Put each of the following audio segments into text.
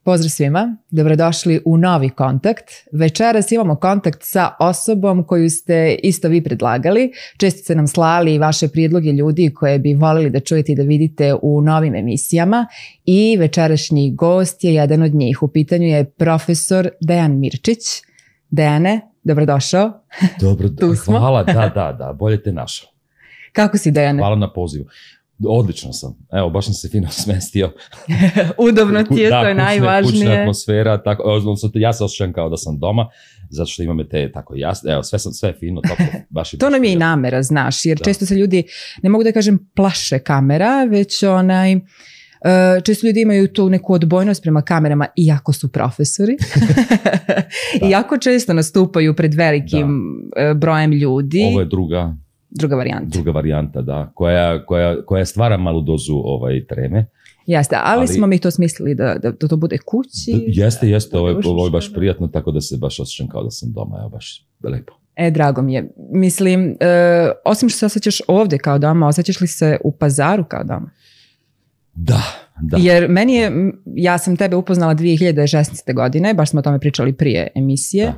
Pozdrav svima, dobrodošli u novi kontakt. Večeras imamo kontakt sa osobom koju ste isto vi predlagali. Često ste nam slali vaše prijedloge ljudi koje bi volili da čujete i da vidite u novim emisijama. I večerašnji gost je jedan od njih. U pitanju je profesor Dejan Mirčić. Dejane, dobrodošao. Dobro, hvala, da, bolje te našao. Kako si, Dejane? Hvala na pozivu. Odlično sam. Evo, baš sam se fino smestio. Udobno ti je, to je najvažnije. Kućna atmosfera, tako, ja se osjećam kao da sam doma, zato što imam te tako jasno, evo, sve je fino, toplo, baš i to nam je i namera, znaš, jer često se ljudi, ne mogu da kažem plaše kamera, već često ljudi imaju tu neku odbojnost prema kamerama, iako su profesori. I jako često nastupaju pred velikim brojem ljudi. Ovo je druga varijanta, da, koja stvara malu dozu treme. Jeste, ali smo mi to smislili da to bude kući. Jeste, ovo je baš prijatno, tako da se baš osjećam kao da sam doma, evo, baš lepo. Drago mi je. Mislim, osim što se osjećaš ovdje kao doma, osjećaš li se u Pazaru kao doma? Da. Jer ja sam tebe upoznala 2016. godine, baš smo o tome pričali prije emisije,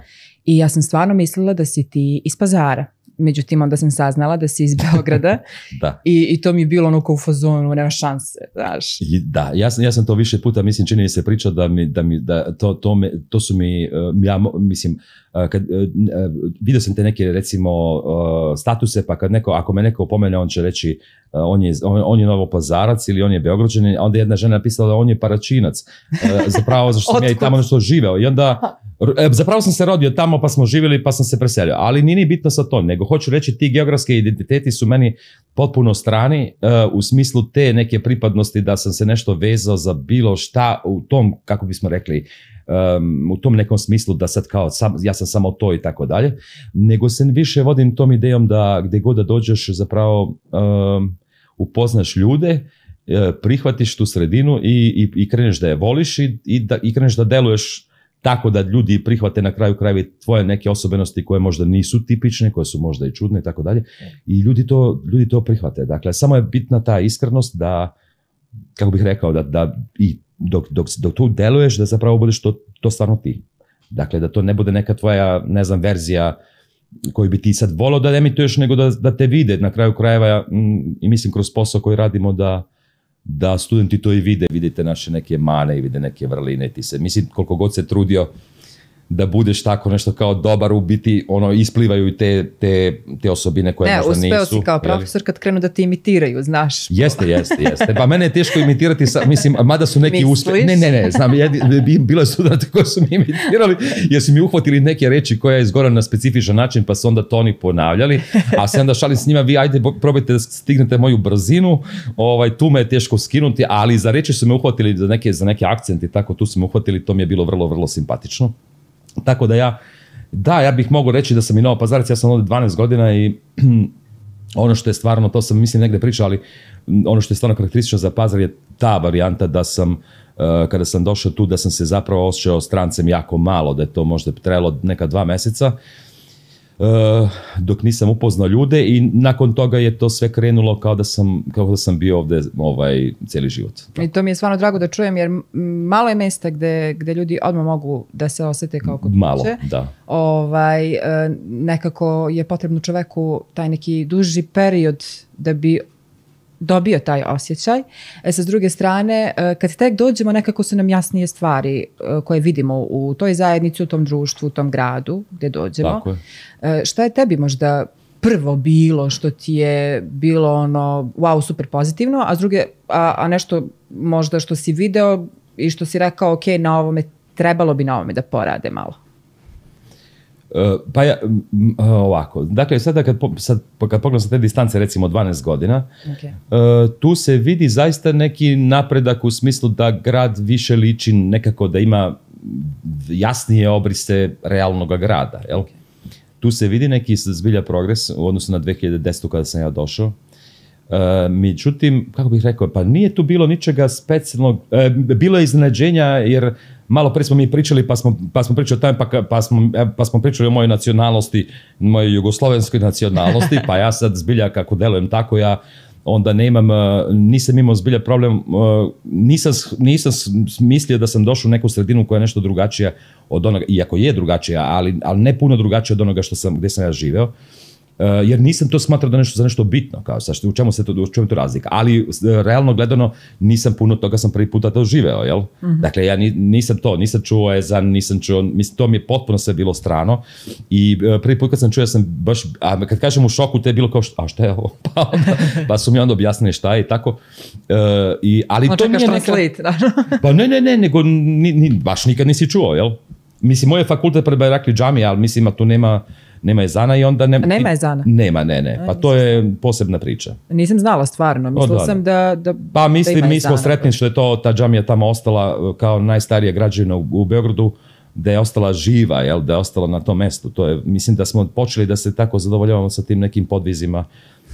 i ja sam stvarno mislila da si ti iz Pazara. Međutim, onda sam saznala da si iz Beograda. I to mi je bilo ono kao u fazonu, nema šanse, znaš. Da, ja sam to više puta, mislim, čini mi se pričao to su mi, ja mislim, vidio sam te neke, recimo, statuse, pa ako me neko opomene, on će reći on je Novopazarac ili on je Beograđanin, a onda jedna žena napisala da on je Paračinac, zapravo zašto sam ja i tamo nešto živeo. I onda, zapravo sam se rodio tamo, pa smo živjeli, pa sam se preselio. Ali nije bitno sa to, nego hoću reći, ti geografske identiteti su meni potpuno strani, u smislu te neke pripadnosti da sam se nešto vezao za bilo šta u tom, kako bismo rekli, u tom nekom smislu da sad kao ja sam samo to i tako dalje, nego se više vodim tom idejom da gdje god da dođeš zapravo upoznaš ljude, prihvatiš tu sredinu i kreneš da je voliš i kreneš da deluješ tako da ljudi prihvate na kraju krajeva tvoje neke osobenosti koje možda nisu tipične, koje su možda i čudne i tako dalje, i ljudi to prihvate. Dakle, samo je bitna ta iskrenost da, kako bih rekao, da i dok tu deluješ, da zapravo budeš to stvarno ti. Dakle, da to ne bude neka tvoja, ne znam, verzija koju bi ti sad volao da emituješ, nego da te vide na kraju krajeva, i mislim kroz posao koji radimo da studenti to i vidite naše neke mane i vide neke vrline. Mislim, koliko god se trudio da budeš tako nešto kao dobar, u biti isplivaju i te osobine koje možda nisu. Uspeo si kao profesor kad krenu da ti imitiraju, znaš. Jeste. Pa mene je teško imitirati, mislim, mada su neki uspjeli. Ne, znam, bilo je studenta koji su mi imitirali, jer su mi uhvatili neke reči koje je izgovoreno na specifičan način, pa su onda to oni ponavljali, a se onda šalim s njima, vi ajde probajte da stignete moju brzinu, tu me je teško skinuti, ali za reči su me uhvatili, za neke akcenti, tako tu su me uhvatili, to mi je bilo vrlo, vrlo simpatično. Tako da ja bih mogao reći da sam i Novopazarac, ja sam ovdje 12 godina i ono što je stvarno, to sam mislim negdje pričao, ali ono što je stvarno karakteristično za Pazar je ta varijanta da sam, kada sam došao tu, da sam se zapravo osjećao strancem jako malo, da je to možda trajalo neka 2 mjeseca, dok nisam upoznao ljude, i nakon toga je to sve krenulo kao da sam bio ovdje cijeli život. I to mi je stvarno drago da čujem, jer malo je mjesta gdje ljudi odmah mogu da se osjete kao kod kuće. Malo, da. Nekako je potrebno čoveku taj neki duži period da bi dobio taj osjećaj. Sa druge strane, kad tek dođemo, nekako su nam jasnije stvari koje vidimo u toj zajednici, u tom društvu, u tom gradu gdje dođemo. Tako je. Šta je tebi možda prvo bilo što ti je bilo wow, super pozitivno, a s druge, a nešto možda što si video i što si rekao, ok, trebalo bi na ovome da porade malo? Pa ovako, dakle sada kad pogledam sa te distance, recimo 12 godina, tu se vidi zaista neki napredak u smislu da grad više liči nekako, da ima jasnije obrise realnog grada. Jel? Tu se vidi neki zbilja progres u odnosu na 2010. kada sam ja došao. Međutim, kako bih rekao, pa nije tu bilo ničega specijalnog, bilo je iznenađenja, jer malo pre smo mi pričali, pa smo pričali o tome, pa smo pričali o mojoj nacionalnosti, mojoj jugoslovenskoj nacionalnosti, pa ja sad zbilja kako delujem tako, ja onda nisam imao zbilja problem, nisam mislio da sam došao u neku sredinu koja je nešto drugačija od onoga, iako je drugačija, ali ne puno drugačija od onoga gdje sam ja živeo. Jer nisam to smatrao da za nešto bitno, kao u čemu je to razlika, ali realno gledano nisam puno toga, sam prvi puta to živeo, jel? Dakle, ja nisam čuo ezan, mislim, to mi je potpuno sve bilo strano i prvi put kad sam čuo, ja sam baš, a kad kažem u šoku, to je bilo kao, a šta je ovo? Pa su mi onda objasnili šta je i tako. Ali to nije neka... Pa ne, nego baš nikad nisi čuo, jel? Mislim, moj je fakultet pred Bajrakli džamija, ali mislim, tu nema ezana i onda... Nema ezana? Nema. Pa to je posebna priča. Nisam znala stvarno. Mislila sam da pa mislim, mi smo sretni što je ta džamija tamo ostala kao najstarija građevina u Beogradu, da je ostala živa, jel, da je ostala na tom mestu. Mislim da smo počeli da se tako zadovoljavamo sa tim nekim podvizima,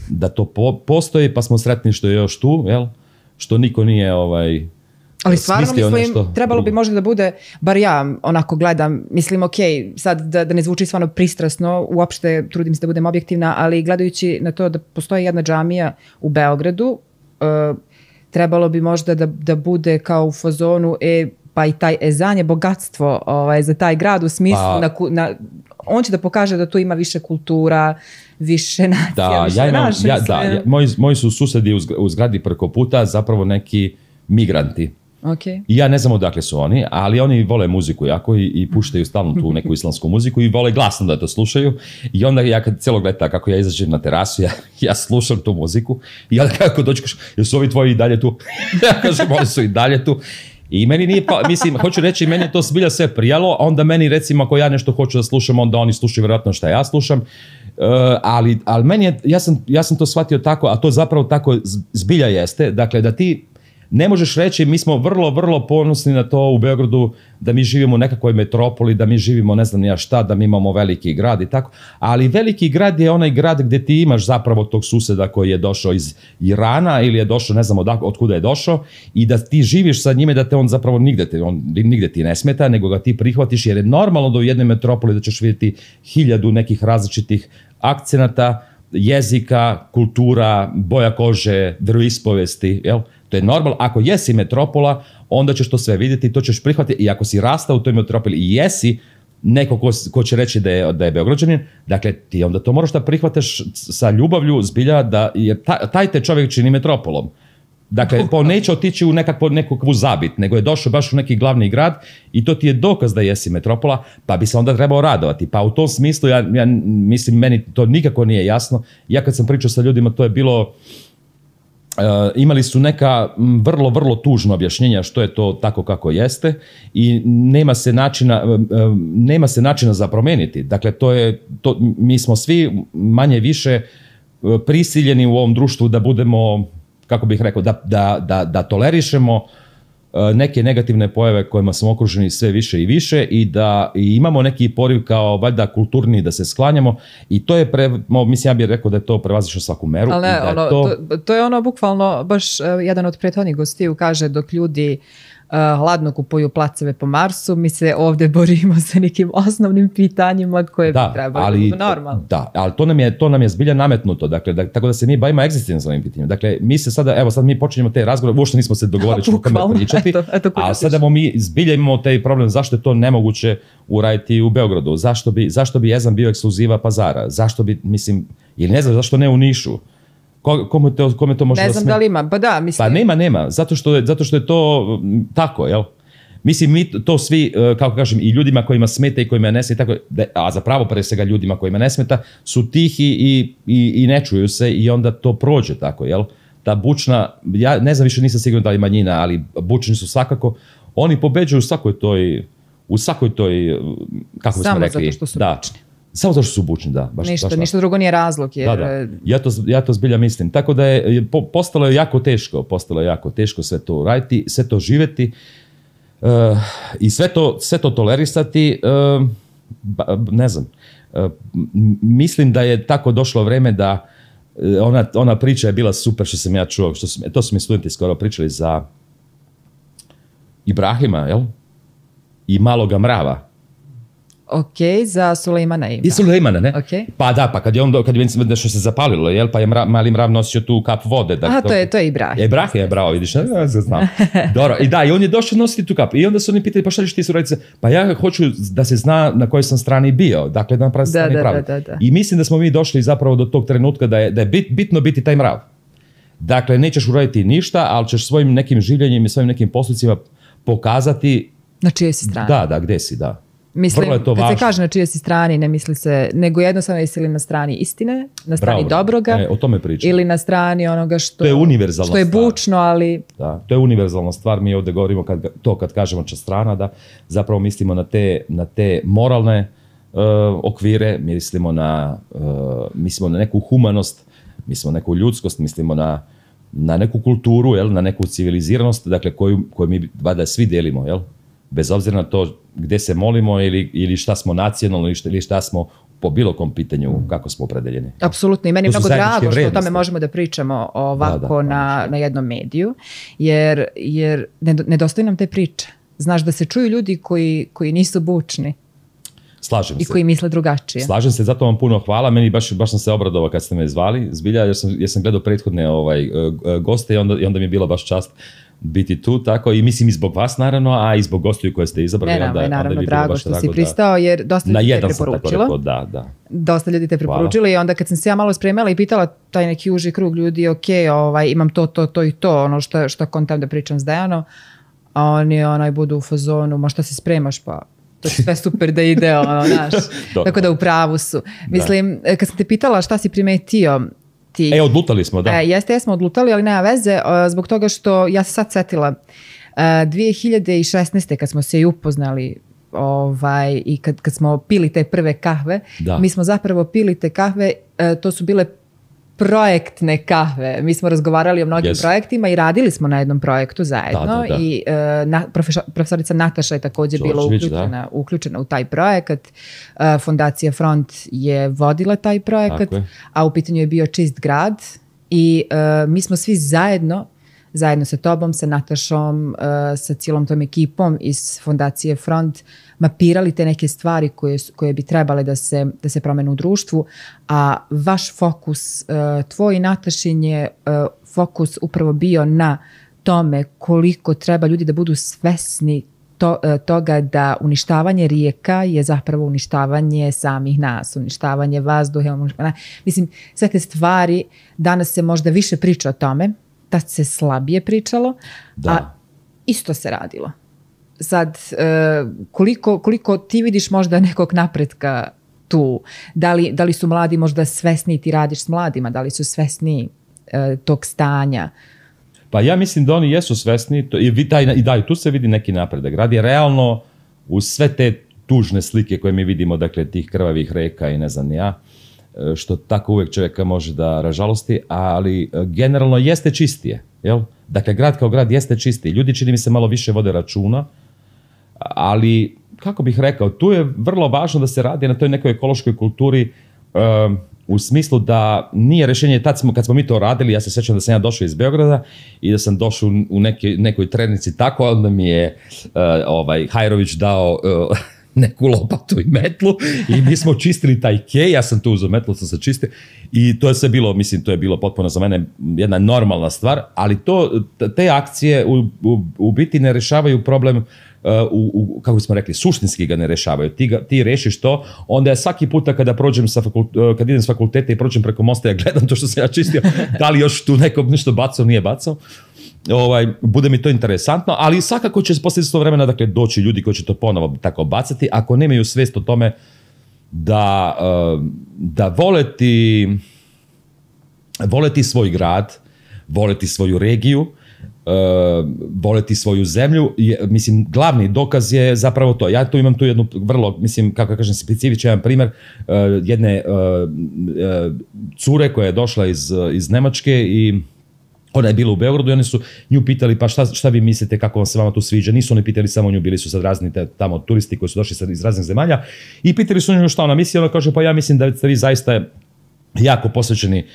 da to postoji, pa smo sretni što je još tu, jel, što niko nije ali stvarno mislim, trebalo bi možda da bude, bar ja onako gledam, mislim ok, sad da ne zvuči stvarno pristrasno, uopšte trudim se da budem objektivna, ali gledajući na to da postoji jedna džamija u Beogradu, trebalo bi možda da bude kao u fazonu, pa i taj ezan je bogatstvo za taj grad u smislu, on će da pokaže da tu ima više kultura, više nacija, moji su susedi u zgradi preko puta zapravo neki migranti. Okay. I ja ne znam odakle su oni, ali oni vole muziku jako i puštaju stalno tu neku islamsku muziku i vole glasno da to slušaju. I onda ja kad cijelog leta, kako ja izađem na terasu, ja slušam tu muziku i onda kako dođu, jesu ovi tvoji i dalje tu? Ja kažem, oni su i dalje tu. I meni nije, mislim, hoću reći, meni je to zbilja sve prijalo, a onda meni recimo ako ja nešto hoću da slušam, onda oni slušaju vjerojatno šta ja slušam. Ali meni je, ja sam to shvatio tako, a to zapravo tako zbilja jeste, dakle da ti ne možeš reći, mi smo vrlo, vrlo ponosni na to u Beogradu, da mi živimo u nekakvoj metropoli, da mi živimo ne znam ni ja šta, da mi imamo veliki grad i tako, ali veliki grad je onaj grad gdje ti imaš zapravo tog suseda koji je došao iz Irana ili je došao, ne znam otkuda je došao, i da ti živiš sa njime, da te on zapravo nigde ti ne smeta, nego ga ti prihvatiš, jer je normalno da u jednoj metropoli da ćeš vidjeti 1000 nekih različitih akcenata, jezika, kultura, boja kože, veroispovesti, jel? To je normalno. Ako jesi metropola, onda ćeš to sve vidjeti, to ćeš prihvatiti. I ako si rastao u toj metropoli i jesi neko ko će reći da je Beograđanin, dakle ti onda to moraš da prihvataš sa ljubavlju, zbilja, da jer taj te čovjek čini metropolom. Dakle, neće otići u nekakvu zabit, nego je došao baš u neki glavni grad i to ti je dokaz da jesi metropola, pa bi se onda trebao radovati. Pa u tom smislu, ja mislim, meni to nikako nije jasno. Ja kad sam pričao sa ljudima, to je bilo... imali su neka vrlo, vrlo tužna objašnjenja što je to tako kako jeste i nema se načina za promeniti. Dakle, mi smo svi manje više prisiljeni u ovom društvu da budemo, kako bih rekao, da tolerišemo neke negativne pojave kojima smo okruženi sve više i više i da imamo neki poriv kao valjda kulturni da se sklanjamo i to je, mislim ja bih rekao da je to prevazišlo svaku meru. Ali ne, to je ono bukvalno, baš jedan od prethodnih gostiju kaže dok ljudi hladno kupuju placeve po Marsu, mi se ovdje borimo sa nekim osnovnim pitanjima koje bi trebali biti normalno. Da, ali to nam je zbilja nametnuto, dakle, tako da se mi bavimo egzistencijalnim pitanjima. Dakle, mi se sada, evo sad mi počinjemo te razgovore, uopšte nismo se dogovorili što kome pričati, a sada mi zbilja imamo taj problem zašto je to nemoguće uraditi u Beogradu, zašto bi ezan bio ekskluziva Pazara, zašto bi, mislim, ili ne znam, zašto ne u Nišu. Kome to može ne znam da li ima, pa da, mislim. Pa nema, zato što je to tako, jel? Mislim, mi to svi, kako kažem, i ljudima kojima smeta i kojima ne smeta, a zapravo pre svega ljudima kojima ne smeta, su tihi i ne čuju se i onda to prođe tako, jel? Ta bučna, ja ne znam više, nisam siguran da li manjina, ali bučni su svakako, oni pobeđuju u svakoj toj, kako bismo rekli. Samo zato što su bučni. Samo zato što su bučni, da. Ništa drugo nije razlog. Jer... Da. Ja to zbilja mislim. Tako da je postalo je jako teško sve to raditi, sve to živjeti i sve to tolerisati, ne znam. Mislim da je tako došlo vreme da ona priča je bila super što sam ja čuo, to su mi studenti skoro pričali za Ibrahima, jel? I maloga mrava. Ok, za Sulejmana ima. I Sulejmana, ne? Okay. Pa da, pa kad je nešto se zapalilo, jel? Pa je mali mrav nosio tu kap vode. Da, to je Ibrahim. Ibrahim, bravo, vidiš, ja znam. Dobro, i da, i on je došao nositi tu kap. I onda su oni pitali, pa šta ćeš ti suraditi? Pa ja hoću da se zna na kojoj sam strani bio. Dakle, da napravi strani pravi. Da. I mislim da smo mi došli zapravo do tog trenutka da je bitno biti taj mrav. Dakle, nećeš uraditi ništa, ali ćeš svojim nekim življenjem i svojim nekim postupcima pokazati na čijoj si strani. Da, gdje si, da. Mislim, kad se kaže na čijoj si strani, ne misli se, nego jednostavno jesi li na strani istine, na strani dobroga, o tome pričam. Ili na strani onoga što je univerzalna što je bučno, ali... Da, to je univerzalna stvar, mi ovdje govorimo kad kažemo strana, da zapravo mislimo na te moralne okvire, mislimo na neku humanost, mislimo na neku ljudskost, mislimo na neku kulturu, jel, na neku civiliziranost, dakle koju mi valjda svi delimo, jel? Bez obzira na to gdje se molimo ili šta smo nacionalno ili šta smo po bilo kom pitanju, kako smo opredeljeni. Apsolutno, i meni je mnogo drago što o tome možemo da pričamo ovako na jednom mediju, jer nedostaju nam te priče. Znaš, da se čuju ljudi koji nisu bučni. Slažem se. I koji misle drugačije. Slažem se, zato vam puno hvala. Meni baš sam se obradovao kad ste me zvali, zbilja, jer sam gledao prethodne goste i onda mi je bila baš čast biti tu, tako, i mislim i zbog vas naravno, a i zbog gostiju koje ste izabrali. Naravno, drago što si pristao, jer dosta ljudi te preporučilo. Da. Dosta ljudi te preporučili i onda kad sam se ja malo spremala i pitala taj neki uži krug ljudi, ok, imam to i to, ono što kontam da pričam s Dejanom, a oni budu u fazonu, ma šta se spremaš, pa to je sve super da ide, znaš. Tako da u pravu su. Mislim, kad sam te pitala šta si primetio, odlutali smo, da. Jesmo odlutali, ali nema veze, zbog toga što ja sam sad setila 2016. kad smo se i upoznali i kad smo pili te prve kahve, mi smo zapravo pili te kahve, to su bile projektne kahve. Mi smo razgovarali o mnogim projektima i radili smo na jednom projektu zajedno. Da. I profesorica Nataša je također bila uključena u taj projekat. Fondacija Front je vodila taj projekat, a u pitanju je bio Čist grad i mi smo svi zajedno sa tobom, sa Natašom, sa cijelom tom ekipom iz Fondacije Front mapirali te neke stvari koje bi trebale da se promene u društvu, a vaš fokus, tvoj i Natašin je fokus upravo bio na tome koliko treba ljudi da budu svesni toga da uništavanje rijeka je zapravo uništavanje samih nas, uništavanje vazduha. Mislim, sve te stvari, danas se možda više priča o tome, tad se slabije pričalo, a isto se radilo. Sad, koliko ti vidiš možda nekog napretka tu? Da li su mladi možda svesni, ti radiš s mladima, da li su svesni tog stanja? Pa ja mislim da oni jesu svesni i tu se vidi neki napredak. Grad je realno uz sve te tužne slike koje mi vidimo, dakle tih krvavih reka i ne znam ja, što tako uvijek čovjeka može da ražalosti, ali generalno jeste čistije. Jel? Dakle, grad kao grad jeste čistiji. Ljudi, čini mi se, malo više vode računa, ali, kako bih rekao, tu je vrlo važno da se radi na toj nekoj ekološkoj kulturi, u smislu da nije rješenje, kad smo mi to radili, ja se sjećam da sam ja došao iz Beograda i da sam došao u nekoj trednici tako, onda mi je Hajrović dao neku lopatu i metlu i mi smo čistili taj kej, ja sam tu uzeo metlu, sam se čistio i to je sve bilo, mislim, to je bilo potpuno za mene jedna normalna stvar, ali te akcije u biti ne rješavaju problem, kako smo rekli, suštinski ga ne rješavaju. Ti rešiš to, onda ja svaki puta kad idem s fakulteta i prođem preko mosta, ja gledam to što sam ja čistio, da li još tu neko nešto bacao, nije bacao. Bude mi to interesantno, ali svakako će poslije to vremena, dakle, doći ljudi koji će to ponovo tako bacati, ako nemaju svijest o tome da voleti svoj grad, voleti svoju regiju, voleti svoju zemlju. Mislim, glavni dokaz je zapravo to. Ja tu imam tu jednu vrlo, mislim, kako kažem, specifičan primjer jedne cure koja je došla iz Nemačke i ona je bila u Beogradu i oni su nju pitali, pa šta vi mislite, kako se vama tu sviđa? Nisu oni pitali samo nju, bili su sad razni tamo turisti koji su došli iz raznih zemalja i pitali su nju šta ona misli. Ona kaže, pa ja mislim da ste vi zaista jako posvećeni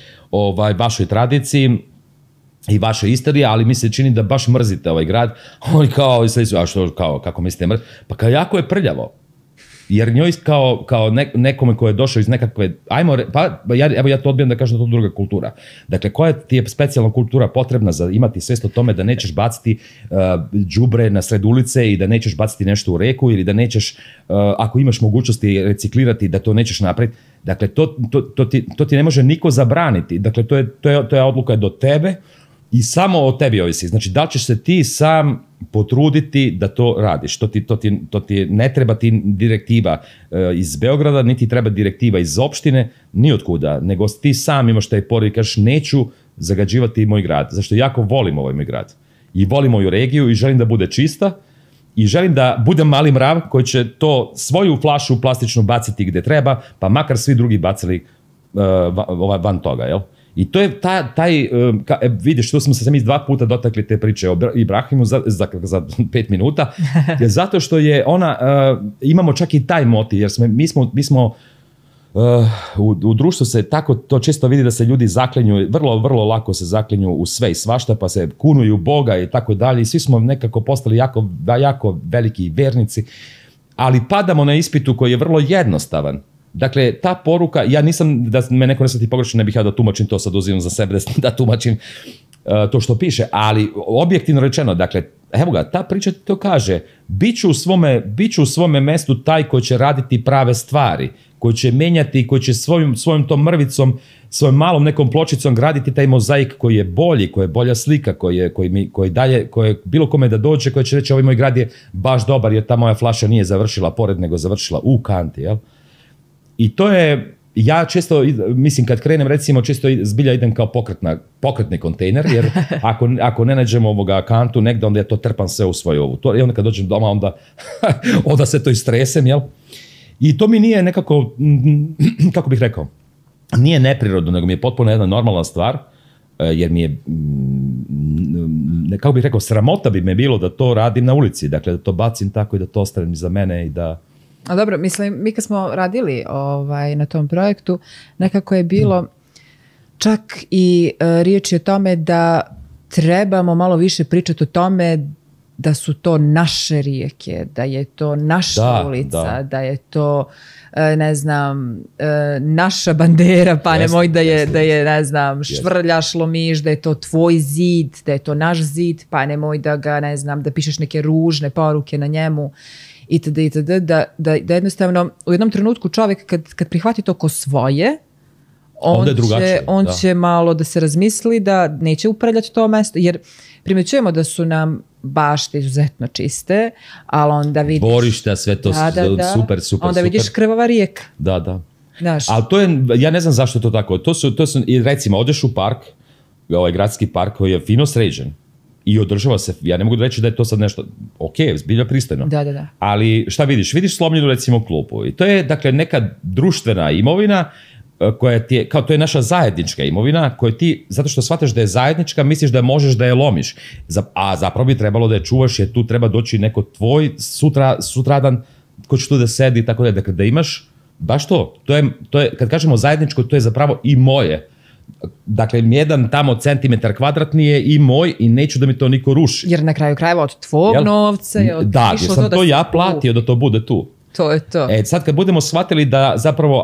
vašoj tradiciji i vaše istorije, ali mi se čini da baš mrzite ovaj grad. Oni kao, a što, kako mislite mrzite? Pa kao jako je prljavo. jer njoj kao nekome ko je došao iz nekakve, ja to odbijam da kažem da to druga kultura. Dakle, koja ti je specijalna kultura potrebna za imati svest o tome da nećeš baciti đubre na sred ulice i da nećeš baciti nešto u reku ili da nećeš, ako imaš mogućnosti reciklirati, da to nećeš napraviti. Dakle, to ti ne može niko zabraniti. Dakle, to je odluka do tebe i samo o tebi ovisi. Znači, da li ćeš se ti sam potruditi da to radiš. To ti ne treba ti direktiva iz Beograda, niti treba direktiva iz opštine, ni od kuda, nego ti sam imaš taj porod i kažeš neću zagađivati moj grad. Zašto jako volim ovaj moj grad. I volim moju regiju i želim da bude čista i želim da budem mali mrav koji će to svoju flašu plastičnu baciti gde treba, pa makar svi drugi bacili van toga, jel? I to je vidiš, tu smo se mi 2 puta dotakli te priče o Ibrahimu za 5 minuta, zato što je ona, imamo čak i taj motiv, jer mi smo u društvu se tako to često vidi da se ljudi zaklinju, vrlo, vrlo lako se zaklinju u sve i svašta, pa se kunuju Boga i tako dalje i svi smo nekako postali jako veliki vernici, ali padamo na ispitu koji je vrlo jednostavan. Dakle, ta poruka, ja nisam, da me neko ne shvati pogrešno, ne bih ja da tumačim to, sad uzimam za sebe da tumačim to što piše, ali objektivno rečeno, dakle, evo ga, ta priča to kaže, biću u svome mestu taj koji će raditi prave stvari, koji će menjati, koji će svojom tom mrvicom, svojom malom nekom pločicom graditi taj mozaik koji je bolji, koji je bolja slika, koji dalje, koji bilo kome da dođe, koji će reći ovaj moj grad je baš dobar jer ta moja flaša nije završila pored, nego završila u kanti, jel? I to je, ja često, mislim kad krenem recimo često zbilja idem kao pokretni kontejner, jer ako ne nađemo kantu negde, onda ja to trpam sve u svoju ovu. I onda kad dođem doma, onda se to istresem, jel? I to mi nije nekako, kako bih rekao, nije neprirodno, nego mi je potpuno jedna normalna stvar, jer mi je, kako bih rekao, sramota bi me bilo da to radim na ulici, dakle da to bacim tako i da to ostavim za mene i da... A dobro, mislim, mi kad smo radili na tom projektu, nekako je bilo čak i riječ o tome da trebamo malo više pričati o tome da su to naše rijeke, da je to naša ulica, da je to, ne znam, naša bandera, pa nemoj da je, ne znam, švrljaš, lomiš, da je to tvoj zid, da je to naš zid, pa nemoj da ga, ne znam, da pišeš neke ružne poruke na njemu. Itd. Da jednostavno u jednom trenutku čovjek kad prihvati to ko svoje, on će malo da se razmisli da neće upravljati to mesto, jer primjećujemo da su nam bašte izuzetno čiste, ali onda vidiš... Dvorišta, sve to super. Onda vidiš krvava rijeka. Da. Ali to je, ja ne znam zašto je to tako. To su recimo, odeš u park, ovaj gradski park koji je fino sređen, i održava se, ja ne mogu reći da je to sad nešto, ok, zbilja pristojno. Da. Ali šta vidiš? Vidiš slomljenu recimo klupu i to je dakle neka društvena imovina koja ti je, kao to je naša zajednička imovina koju ti, zato što shvataš da je zajednička, misliš da možeš da je lomiš. A zapravo bi trebalo da je čuvaš jer tu treba doći neko tvoj sutradan ko će tu da sedi i tako da. Dakle, da imaš baš to. To je, kad kažemo zajedničko, to je zapravo i moje. Dakle, jedan tamo centimetar kvadratni je i moj i neću da mi to niko ruši. Jer na kraju krajeva od tvog novca je da, jer sam to ja platio da to bude tu. To je to. Sad kad budemo shvatili da zapravo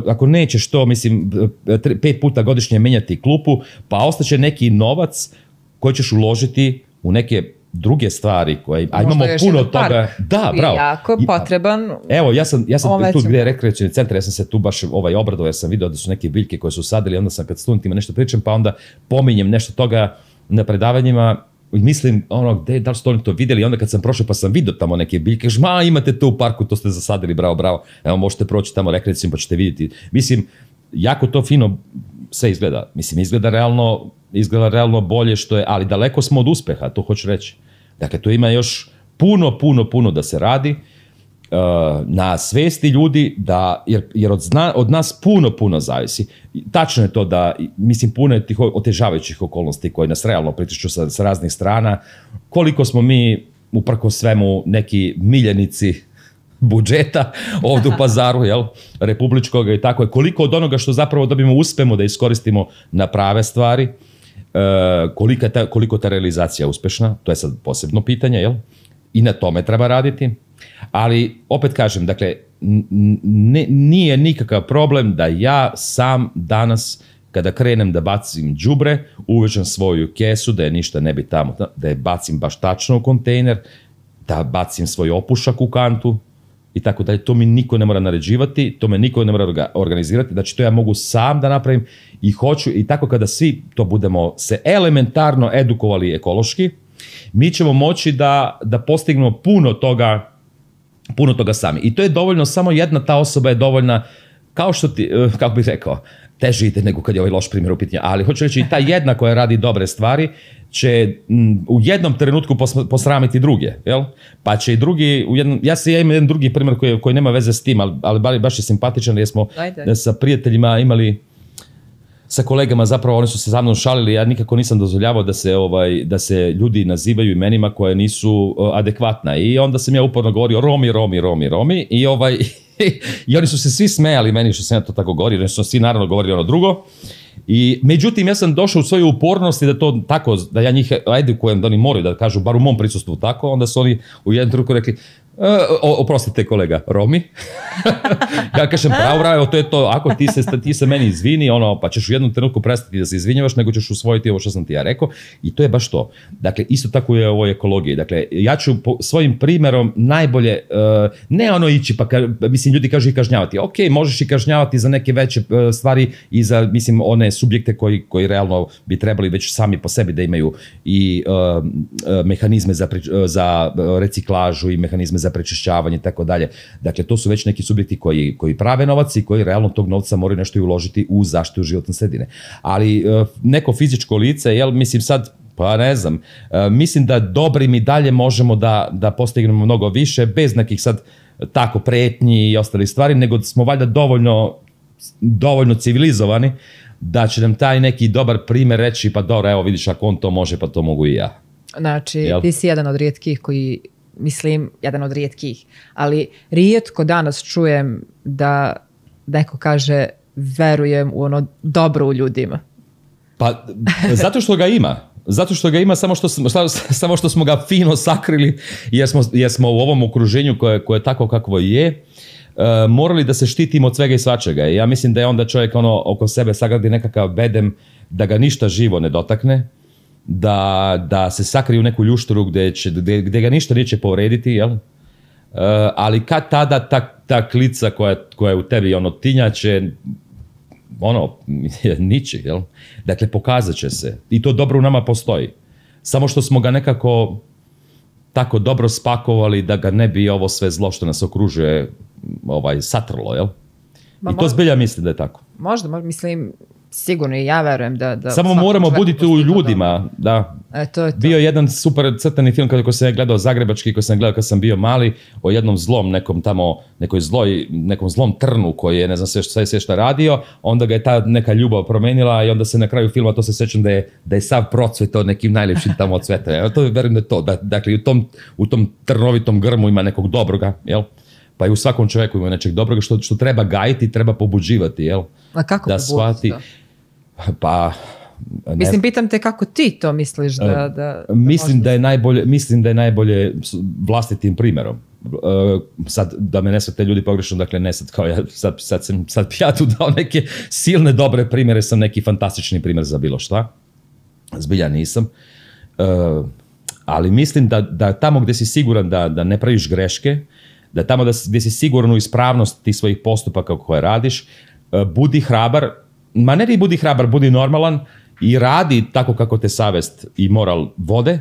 ako nećeš to, mislim, 5 puta godišnje menjati klupu, pa ostaće neki novac koji ćeš uložiti u neke druge stvari koje, a imamo puno toga. Da, bravo. Jako potreban. Evo, ja sam tu gdje je rekreacioni centar, ja sam se tu baš obradovao, jer sam vidio da su neke biljke koje su sadili, onda sam kad studentima nešto pričam, pa onda pominjem nešto toga na predavanjima, mislim, da li su oni to vidjeli, onda kad sam prošao pa sam vidio tamo neke biljke, imate to u parku, to ste zasadili, bravo, evo možete proći tamo rekreacijom pa ćete vidjeti. Mislim, jako to fino sve izgleda. Mislim, izgleda realno bolje što je, ali daleko smo od uspeha, to hoću reći. Dakle, tu ima još puno da se radi na svesti ljudi, jer od nas puno zavisi. Tačno je to da, mislim, puno je tih otežavajućih okolnosti koje nas realno pritišću sa raznih strana. Koliko smo mi, uprkos svemu, neki miljenici budžeta ovdje u Pazaru, republičkog i tako je. Koliko od onoga što zapravo dobijemo uspemo da iskoristimo na prave stvari, koliko ta realizacija je uspešna, to je sad posebno pitanje, i na tome treba raditi. Ali, opet kažem, dakle, nije nikakav problem da ja sam danas, kada krenem da bacim đubre, uvežem svoju kesu, da je ništa ne bi tamo, da je bacim baš tačno u kontejner, da bacim svoj opušak u kantu i tako dalje. To mi niko ne mora naređivati, to me niko ne mora organizirati, znači to ja mogu sam da napravim i hoću, i tako kada svi to budemo se elementarno edukovali ekološki, mi ćemo moći da postignemo puno toga sami. I to je dovoljno, samo jedna ta osoba je dovoljna, kao što ti, kako bih rekao, teže ide nego kad je ovaj loš primjer u pitanju, ali hoću reći, i ta jedna koja radi dobre stvari će u jednom trenutku posramiti druge, jel? Pa će i drugi, ja imam jedan drugi primjer koji nema veze s tim, ali baš je simpatičan, jer smo sa prijateljima imali, sa kolegama zapravo, oni su se za mnom šalili, ja nikako nisam dozvoljavao da se ljudi nazivaju imenima koje nisu adekvatna, i onda sam ja uporno govorio Romi i oni su se svi smejali meni što sam ja to tako govorio, jer su svi naravno govorili ono drugo. I međutim, ja sam došao u svoju upornosti da to tako, da ja njih edukujem, da oni moraju da kažu, bar u mom prisustvu tako, onda su oni u jednom trenutku rekli, oprostite kolega, Romi. Ja kažem, bravo, to je to, ako ti se meni izvini, pa ćeš u jednom trenutku prestati da se izvinjavaš, nego ćeš usvojiti ovo što sam ti ja rekao, i to je baš to. Dakle, isto tako je ovo ekologiji. Dakle, ja ću svojim primjerom najbolje, ne ići, pa mislim, ljudi kažu i kažnjavati. Ok, možeš i kažnjavati za neke veće stvari i za, mislim, one subjekte koji realno bi trebali već sami po sebi da imaju i mehanizme za reciklažu i mehanizme za prečišćavanje i tako dalje. Dakle, to su već neki subjekti koji prave novac i koji realno tog novca moraju nešto i uložiti u zaštitu životne sredine. Ali neko fizičko lice, mislim sad, pa ne znam, mislim da dobrim i dalje možemo da postignemo mnogo više, bez nekih sad tako pretnji i ostalih stvari, nego smo valjda dovoljno civilizovani da će nam taj neki dobar primjer reći, pa dobro, evo vidiš, ako on to može, pa to mogu i ja. Znači, ti si jedan od rijetkih koji, mislim, jedan od rijetkih, ali rijetko danas čujem da neko kaže verujem u ono dobro u ljudima. Pa, zato što ga ima. Zato što ga ima, samo što smo ga fino sakrili, jer smo u ovom okruženju koje je tako kakvo je, morali da se štitimo od svega i svačega. Ja mislim da je onda čovjek oko sebe sagradi nekakav bedem da ga ništa živo ne dotakne, da se sakri u neku ljušturu gdje ga ništa neće povrediti, jel? Ali kad tada ta klica koja je u tebi tinjače, niči, jel? Dakle, pokazat će se. I to dobro u nama postoji. Samo što smo ga nekako tako dobro spakovali da ga ne bi ovo sve zlo što nas okružuje satrlo, jel? I to zbilja mislim da je tako. Možda, mislim, sigurno i ja verujem da samo moramo buditi u ljudima, da. To je to. Bio jedan super crtani film koji sam gledao, zagrebački, koji sam gledao kad sam bio mali, o jednom zlom, nekom zlom trnu koji je, ne znam sve šta radio, onda ga je ta neka ljubav promenila i onda se na kraju filma, to se sećam da je sav procvetao nekim najljepšim tamo cvetom. To verujem da je to. Dakle, u tom trnovitom grmu ima nekog dobroga, jel? Pa i u svakom čovjeku ima nečeg dobroga što treba gajiti, treba pobuđivati, jel? A kako pobuđiti to? Pa... Mislim, pitam te kako ti to misliš da mislim da je najbolje vlastitim primjerom. Sad, da me ne shvate ljudi pogrešno, dakle ne sad kao ja, sad ja tu dao neke silne dobre primjere, sam neki fantastični primjer za bilo šta. Zbilja nisam. Ali mislim da tamo gdje si siguran da ne praviš greške, da tamo gdje si siguran u ispravnost tih svojih postupaka koje radiš, budi hrabar, ma ne budi hrabar, budi normalan i radi tako kako te savjest i moral vode,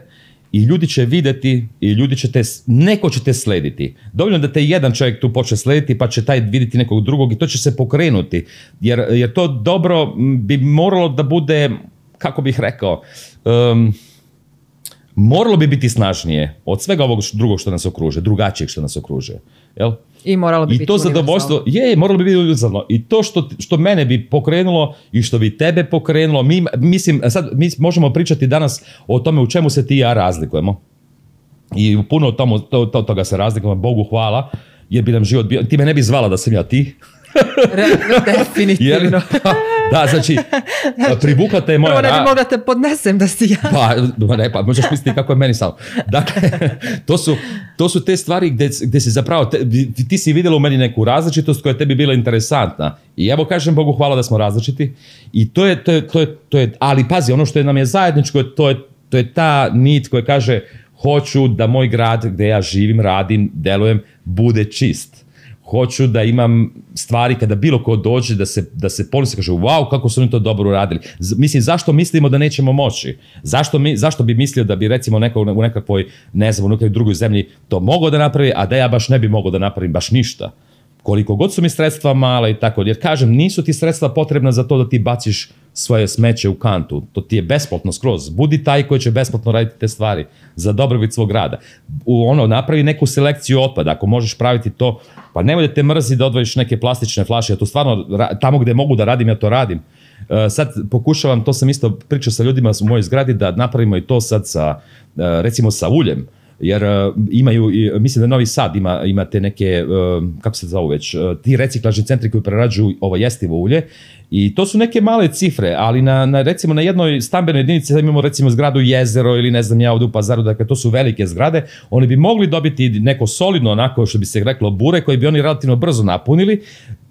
i ljudi će vidjeti i neko će te slediti. Dovoljno da te jedan čovjek tu počne slediti, pa će taj vidjeti nekog drugog i to će se pokrenuti. Jer to dobro bi moralo da bude, kako bih rekao, moralo bi biti snažnije od svega ovog drugog što nas okruže, drugačijeg što nas okruže. Jel? I moralo bi biti to zadovoljstvo, moralo bi biti univerzalno. I to što mene bi pokrenulo i što bi tebe pokrenulo, mi možemo pričati danas o tome u čemu se ti i ja razlikujemo. I puno toga se razlikujemo, Bogu hvala, jer bi nam život bio, ti me ne bi zvala da sam ja ti. Definitivno. Da, znači, privukate je moja... Prvo ne bi mogla da te podnesem da si ja. Pa možeš misliti kako je meni samo. Dakle, to su te stvari gde se zapravo, ti si vidjela u meni neku različitost koja je tebi bila interesantna. I evo kažem Bogu hvala da smo različiti. I to je, ali pazi, ono što nam je zajedničko, to je ta nit koja kaže hoću da moj grad gde ja živim, radim, delujem, bude čist. Hoću da imam stvari kada bilo ko dođe da se ponosi, kaže wow, kako su oni to dobro uradili. Mislim, zašto mislimo da nećemo moći? Zašto bi mislio da bi recimo neko u nekakvoj, ne znam, u nekoj drugoj zemlji to mogao da napravi, a da ja baš ne bi mogao da napravim baš ništa? Koliko god su mi sredstva mala i tako, jer kažem, nisu ti sredstva potrebna za to da ti baciš svoje smeće u kantu. To ti je besplatno skroz. Budi taj koji će besplatno raditi te stvari za dobrobit svog rada. Napravi neku selekciju otpada. Ako možeš praviti to, pa nemoj da te mrzi da odvojiš neke plastične flaše. Ja to stvarno, tamo gde mogu da radim, ja to radim. Sad pokušavam, to sam isto pričao sa ljudima u mojoj zgradi, da napravimo i to sad sa, recimo sa uljem. Jer imaju, mislim da Novi Sad ima te neke, kako se zovu već, ti reciklažni centri koji prerađuju ovo jestivo ulje i to su neke male cifre, ali recimo na jednoj stambenoj jedinici imamo recimo zgradu Jezero ili ne znam ja ovdje u Pazaru, dakle to su velike zgrade, oni bi mogli dobiti neko solidno onako što bi se reklo bure koji bi oni relativno brzo napunili.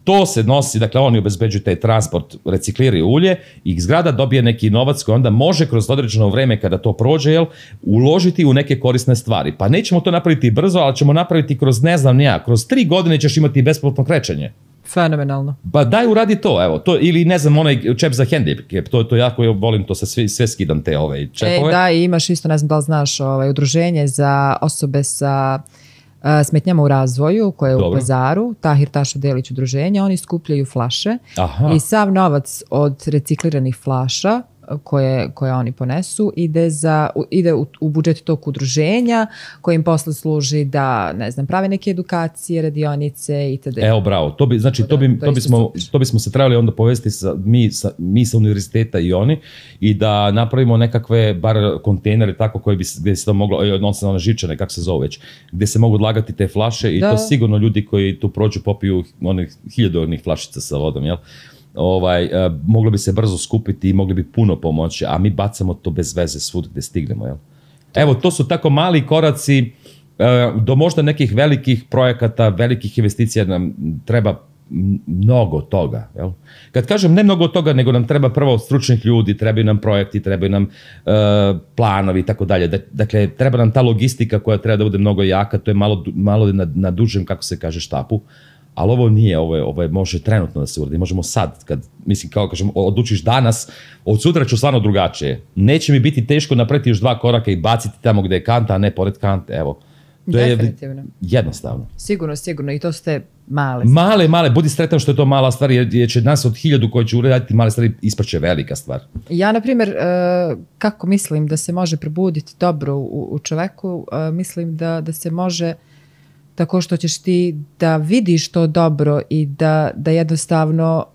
To se nosi, dakle oni obezbeđuju taj transport, recikliraju ulje i zgrada dobije neki novac koji onda može kroz određeno vreme kada to prođe, uložiti u neke korisne stvari. Pa nećemo to napraviti brzo, ali ćemo napraviti kroz ne znam ja, kroz 3 godine ćeš imati besplatno krećenje. Fenomenalno. Pa daj uradi to, evo, to, ili ne znam, onaj čep za hendikep, to jako volim, to sve skidam te čepove. Da, i imaš isto, ne znam da li znaš, udruženje za osobe sa smetnjama u razvoju koje je u Pazaru, Tahir Tašo Delić udruženja, oni skupljaju flaše. Aha. I sav novac od recikliranih flaša koje oni ponesu ide u budžet tog udruženja koji im posle služi da, ne znam, prave neke edukacije, radionice itd. Evo, bravo. To bismo se trebali onda povesti mi sa univerziteta i oni i da napravimo nekakve bar kontejnere tako gdje se to moglo, odnosno one žičane, kako se zove već, gdje se mogu odlagati te flaše i to sigurno ljudi koji tu prođu popiju onih 1000 onih flašica sa vodom, jel? Moglo bi se brzo skupiti i mogli bi puno pomoći, a mi bacamo to bez veze svud gdje stignemo. Jel? Evo, to su tako mali koraci do možda nekih velikih projekata, velikih investicija nam treba mnogo toga. Jel? Kad kažem ne mnogo toga, nego nam treba prvo stručnih ljudi, trebaju nam projekti, trebaju nam planovi i tako dalje. Dakle, treba nam ta logistika koja treba da bude mnogo jaka, to je malo na dužem, kako se kaže, štapu. Ali ovo nije, ovo je može trenutno da se uradi, možemo sad, mislim kao kažem, odlučiš danas, od sutra ću stvarno drugačije. Neće mi biti teško napraviti još 2 koraka i baciti tamo gde je kanta, a ne pored kante, evo. To je jednostavno. Sigurno, i to su te male stvari. Male, budi sretan što je to mala stvar, jer će nas od 1000 koji će uraditi male stvari ispaće velika stvar. Ja, na primjer, kako mislim da se može probuditi dobro u čoveku, mislim da se može tako što ćeš ti da vidiš to dobro i da jednostavno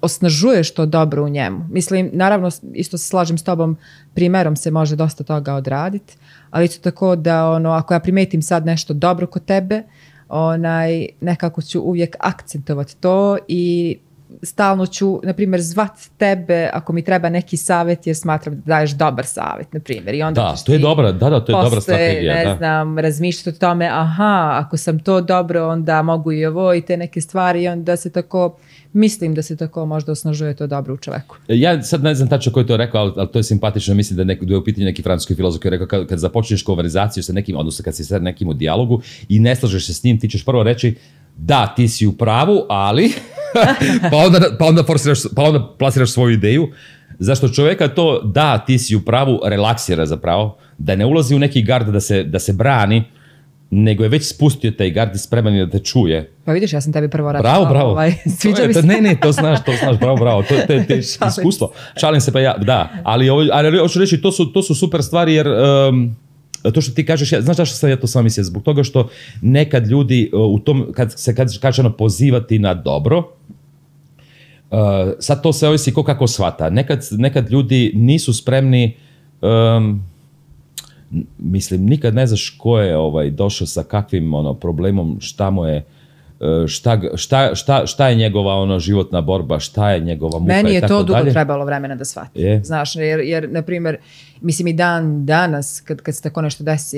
osnažuješ to dobro u njemu. Mislim, naravno, isto se slažem s tobom, primerom se može dosta toga odraditi, ali isto tako da ako ja primetim sad nešto dobro kod tebe, nekako ću uvijek akcentovati to i stalno ću, na primjer, zvat tebe ako mi treba neki savjet jer smatram da daješ dobar savjet, na primjer. I onda to je dobra, to je dobra strategija. Ne znam, razmišljati o tome, ako sam to dobro, onda mogu i ovo i te neke stvari i onda se tako, mislim da se tako možda osnažuje to dobro u čoveku. Ja sad ne znam tačno ko je to rekao, ali to je simpatično, mislim da je u pitanju neki francuski filozof koji je rekao kad započneš konverzaciju sa nekim, odnosno kad si sa nekim u dijalogu i ne slažeš se s njim, ti ćeš prvo reći da, ti si u pravu, ali pa onda plasiraš svoju ideju, zašto čovjeka to da, ti si u pravu, relaksira zapravo, da ne ulazi u neki gard da se brani, nego je već spustio taj gard i spreman je da te čuje. Pa vidiš, ja sam tebi prvo rekao. Bravo. Sviđa mi se. Ne, to znaš, bravo. To je iskustvo. Šalim se pa ja, da. Ali hoću reći, to su super stvari jer to što ti kažeš, znaš zašto sam ja to sam mislio? Zbog toga što nekad ljudi u tom, kad se kaže pozivati na dobro, sad to se ovisi ko kako shvata. Nekad ljudi nisu spremni, mislim, nikad ne znaš ko je došao sa kakvim problemom, šta mu je šta je njegova životna borba, šta je njegova muka i tako dalje. Meni je to dugo trebalo vremena da shvatim. Znaš, jer na primjer, mislim i dan danas, kad se tako nešto desi,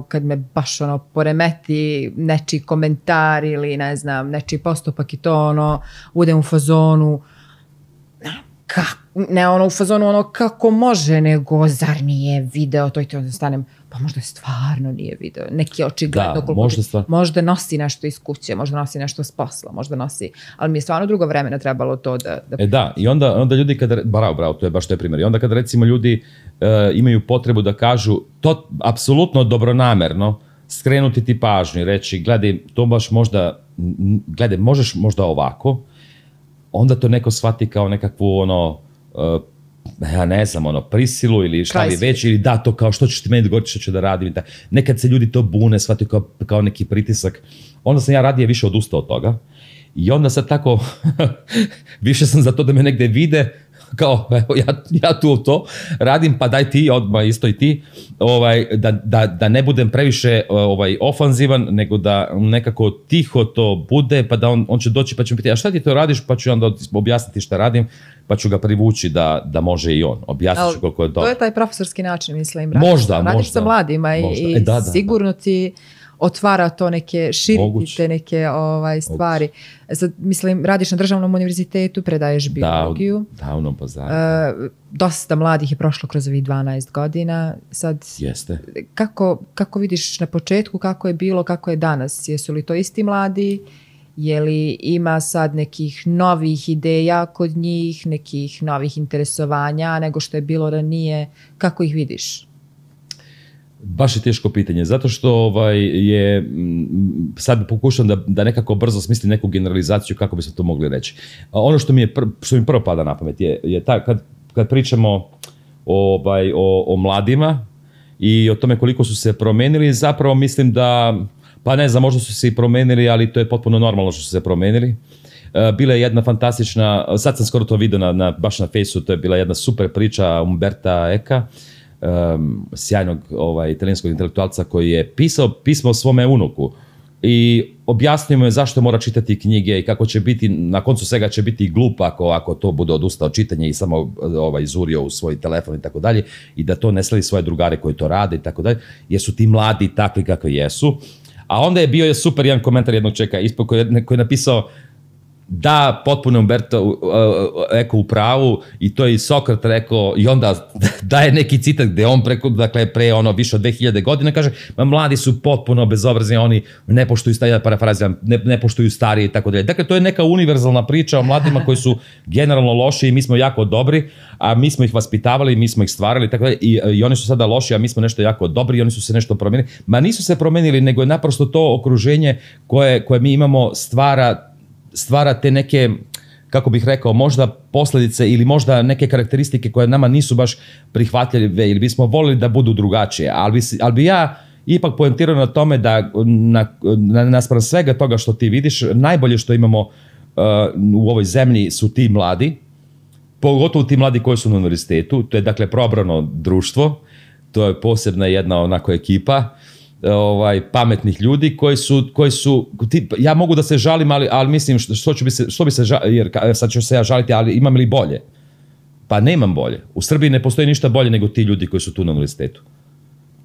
kad me baš poremeti nečiji komentar ili ne znam, nečiji postupak i to udem u fazonu, ne u fazonu kako može, nego zar nije video to i to, onda stanem, pa možda stvarno nije video, neki očigledno možda nosi nešto iz kuće, možda nosi nešto s posla, možda nosi, ali mi je stvarno dugo vremena trebalo to da... Da, i onda ljudi kada, bravo, to je baš taj primjer, i onda kada recimo ljudi imaju potrebu da kažu to apsolutno dobronamerno, skrenuti ti pažnju i reći, gledaj, to baš možda, gledaj, možeš možda ovako, onda to neko shvati kao nekakvu ja ne znam, prisilu ili šta li već, ili da, to kao što ćeš ti meni govoriti, što ću da radim. Nekad se ljudi to bune, shvati kao neki pritisak. Onda sam ja radije više odustao od toga. I onda sad tako, više sam za to da me negde vide, kao, evo, ja tu to radim, pa daj ti, odmah isto i ti, da ne budem previše ofanzivan, nego da nekako tiho to bude, pa da on će doći, pa će mi pitati, a šta ti to radiš, pa ću onda objasniti šta radim, pa ću ga privući da može i on. Objasnit ću koliko je to. To je taj profesorski način, mislim. Možda. Radiš sa mladima i sigurno ti otvara to širiti te neke stvari. Sad, mislim, radiš na državnom univerzitetu, predaješ biologiju. Da, u Novom Pazaru. Dosta mladih je prošlo kroz ovih 12 godina. Sad, jeste. Kako vidiš na početku, kako je bilo, kako je danas? Jesu li to isti mladi? Je li ima sad nekih novih ideja kod njih, nekih novih interesovanja nego što je bilo ranije? Kako ih vidiš? Baš je teško pitanje, zato što sad pokušam da nekako brzo smislim neku generalizaciju kako bismo to mogli reći. Ono što mi prvo pada na pamet je kad pričamo o mladima i o tome koliko su se promenili, zapravo mislim da, pa ne znam, možda su se i promenili, ali to je potpuno normalno što su se promenili. Bila je jedna fantastična, sad sam skoro to vidio baš na Fejsu, to je bila jedna super priča Umberta Eka, sjajnog italijanskog intelektualca koji je pisao pismo svome unuku i objasnio mu je zašto mora čitati knjige i kako će biti, na koncu svega će biti glup ako to bude odustao od čitanja i samo izurio u svoj telefon i tako dalje, i da to ne sledi svoje drugare koji to rade i tako dalje, jer su ti mladi takvi kakvi jesu. A onda je bio super jedan komentar jednog čeka koji je napisao da, potpuno Umberto Eko u pravu, i to je i Sokrat rekao, i onda daje neki citat gde on pre više od 2000 godina kaže, mladi su potpuno bezobrazni, oni ne poštuju ne poštuju starije i tako dalje. Dakle, to je neka univerzalna priča o mladima koji su generalno loši i mi smo jako dobri, a mi smo ih vaspitavali, mi smo ih stvarali i tako dalje, i oni su sada loši, a mi smo nešto jako dobri i oni su se nešto promenili. Ma nisu se promenili, nego je naprosto to okruženje koje mi imamo stvara te neke, kako bih rekao, možda posljedice ili možda neke karakteristike koje nama nisu baš prihvatljive ili bismo volili da budu drugačije. Ali bi ja ipak poentirao na tome da naspram svega toga što ti vidiš, najbolje što imamo u ovoj zemlji su ti mladi, pogotovo ti mladi koji su na univerzitetu. To je dakle probrano društvo, to je posebna jedna onako ekipa pametnih ljudi koji su ja mogu da se žalim, ali mislim što bi se žaliti, jer sad ću se ja žaliti, ali imam li bolje? Pa nemam bolje. U Srbiji ne postoji ništa bolje nego ti ljudi koji su tu na univerzitetu.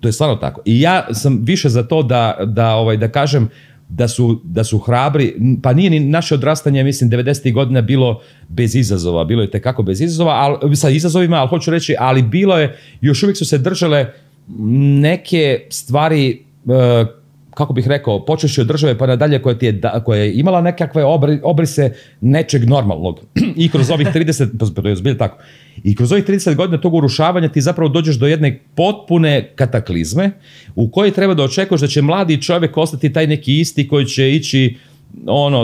To je stvarno tako. I ja sam više za to da kažem da su hrabri, pa nije ni naše odrastanje, mislim, 90. godina bilo bez izazova, bilo je tekako bez izazova, sa izazovima, ali hoću reći, ali bilo je, još uvijek su se držale neke stvari, kako bih rekao, počeši od države pa nadalje, koja je imala nekakve obrise nečeg normalnog. I kroz ovih 30, to je zbilja tako, i kroz ovih 30 godina tog urušavanja ti zapravo dođeš do jedne potpune kataklizme u kojoj treba da očekuješ da će mladi čovjek ostati taj neki isti koji će ići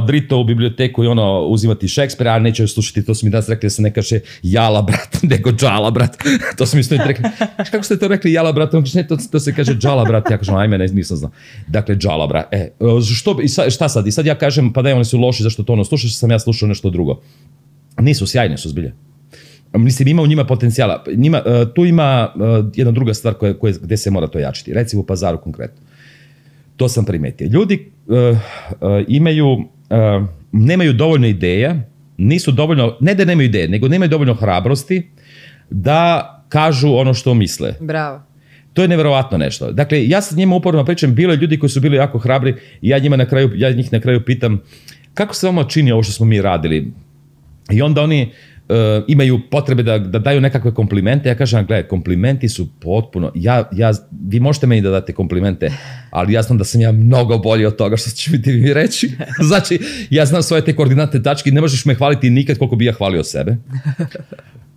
drito u biblioteku i uzimati Šekspira, a neće slušati, to su mi danas rekli da se ne kaže jala brat, nego džala brat. To su mi isto rekli, kako ste to rekli jala brat? Ne, to se kaže džala brat, ja kažem, ajme, nisam znao. Dakle, džala brat. Šta sad? I sad ja kažem, pa da, oni su loši, zašto to slušaš, sam ja slušao nešto drugo. Nisu, sjajne su zbilje. Mislim, ima u njima potencijala. Tu ima jedna druga stvar gde se mora to jačiti. Recimo u Pazaru konkretno. To sam primetio. Ljudi imaju nemaju dovoljno ideja, nisu dovoljno, ne da nemaju ideje, nego nemaju dovoljno hrabrosti da kažu ono što misle. Bravo. To je neverovatno nešto. Dakle, ja sa njima uporno pričam, bilo je ljudi koji su bili jako hrabri i ja njih na kraju pitam kako se vama čini ovo što smo mi radili? I onda oni imaju potrebe da daju nekakve komplimente. Ja kažem, gledaj, komplimenti su potpuno, vi možete meni da date komplimente, ali ja znam da sam ja mnogo bolji od toga što će mi ti vi reći. Znači, ja znam svoje te koordinatne tačke i ne možeš me hvaliti nikad koliko bi ja hvalio sebe.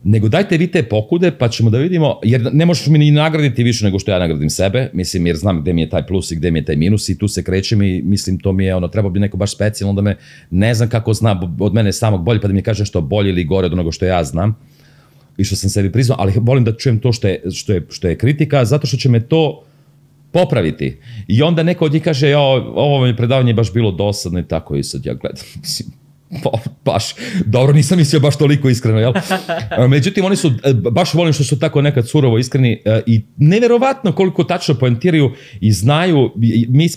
Nego dajte vi te pokude pa ćemo da vidimo, jer ne možeš mi ni nagraditi više nego što ja nagradim sebe, mislim, jer znam gde mi je taj plus i gde mi je taj minus i tu se krećem i mislim to mi je treba bi neko baš specijalno da me ne znam kako zna od mene samog bolje pa da mi kaže što bolje ili gore od onoga što ja znam i što sam sebi priznao, ali volim da čujem to što je kritika zato što će me to popraviti. I onda neko od njih kaže ovo mi predavanje je baš bilo dosadno i tako i sad ja gledam, mislim, baš, dobro, nisam mislio baš toliko iskreno, jel? Međutim, oni su, baš volim što su tako nekad surovo iskreni i neverovatno koliko tačno poentiraju i znaju,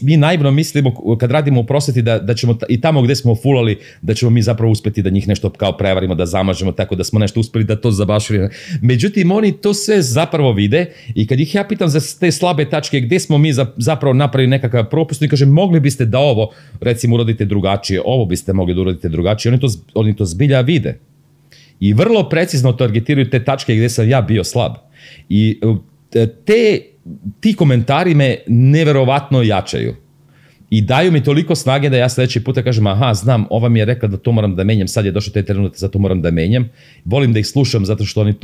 mi naivno mislimo kad radimo u prosveti da ćemo i tamo gde smo fulali, da ćemo mi zapravo uspeti da njih nešto kao prevarimo, da zamažemo tako da smo nešto uspeli da to zabašili. Međutim, oni to sve zapravo vide i kad ih ja pitam za te slabe tačke, gde smo mi zapravo napravili nekakav propust i kažem, mogli biste da ovo, recimo, uradite drugačije, ovo biste mogli da uradite drugačije, oni to zbilja vide. I vrlo precizno targetiraju te tačke gde sam ja bio slab. I ti komentari me neverovatno jačaju. I daju mi toliko snage da ja sledeći puta kažem, aha, znam, ova mi je rekla da to moram da menjam, sad je došao taj trenutak, zato moram da menjam. Volim da ih slušam zato što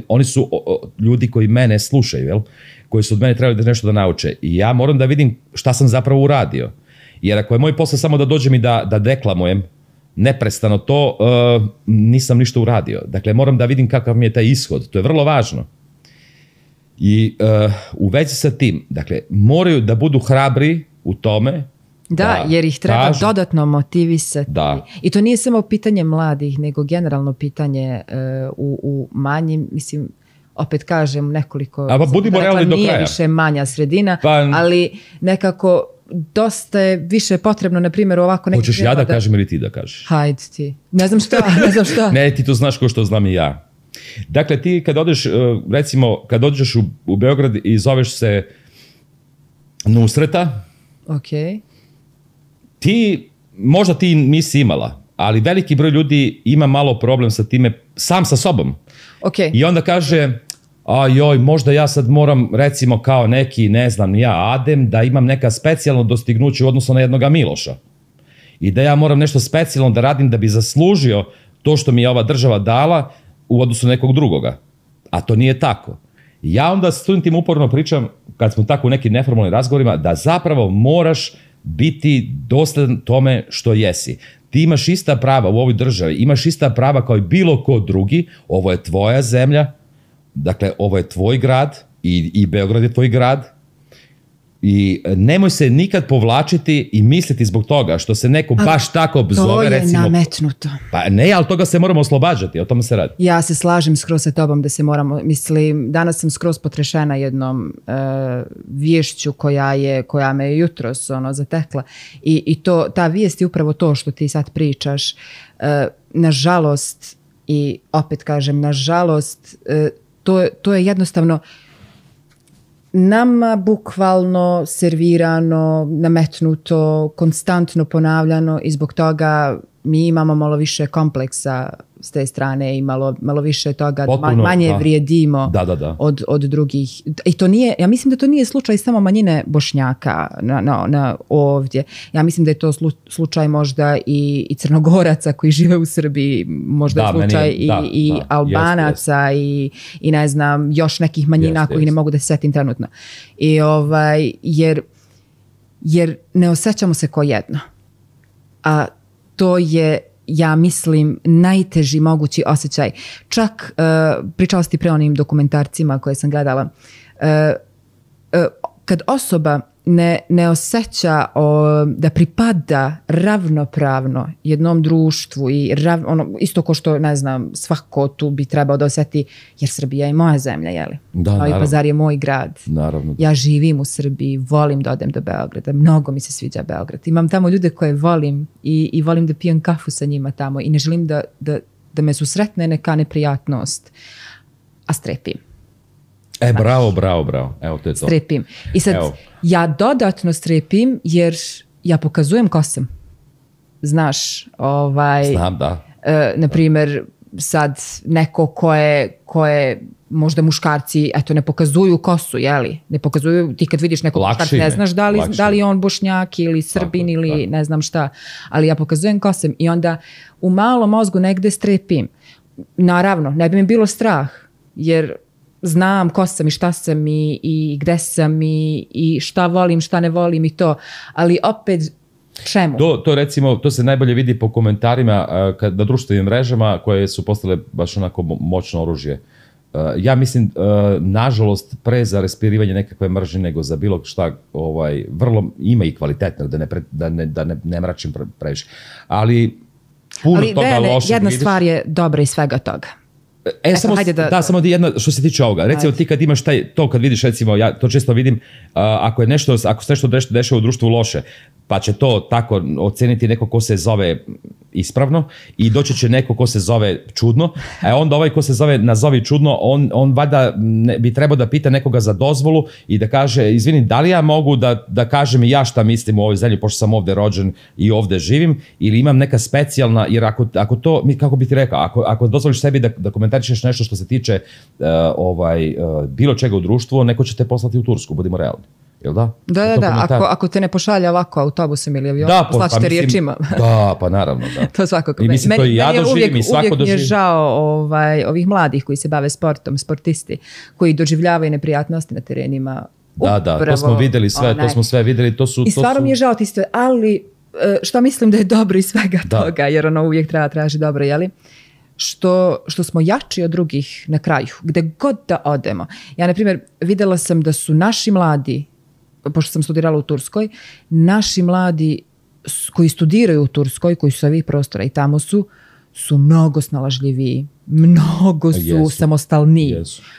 oni su ljudi koji mene slušaju, jel? Koji su od mene trebali nešto da nauče. I ja moram da vidim šta sam zapravo uradio. Jer ako je moj posao samo da dođem i da deklamujem, neprestano to, nisam ništa uradio. Dakle, moram da vidim kakav mi je taj ishod. To je vrlo važno. I u vezi sa tim, dakle, moraju da budu hrabri u tome. Da, jer ih treba dodatno motivisati. Da. I to nije samo pitanje mladih, nego generalno pitanje u manjim, mislim, opet kažem nekoliko, budimo realni do kraja. Nije više manja sredina, ali nekako dosta je više potrebno, na primjer, ovako... Hoćeš ja da kažem ili ti da kažeš? Hajde ti. Ne znam šta. Ne, ti to znaš kao što znam i ja. Dakle, ti kad odeš, recimo, kad dođeš u Beograd i zoveš se Nusreta, možda ti nisi imala, ali veliki broj ljudi ima malo problem sa time, sam sa sobom. I onda kaže... možda ja sad moram, recimo, kao neki, ne znam, ja Adem, da imam neka specijalno dostignuće u odnosu na jednoga Miloša. I da ja moram nešto specijalno da radim da bi zaslužio to što mi je ova država dala u odnosu na nekog drugoga. A to nije tako. Ja onda studentima uporno pričam, kad smo tako u nekim neformalnim razgovorima, da zapravo moraš biti dosledan tome što jesi. Ti imaš ista prava u ovoj državi, imaš ista prava kao i bilo ko drugi, ovo je tvoja zemlja, dakle, ovo je tvoj grad i Beograd je tvoj grad i nemoj se nikad povlačiti i misliti zbog toga što se neko baš tako zove, recimo... To je nametnuto. Pa ne, ali toga se moramo oslobađati, o tome se radi. Ja se slažem skroz sa tobom da se moramo, mislim, danas sam skroz potrešena jednom viješću koja me jutros zatekla i ta vijest je upravo to što ti sad pričaš. Nažalost, i opet kažem, nažalost, to je jednostavno nama bukvalno servirano, nametnuto, konstantno ponavljano i zbog toga mi imamo malo više kompleksa s te strane i malo više toga, manje vrijedimo od drugih. I to nije, ja mislim da to nije slučaj samo manjine Bošnjaka na ovdje. Ja mislim da je to slučaj možda i Crnogoraca koji žive u Srbiji, možda je slučaj i Albanaca i ne znam, još nekih manjina koji ne mogu da se setim trenutno. I jer ne osjećamo se ko jedno. A to je, ja mislim, najteži mogući osjećaj. Čak, pričala si ti pre onim dokumentarcima koje sam gledala, kad osoba ne osjeća da pripada ravnopravno jednom društvu i isto ko što, ne znam, svako tu bi trebao da osjeti, jer Srbija je moja zemlja, jeli? Da, Novi Pazar je moj grad. Naravno. Ja živim u Srbiji, volim da odem do Beograda, mnogo mi se sviđa Beograd. Imam tamo ljude koje volim i volim da pijem kafu sa njima tamo i ne želim da me susretne neka neprijatnost, a strepim. Bravo. Evo, to je to. Strepim. I sad, ja dodatno strepim jer ja pokazujem ko sam. Znaš, Znam, da. Na primjer, sad neko ko je možda muškarci, eto, ne pokazuju kosu, jeli? Ne pokazuju, ti kad vidiš nekog muškarca, ne znaš da li je on Bošnjak ili Srbin ili ne znam šta, ali ja pokazujem ko sam i onda u malom mozgu negde strepim. Naravno, ne bi mi bilo strah, jer znam ko sam i šta sam i gde sam i šta volim, šta ne volim i to, ali opet čemu? To recimo, to se najbolje vidi po komentarima na društvenim mrežama koje su postale baš onako moćno oružje. Ja mislim, nažalost, pre za raspirivanje nekakve mržnje nego za bilo šta, vrlo ima i kvalitetno, da ne mračim previše. Ali puno toga lošeg jedna vidiš. Stvar je dobra iz svega toga. Samo jedna što se tiče ovoga. Recimo ti kad imaš to kad vidiš, recimo ja to često vidim, ako se nešto dešava u društvu loše, pa će to tako oceniti neko ko se zove ispravno i doći će neko ko se zove čudno, a onda ovaj ko se zove nazovi čudno, on valjda bi trebao da pita nekoga za dozvolu i da kaže, izvini, da li ja mogu da kažem i ja šta mislim u ovoj zemlji, pošto sam ovde rođen i ovde živim, ili imam neka specijalna, jer ako to, kako bi ti rekao, ako dozvoliš sebi da komentarišeš nešto što se tiče bilo čega u društvu, neko će te poslati u Tursku, budimo realni. Jel da? Da, ako te ne pošalja ovako autobusom ili avionom, poslaćete riječima. Da, pa naravno, da. To svakako. I mislim, to i ja doživim i svako doživim. Uvijek mi je žao ovih mladih koji se bave sportom, sportisti, koji doživljavaju neprijatnosti na terenima. Da, to smo videli sve, to smo sve videli. I stvarno mi je žao isto, ali što mislim da je dobro iz svega toga, jer ono uvijek treba traži dobro, jeli? Što smo jači od drugih na kraju, gde god da odemo. Ja, na primjer, videla sam da su naši mladi, pošto sam studirala u Turskoj, naši mladi koji studiraju u Turskoj, koji su sa ovih prostora i tamo su mnogo snalažljiviji, mnogo su samostalniji,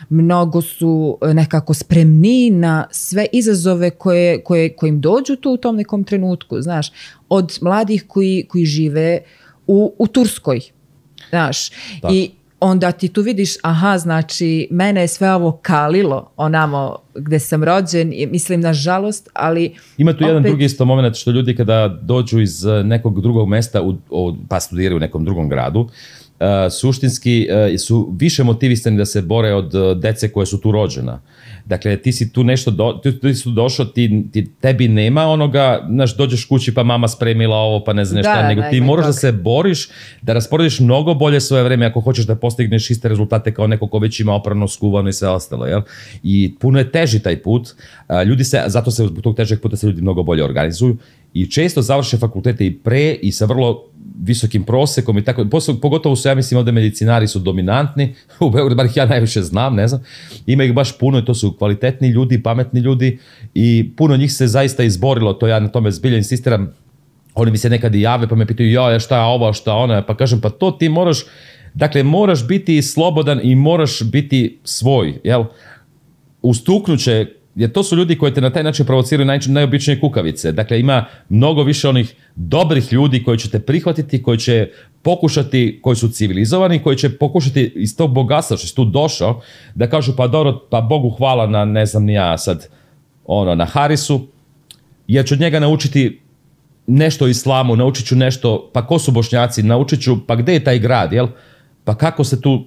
mnogo su nekako spremniji na sve izazove koje im dođu tu u tom nekom trenutku, znaš, od mladih koji žive u Turskoj, znaš, i onda ti tu vidiš, znači, mene je sve ovo kalilo onamo gde sam rođen, mislim, nažalost, ali... Ima tu jedan drugi isto moment, što ljudi kada dođu iz nekog drugog mesta, pa studiraju u nekom drugom gradu, suštinski su više motivisani da se bore od dece koje su tu rođena. Dakle, ti si tu nešto, ti si tu došao, tebi nema onoga, znaš, dođeš kući pa mama spremila ovo, pa ne znam šta, nego ti moraš da se boriš, da rasporediš mnogo bolje svoje vreme ako hoćeš da postigneš iste rezultate kao neko ko već ima oprano, skuvano i sve ostalo, jel? I puno je teži taj put, zato se zbog tog težeg puta se ljudi mnogo bolje organizuju i često završe fakultete i sa vrlo visokim prosekom i tako, pogotovo su, ja mislim, ovde medicinari su dominantni, u Beogradu, bar ih ja najviše znam, ne znam, ima ih baš puno i to su kvalitetni ljudi, pametni ljudi i puno njih se zaista izborilo, to ja na tome zbilja insistiram, oni mi se nekad i jave pa me pitaju, šta je ovo, šta ono, pa kažem, pa to ti moraš biti slobodan i moraš biti svoj, jel? Ustuknuće, jer to su ljudi koji te na taj način provociraju najobičnije kukavice. Dakle, ima mnogo više onih dobrih ljudi koji će te prihvatiti, koji će pokušati, koji su civilizovani, koji će pokušati iz tog bogatstva što si tu došao, da kažu pa dobro, pa Bogu hvala na, ne znam ni ja sad, na Harisu, jer ću od njega naučiti nešto o islamu, naučit ću nešto, pa ko su Bošnjaci, naučit ću, pa gde je taj grad, jel? Pa kako se tu...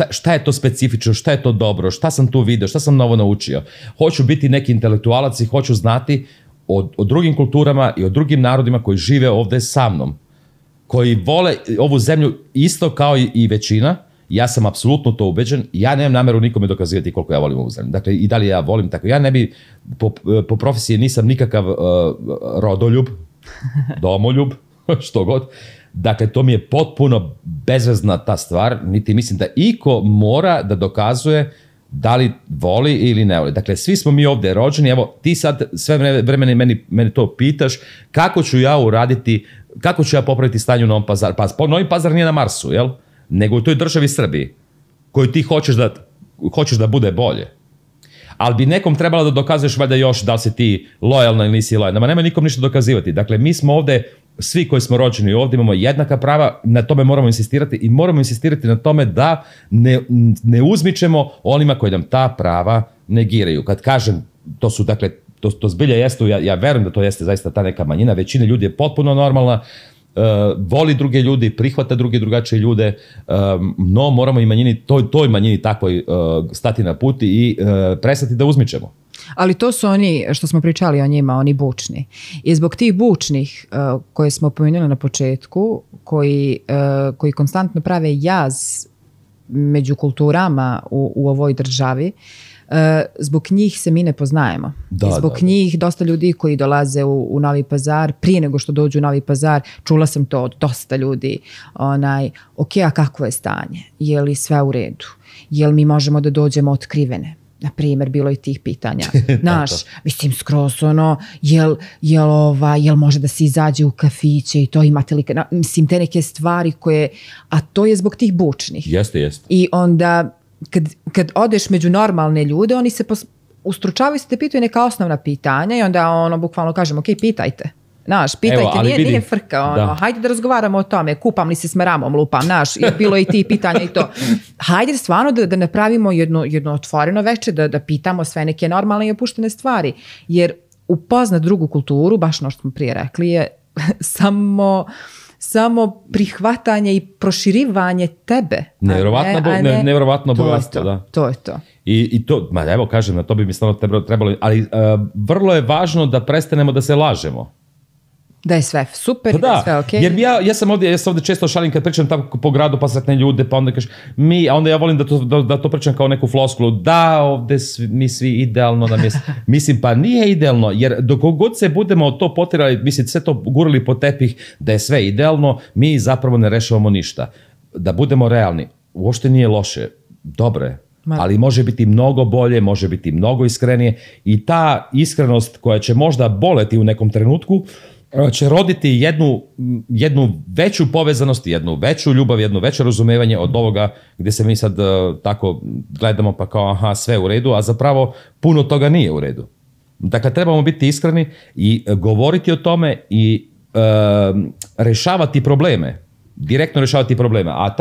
Šta je to specifično, šta je to dobro, šta sam tu vidio, šta sam novo naučio. Hoću biti neki intelektualac i hoću znati o drugim kulturama i o drugim narodima koji žive ovde sa mnom, koji vole ovu zemlju isto kao i većina. Ja sam apsolutno to ubeđen. Ja nemam nameru nikome dokazivati koliko ja volim ovu zemlju. Dakle, i da li ja volim tako. Ja ne bi, po profesiji nisam nikakav rodoljub, domoljub, što god. Dakle, to mi je potpuno bezvezna ta stvar, niti mislim da iko mora da dokazuje Da li voli ili ne voli. Dakle, svi smo mi ovdje rođeni, evo ti sad sve vremena meni to pitaš, kako ću ja uraditi, kako ću ja popraviti stanje u Novom Pazaru. Pa Novi Pazar nije na Marsu, jel? Nego u toj državi Srbiji, koju ti hoćeš da bude bolje. Ali bi nekom trebalo da dokazuješ valjda još da li si ti lojalna ili nisi lojalna. Nema nikom ništa dokazivati. Dakle, mi smo ovdje, svi koji smo rođeni ovdje, imamo jednaka prava, na tome moramo insistirati i moramo insistirati na tome da ne uzmičemo onima koji nam ta prava negiraju. Kad kažem, to su, dakle, to zbilja jeste, ja verujem da to jeste zaista ta neka manjina, većina ljudi je potpuno normalna, voli druge ljudi, prihvata drugačije ljude, no moramo i toj manjini takvoj stati na put i prestati da uzmičemo. Ali to su oni, što smo pričali o njima, oni bučni. I zbog tih bučnih koje smo pomenuli na početku, koji konstantno prave jaz među kulturama u ovoj državi, zbog njih se mi ne poznajemo. Zbog njih dosta ljudi koji dolaze u Novi Pazar, prije nego što dođu u Novi Pazar, čula sam to od dosta ljudi, ok, a kakvo je stanje? Je li sve u redu? Je li mi možemo da dođemo otkrivene? Na primjer, bilo je tih pitanja. Naš, mislim, skroz jel može da se izađe u kafiće i to imate li, mislim, te neke stvari koje, a to je zbog tih bučnih. Jeste. I onda, kad odeš među normalne ljude, oni se ustručavaju, se te pitaju neka osnovna pitanja i onda bukvalno kažemo, ok, pitajte. Naš, pitajte, nije frka, hajde da razgovaramo o tome, kupam li se s meramom, lupam, bilo je i ti pitanja i to. Hajde stvarno da napravimo jedno otvoreno veče, da pitamo sve neke normalne i opuštene stvari, jer upoznat drugu kulturu, baš ono što smo prije rekli, je samo prihvatanje i proširivanje tebe. Nevjerovatno bogatstvo, da. To je to. I to, evo kažem, na to bi mi stvarno trebalo, ali vrlo je važno da prestanemo da se lažemo. Da je sve super, da je sve okej. Jer ja sam ovdje često šalim kad pričam tako po gradu, pa sretne ljude, pa onda kažem a onda ja volim da to pričam kao neku floskulu, da ovdje mi svi idealno nam je, mislim, pa nije idealno, jer dok god se budemo to potirali, mislim, sve to gurali po tepih da je sve idealno, mi zapravo ne rešavamo ništa. Da budemo realni, uopšte nije loše, dobro je. Ali može biti mnogo bolje, može biti mnogo iskrenije i ta iskrenost koja će možda boleti u nekom trenutku će roditi jednu veću povezanost, jednu veću ljubav, jedno veće razumevanje od ovoga gdje se mi sad tako gledamo pa kao aha, sve u redu, a zapravo puno toga nije u redu. Dakle, trebamo biti iskreni i govoriti o tome i rešavati probleme, direktno rešavati probleme, a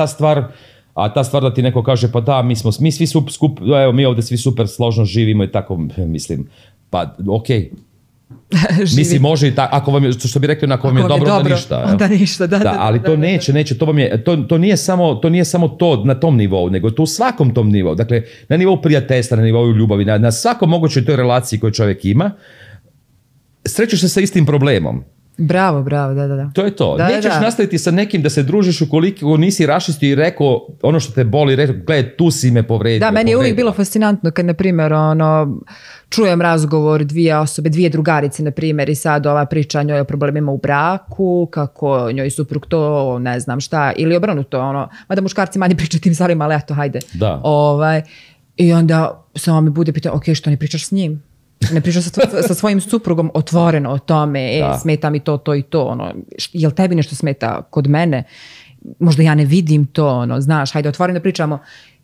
ta stvar da ti neko kaže pa da, mi svi mi ovdje svi super složno živimo i tako, mislim, pa okej. Mislim, može i tako, ako vam je, što bi rekli, ako vam je dobro, onda ništa. Onda ništa, da. Ali to neće, to nije samo to na tom nivou, nego to u svakom tom nivou. Dakle, na nivou prijateljstva, na nivou ljubavi, na svakom mogućoj toj relaciji koju čovjek ima, srećeš se sa istim problemom. Bravo, da. To je to. Nećeš nastaviti sa nekim da se družiš ukoliko nisi raščistio i rekao ono što te boli, rekao, gledaj, tu si me povredio. Da, meni je uvijek bilo fascinantno kad, na primjer, čujem razgovor dvije drugarice, na primjer, i sad ova priča njoj o problemima u braku, kako njoj suprug to, ne znam šta, ili obrnuto, mada muškarci manje pričaju tim stvarima, ali eto, hajde. Da. I onda samo mi bude pitao, ok, što ne pričaš s njim? Ne pričaš sa svojim suprugom otvoreno o tome, smeta mi to i to, jel tebi nešto smeta kod mene? Možda ja ne vidim to, znaš, hajde otvoreno da pričamo.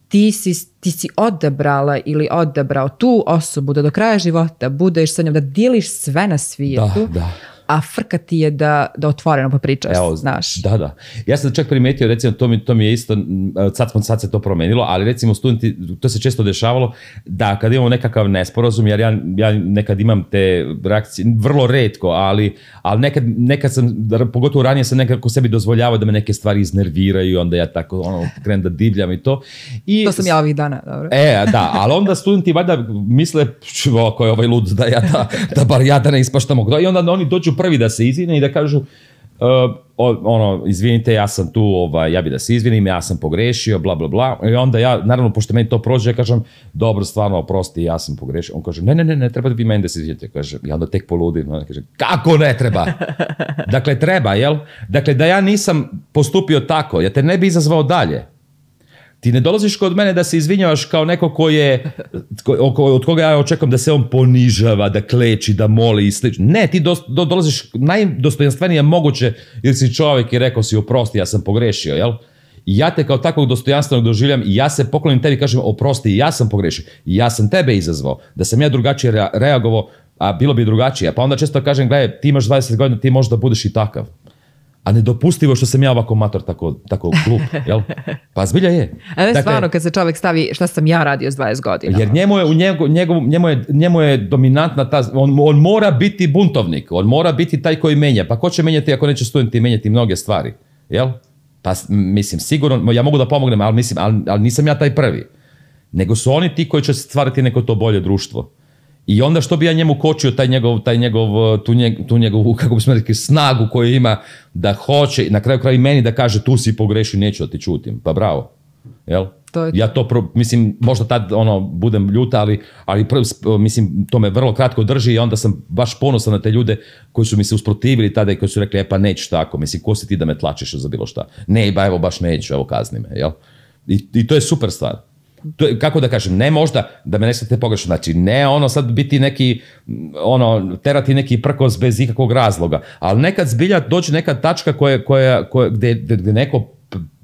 Ti si odabrala ili odabrao tu osobu da do kraja života budeš sa njom, da dijeliš sve na svijetu, a frka ti je da otvoreno popričaš, znaš. Da. Ja sam čak primetio, recimo, to mi je isto, sad se to promenilo, ali recimo studenti, to se često dešavalo, da kad imamo nekakav nesporazum, jer ja nekad imam te reakcije, vrlo retko, ali nekad sam, pogotovo ranije sam nekako sebi dozvoljavao da me neke stvari iznerviraju, onda ja tako krenem da divljam i to. To sam ja ovih dana, dobro. Da, ali onda studenti valjda misle, ko je ovaj lud, da bar ja da ne ispaštam, i onda oni dođu prvi da se izvine i da kažu izvinite, ja sam tu, ja bi da se izvinim, ja sam pogrešio, bla, bla, bla. I onda ja, naravno, pošto meni to prođe, ja kažem, dobro, stvarno, oprosti, ja sam pogrešio. On kaže, ne, treba da vi meni da se izvinite. Kaže, ja onda tek poludim. On kaže, kako ne treba? Dakle, treba, jel? Dakle, da ja nisam postupio tako, ja te ne bi izazvao dalje. Ti ne dolaziš kod mene da se izvinjavaš kao neko od koga ja očekujem da se on ponižava, da kleči, da moli i slično. Ne, ti dolaziš najdostojanstvenije moguće, jer si čovjek i rekao si oprosti, ja sam pogrešio, jel? I ja te kao takvog dostojanstvenog doživljam i ja se poklonim tebi i kažem oprosti, ja sam pogrešio, ja sam tebe izazvao, da sam ja drugačije reagovao, a bilo bi drugačije. Pa onda često kažem, gledaj, ti imaš 20 godina, ti možda budeš i takav. A nedopustivo što sam ja ovako mator, tako glup, jel? Pa zbilja je. Dakle, stvarno kad se čovjek stavi šta sam ja radio s 20 godina. Jer njemu je dominantna on mora biti buntovnik, on mora biti taj koji menja. Pa ko će menjati ako neće studenti menjati mnoge stvari, jel? Pa mislim, sigurno, ja mogu da pomognem, ali nisam ja taj prvi. Nego su oni ti koji će stvarati neko to bolje društvo. I onda što bi ja njemu kočio tu njegovu, kako bismo rekli, snagu koju ima da hoće, na kraju kraja i meni da kaže tu si pogrešio, neću da ti čutim. Pa bravo. Jel? Ja to, mislim, možda tad budem ljuta, ali mislim, to me vrlo kratko drži i onda sam baš ponosan na te ljude koji su mi se usprotivili tada i koji su rekli, pa neću tako, mislim, ko si ti da me tlačiš za bilo šta? Ne, evo baš neću, evo kazni me, jel? I to je super stvar. To je, kako da kažem, ne možda da me ne shvatite pogrešno, znači ne sad biti neki, terati neki prkos bez ikakvog razloga, ali nekad zbilja dođe neka tačka gdje neko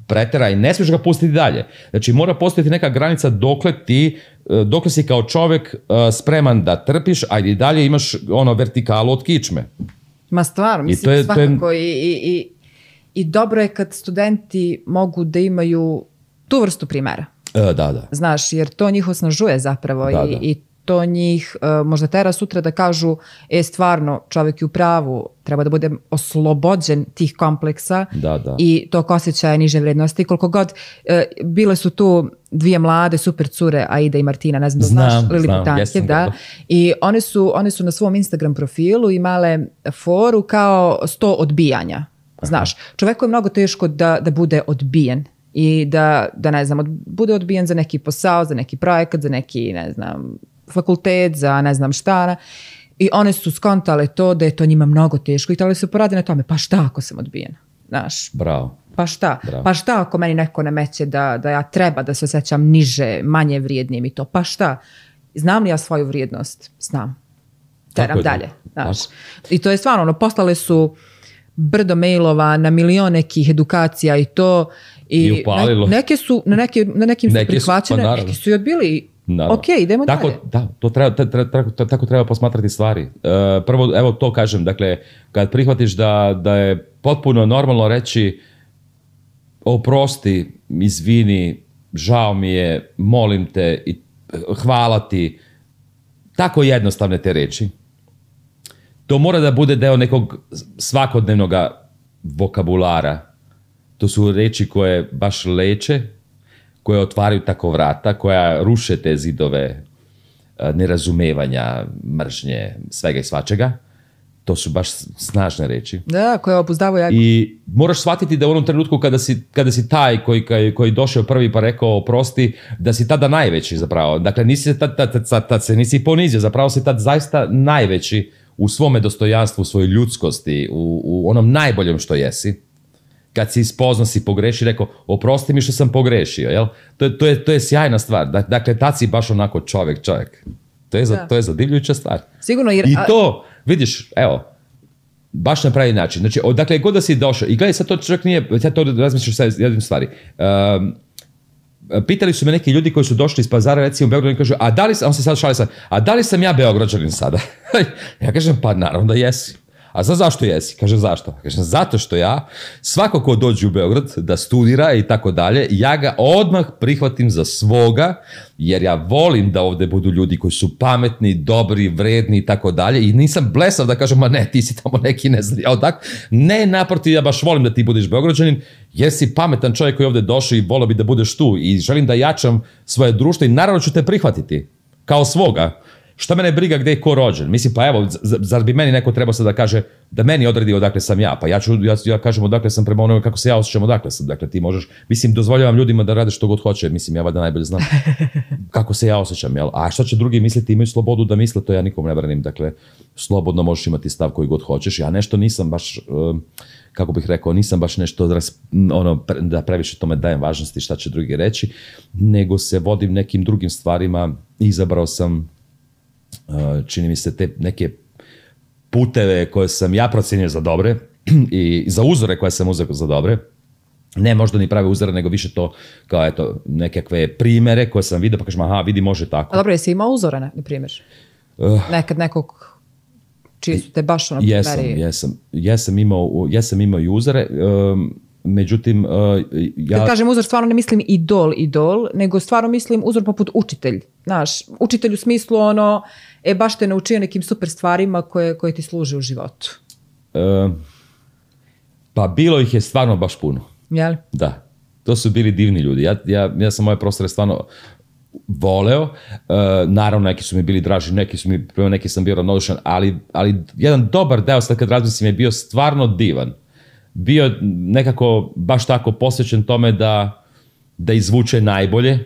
pretera i ne smiješ ga pustiti dalje. Znači mora postojati neka granica dokle si kao čovjek spreman da trpiš, a i dalje imaš vertikalu od kičme. Ma stvarno, mislim svakako i dobro je kad studenti mogu da imaju tu vrstu primjera. Da. Znaš, jer to njih osnažuje zapravo i to njih možda tera sutra da kažu stvarno čovjek je u pravu, treba da bude oslobođen tih kompleksa i tog osjećaja niže vrednosti. Koliko god bile su tu dvije mlade super cure, Aida i Martina, ne znam da znaš, Lili Putanjev, da. I one su na svom Instagram profilu imale foru kao 100 odbijanja. Znaš, čovjeku je mnogo teško da bude odbijen. I da ne znam, bude odbijen za neki posao, za neki projekat, za neki, ne znam, fakultet, za ne znam šta. I one su skontale to da je to njima mnogo teško i htjeli se poradi na tome, pa šta ako sam odbijen? Znaš, bravo. Pa šta? Bravo. Pa šta ako meni neko nameće da ja treba da se osjećam niže, manje vrijednim i to? Pa šta? Znam li ja svoju vrijednost? Znam. Teram dalje. Znaš. I to je stvarno, poslale su brdo mailova na milion nekih edukacija i to. I neke su, na nekim su prihvaćene, neki su i odbili. Ok, idemo dalje. Tako treba posmatrati stvari. Prvo, evo to kažem, dakle, kad prihvatiš da je potpuno normalno reći oprosti, izvini, žao mi je, molim te, hvala ti, tako jednostavne te reči. To mora da bude deo nekog svakodnevnog vokabulara. To su reči koje baš leče, koje otvaraju tako vrata, koja ruše te zidove nerazumevanja, mržnje, svega i svačega. To su baš snažne reči. Da, koje obuzdavaju jako. I moraš shvatiti da u onom trenutku kada si taj koji došao prvi pa rekao oprosti, da si tada najveći zapravo. Dakle, tad se nisi ponizio, zapravo si tad zaista najveći u svome dostojanstvu, u svojoj ljudskosti, u onom najboljem što jesi. Kad si ispoznao, si pogrešio, rekao, oprosti mi što sam pogrešio, jel? To je sjajna stvar. Dakle, tad si baš onako čovjek. To je zadivljujuća stvar. Sigurno, I to, vidiš, evo, baš na pravi način. Znači, odakle god da si došao, i gledaj, sad to čovjek nije, sad to razmišljaš sa jednim stvari. Pitali su me neki ljudi koji su došli iz Pazara, recimo u Beogradu, i kažu, on se sad šali sad, a da li sam ja Beograđanin sada? Ja kažem, pa naravno da jesi. A zašto jesi? Kaže, zašto? Kaže, zato što ja, svako ko dođe u Beograd da studira i tako dalje, ja ga odmah prihvatim za svoga, jer ja volim da ovde budu ljudi koji su pametni, dobri, vredni i tako dalje, i nisam blesav da kažem, ma ne, ti si tamo neki ne znam, ne, naprotiv, ja baš volim da ti budeš Beograđanin, jer si pametan čovjek koji je ovde došao i volio bi da budeš tu i želim da jačam svoje društvo i naravno ću te prihvatiti kao svoga. Šta mene briga gde je ko rođen? Mislim, pa evo, zar bi meni neko trebao sad da kaže da meni odredi odakle sam ja? Pa ja kažem odakle sam prema onome kako se ja osjećam odakle sam. Dakle, ti možeš, mislim, dozvoljavam ljudima da rade što god hoće. Mislim, ja valjda najbolje znam kako se ja osjećam. Jel? A šta će drugi misliti? Imaju slobodu da misle, to ja nikom ne branim. Dakle, slobodno možeš imati stav koji god hoćeš. Ja nešto nisam baš, kako bih rekao, nisam baš nešto da previše tome dajem važnosti šta će drugi reći, nego se vodim nekim drugim stvarima. Izabrao sam, čini mi se, te neke puteve koje sam ja procenio za dobre i za uzore koje sam uzeo za dobre. Ne možda ni prave uzore, nego više to kao eto nekakve primere koje sam vidio pa kažem aha, vidi može tako. A dobro, jesi imao uzore, na primjer? Nekad nekog čiji su te baš ono primeri? Jesam imao i uzore, međutim Kad kažem uzor, stvarno ne mislim idol, nego stvarno mislim uzor poput učitelj. Znaš, učitelj u smislu ono, baš te naučio nekim super stvarima koje ti služe u životu. Pa bilo ih je stvarno baš puno. Jel? Da, to su bili divni ljudi. Ja sam moje prostore stvarno voleo. Naravno, neki su mi bili draži, neki sam bio ravnodušan, ali jedan dobar deo, sad kad razmislim, je bio stvarno divan. Bio nekako baš tako posvećen tome da izvuče najbolje.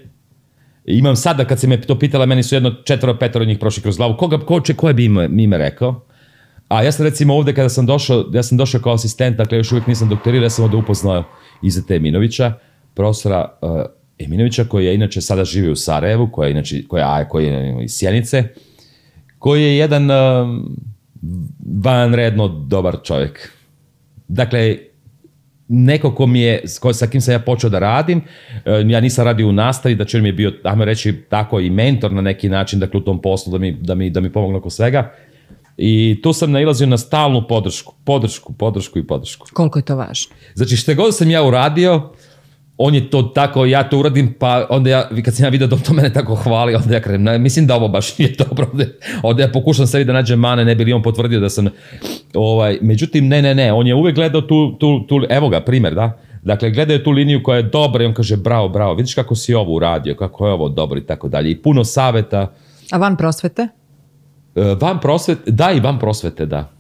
Imam sada, kad se me to pitala, meni su 4-5 njih prošli kroz glavu. Koje bi ime rekao? A ja sam recimo ovde kada sam došao kao asistent, dakle još uvijek nisam doktorirao, ja sam ovde upoznao Izeta Eminovića, profesora Eminovića, koji je inače sada živi u Sarajevu, koji je iz Sjenice, koji je jedan vanredno dobar čovjek. Dakle, neko sa kim sam ja počeo da radim, ja nisam radio u nastavi, da mi je bio, ajmo reći, tako i mentor na neki način, dakle u tom poslu da mi pomogne oko svega. I tu sam nailazio na stalnu podršku. Koliko je to važno? Znači, što god sam ja uradio, on je to tako, ja to uradim, pa onda kad sam ja vidio da to mene tako hvali, onda ja krenem, mislim da ovo baš nije dobro, onda ja pokušam sebi da nađem mane, ne bi li on potvrdio da sam, međutim, ne, on je uvijek gledao tu, evo ga, primjer, da, dakle, gledao je tu liniju koja je dobra i on kaže, bravo, vidiš kako si ovo uradio, kako je ovo dobro i tako dalje, i puno savjeta. A van prosvete? I van prosvete, da.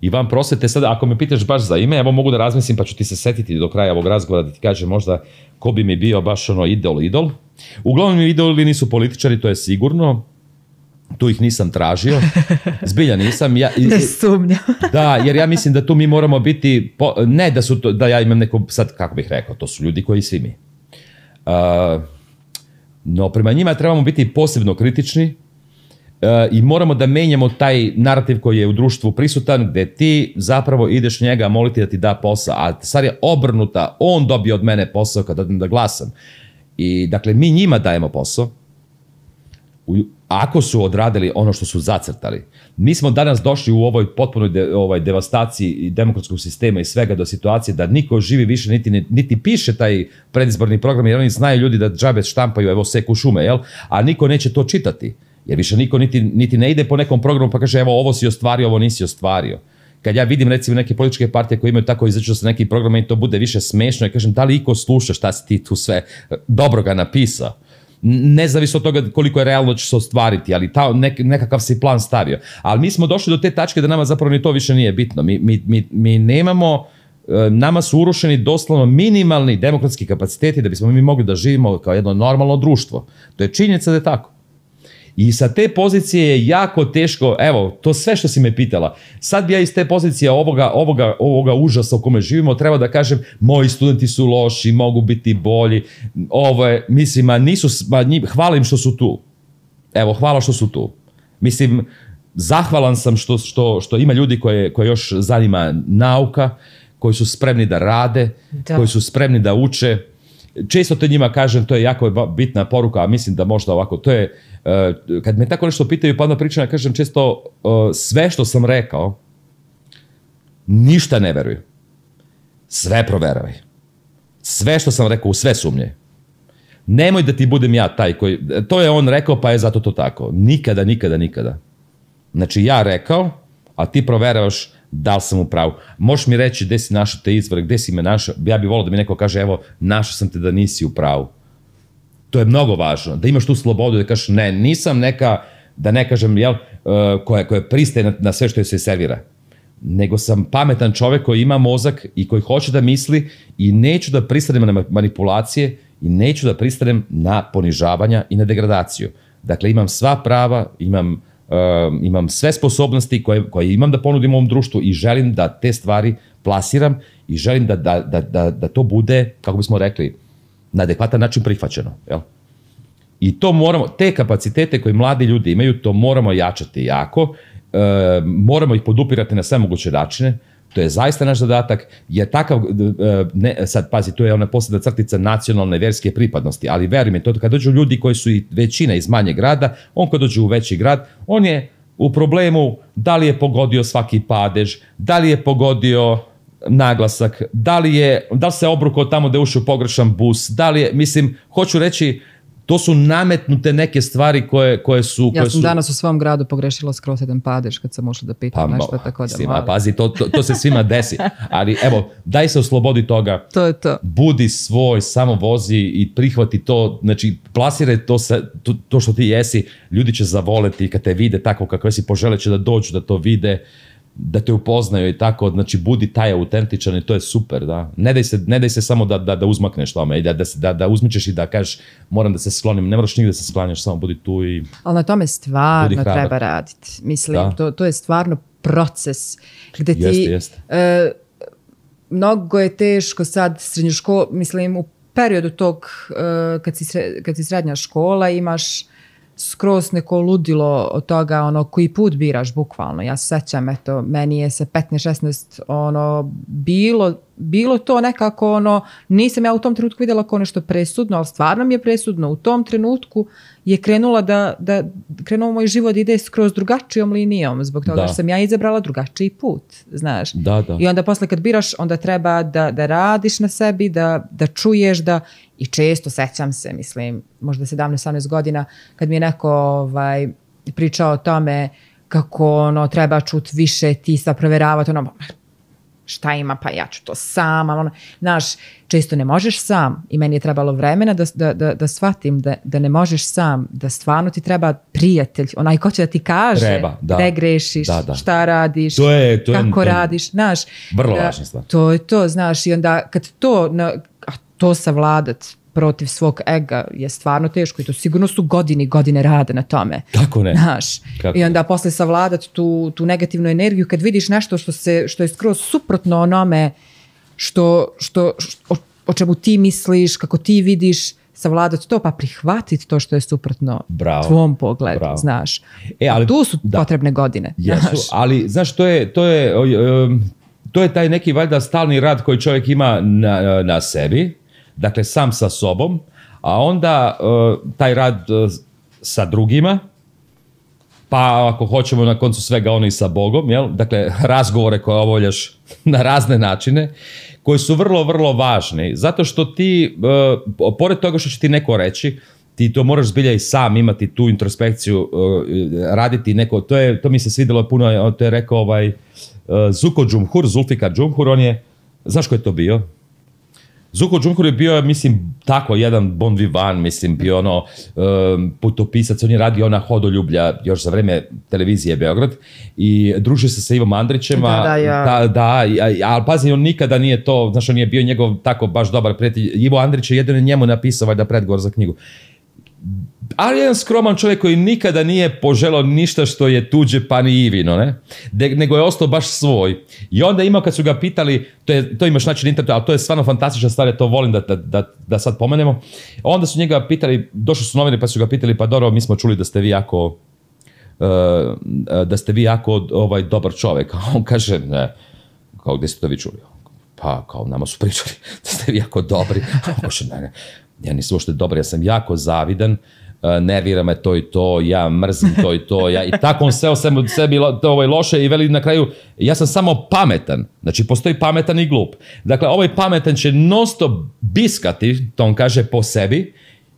I van prosvete, sad ako me pitaš baš za ime, evo mogu da razmislim pa ću ti se setiti do kraja ovog razgovora da ti kažem možda ko bi mi bio baš ono idol. Uglavnom mi idoli nisu političari, to je sigurno. Tu ih nisam tražio. Zbilja nisam. Ne sumnjam. Da, jer ja mislim da tu mi moramo biti, ne da ja imam neko, sad kako bih rekao, to su ljudi koji svi mi. No prema njima trebamo biti posebno kritični, i moramo da menjamo taj narativ koji je u društvu prisutan, gde ti zapravo ideš njega moliti da ti da posao, a stvar je obrnuta, on dobije od mene posao kada odem da glasam. I dakle, mi njima dajemo posao, ako su odradili ono što su zacrtali. Mi smo danas došli u ovoj potpunoj devastaciji demokratskog sistema i svega do situacije da niko živi više niti piše taj predizborni program, jer oni znaju ljudi da džabe štampaju, evo seku šume, jel? A niko neće to čitati. Jer više niko niti ne ide po nekom programu pa kaže evo ovo si ostvario, ovo nisi ostvario. Kad ja vidim recimo neke političke partije koje imaju tako izađu sa nekim programima i to bude više smešno i kažem da li iko sluša šta si ti tu sve dobro ga napisao. Nezavisno od toga koliko je realno će se ostvariti, ali nekakav si plan stavio. Ali mi smo došli do te tačke da nama zapravo ni to više nije bitno. Mi nemamo, nama su urušeni doslovno minimalni demokratski kapaciteti da bismo mi mogli da živimo kao jedno normalno društvo. To je činjenica da je tako. I sa te pozicije je jako teško, evo, to sve što si me pitala, sad bi ja iz te pozicije ovoga užasa u kome živimo treba da kažem, moji studenti su loši, mogu biti bolji, mislim, hvala im što su tu. Evo, hvala što su tu. Mislim, zahvalan sam što ima ljudi koje još zanima nauka, koji su spremni da rade, koji su spremni da uče. Često to njima kažem, to je jako bitna poruka, a mislim da možda ovako, to je, kad me tako nešto pitaju, pa onda pričam, ja kažem često, sve što sam rekao, ništa ne veruj. Sve proveravaj. Sve što sam rekao, u sve sumnje. Nemoj da ti budem ja taj koji, to je on rekao, pa je zato to tako. Nikada. Znači ja rekao, a ti proveravaš da li sam u pravu. Možeš mi reći gde si našao te izvore, gde si me našao, ja bih volio da mi neko kaže, evo, našao sam te da nisi u pravu. To je mnogo važno, da imaš tu slobodu da kažeš, ne, nisam neka da ne kažem, koja pristaje na sve što joj se servira. Nego sam pametan čovjek koji ima mozak i koji hoće da misli i neću da pristanem na manipulacije i neću da pristanem na ponižavanja i na degradaciju. Dakle, imam sva prava, imam sve sposobnosti koje imam da ponudim ovom društvu i želim da te stvari plasiram i želim da to bude, kako bismo rekli, na adekvatan način prihvaćeno. Jel? I to moramo, te kapacitete koje mladi ljudi imaju, to moramo jačati jako, moramo ih podupirati na sve moguće načine. To je zaista naš zadatak, jer takav, sad pazi, to je ona posljedna crtica nacionalne verske pripadnosti, ali veruj mi, to kad dođu ljudi koji su i većina iz manjeg grada, on kad dođe u veći grad, on je u problemu da li je pogodio svaki padež, da li je pogodio naglasak, da li se obrukao tamo da je ušao pogrešan bus, da li je, mislim, hoću reći, to su nametnute neke stvari koje su... Ja sam danas u svom gradu pogrešila skroz jedan padež kad sam ušla da pitam nešto, tako da malo... Pazi, to se svima desi. Ali evo, daj se oslobodi toga. To je to. Budi svoj, samo vozi i prihvati to. Znači, plasiraj to što ti jesi. Ljudi će zavoleti kad te vide tako kako si, poželit će da dođu, da to vide, da te upoznaju i tako, znači budi taj autentičan i to je super, da. Ne daj se samo da uzmakneš tome i da uzmičeš i da kažeš moram da se sklonim, ne moraš nigde da se sklanjaš, samo budi tu i... Ali na tome stvarno treba raditi, mislim, to je stvarno proces gde ti... Jeste. Mnogo je teško sad srednjoškolu, mislim, u periodu tog kad si srednja škola imaš skroz neko ludilo od toga, ono, koji put biraš, bukvalno. Ja se sećam, eto, meni je sa 15-16, ono, bilo to nekako, ono, nisam ja u tom trenutku vidjela kao nešto presudno, ali stvarno mi je presudno. U tom trenutku je krenuo moj život ide skroz drugačijom linijom, zbog toga što sam ja izabrala drugačiji put, znaš. I onda posle kad biraš, onda treba da radiš na sebi, da čuješ, i često sećam se, mislim, možda 17-18 godina, kad mi je neko pričao o tome kako ono, treba čut više, ti sad provjeravati, ono, šta ima, pa ja ću to sam, ono, znaš, često ne možeš sam i meni je trebalo vremena da shvatim da ne možeš sam, da stvarno ti treba prijatelj, onaj ko će da ti kaže gde grešiš, šta radiš, kako radiš, znaš. Vrlo važna stvar. To je to, znaš, i onda kad to savladat protiv svog ega je stvarno teško i to sigurno su godine rada na tome. Kako ne? Znaš, i onda posle savladat tu negativnu energiju kad vidiš nešto što je skroz suprotno onome o čemu ti misliš, kako ti vidiš, savladat to, pa prihvatiti to što je suprotno tvom pogledu, znaš. Ali tu su potrebne godine. Jesu, ali znaš, to je taj neki valjda stalni rad koji čovjek ima na sebi, dakle sam sa sobom, a onda taj rad sa drugima, pa ako hoćemo na koncu svega ono i sa Bogom, jel? Dakle razgovore koje obavljaš na razne načine, koji su vrlo, vrlo važni, zato što ti, pored toga što će ti neko reći, ti to moraš zbilja i sam imati tu introspekciju, raditi neko, to mi se svidjelo puno, to je rekao Zuko Džumhur, Zulfikar Džumhur, on je, znaš ko je to bio? Zuko Džumhur je bio, mislim, tako jedan bon vivant, mislim, bio ono putopisac, on je radio ona Hodoljublja još za vreme televizije Beograd i družio se sa Ivom Andrićem, ali pazi, on nikada nije to, znaš, on je bio njegov tako baš dobar prijatelj. Ivo Andrić je jedino njemu napisao valjda predgovor za knjigu. Ali jedan skroman čovjek koji nikada nije poželao ništa što je tuđe pa ni Ivino, ne? Nego je ostao baš svoj. I onda imao kad su ga pitali, to imaš naći na internetu, ali to je stvarno fantastična stvar, ja to volim da sad pomenemo. Onda su njega pitali, došli su novine pa su ga pitali, pa dobro, mi smo čuli da ste vi jako dobar čovjek. A on kaže, ne, kao gdje ste to vi čuli? Pa kao nama su pričali da ste vi jako dobri. A on kaže, ne, ja nisam uopšte dobar, ja sam jako zavidan, nervira me to i to, ja mrzim to i to, i tako on seo sebi loše i veli na kraju, ja sam samo pametan, znači postoji pametan i glup. Dakle, ovaj pametan će non-stop biskati, to on kaže, po sebi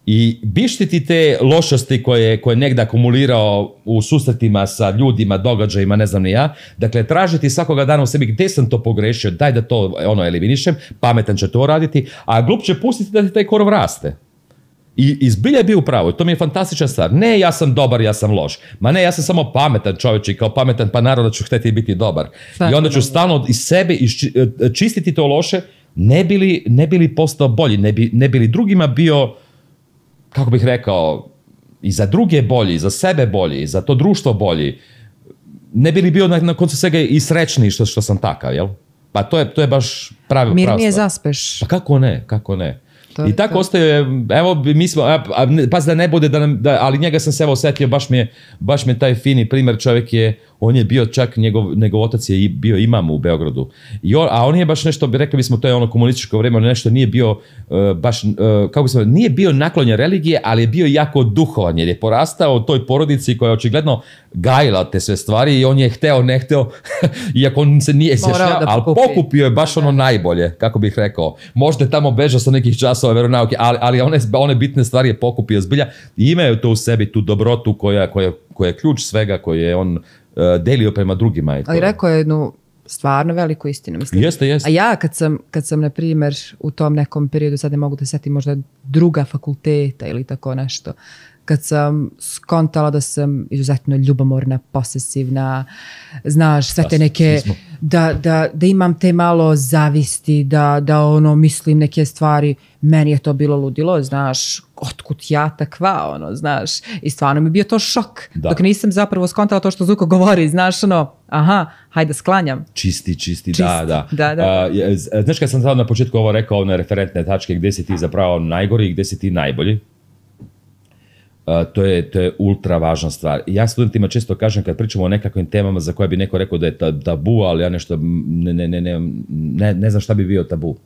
i bištiti te lošosti koje je negdje akumulirao u susretima sa ljudima, događajima, ne znam ni ja. Dakle, tražiti svakoga dana u sebi gdje sam to pogrešio, daj da to eliminišem, pametan će to raditi, a glup će pustiti da ti taj korov raste. I zbilja je bio upravo, to mi je fantastična stvar. Ne, ja sam dobar, ja sam loš. Ma ne, ja sam samo pametan čovječ i kao pametan pa naravno ću htjeti biti dobar. I onda ću stalno iz sebe čistiti to loše, ne bili postao bolji, ne bili drugima bio, kako bih rekao, i za druge bolji, i za sebe bolji, i za to društvo bolji. Ne bili bio na koncu svega i srećniji što sam takav, jel? Pa to je baš pravi mir nije zaspeš. Pa kako ne. I tako ostaje, evo, mi smo, da ne bude, ali njega sam se evo osjetio, baš mi je taj fini primjer, čovjek on je bio čak, njegov otac je bio imam u Beogradu, a on je baš nešto, rekli bismo, to je ono komunističko vrijeme, nešto nije bio baš, kako bismo, nije bio naklonjen religije, ali je bio jako duhovan, jer je porastao u toj porodici koja je očigledno gajila te sve stvari i on je hteo, ne hteo, iako on se nije izjašnjavao, ali pokupio je baš ono najbolje, kako bih rekao. Možda je tamo bežao sa nekih časova veronauke, ali one bitne stvari je pokupio zbilja i imaju to u sebi, tu dobrotu koja je ključ svega, koje je on delio prema drugima. Ali rekao je jednu stvarno veliku istinu. Mislim. Jeste. A ja kad sam, na primjer, u tom nekom periodu, sad ne mogu da setim možda druga fakulteta ili tako nešto, kad sam skontala da sam izuzetno ljubomorna, posesivna, znaš, sve te neke, da imam te malo zavisti, da ono, mislim neke stvari, meni je to bilo ludilo, znaš, otkud ja takva, ono, znaš, i stvarno mi je bio to šok, dok nisam zapravo skontala to što Zuko govori, znaš, ono, aha, hajde sklanjam. Čisti, da. Znaš kad sam sad na početku ovo rekao, one referentne tačke, gdje si ti zapravo najgori i gdje si ti najbolji, to je ultra važna stvar. Ja studentima često kažem kad pričamo o nekakvim temama za koje bi neko rekao da je tabu, ali ja nešto ne znam šta bi bio tabu.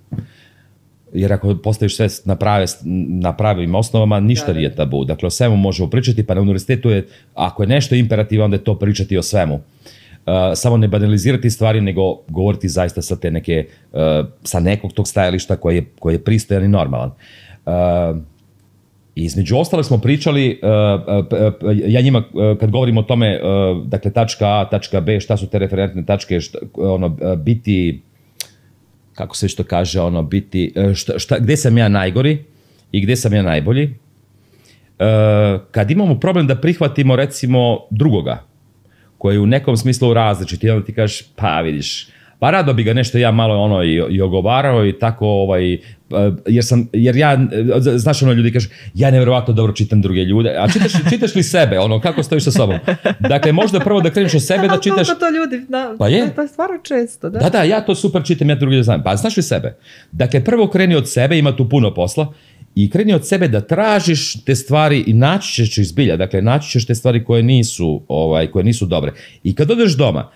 Jer ako postaviš sve na pravim osnovama, ništa nije tabu. Dakle, o svemu možemo pričati, pa na univerzitetu je, ako je nešto imperativ, onda je to pričati o svemu. Samo ne banalizirati stvari, nego govoriti zaista sa te neke, sa nekog tog stajališta koji je pristojan i normalan. Između ostalog smo pričali, ja njima kad govorim o tome, dakle tačka A, tačka B, šta su te referentne tačke, biti, kako se što kaže, biti, gdje sam ja najgori i gdje sam ja najbolji. Kad imamo problem da prihvatimo recimo drugoga, koji je u nekom smislu različit, i onda ti kažeš, pa vidiš, pa rado bi ga nešto ja malo i ogovarao i tako, jer ja, znaš ljudi kažu, ja nevjerovatno dobro čitam druge ljude, a čitaš li sebe, kako stojiš sa sobom? Dakle, možda prvo da kreneš od sebe da čitaš... Koliko to ljudi, pa je. To je stvarno često, da? Da, ja to super čitam, ja drugi znam, pa znaš li sebe? Dakle, prvo kreni od sebe, ima tu puno posla, i kreni od sebe da tražiš te stvari i naći ćeš izbilja, dakle, naći ćeš te stvari koje nisu dobre. I kad odeš doma,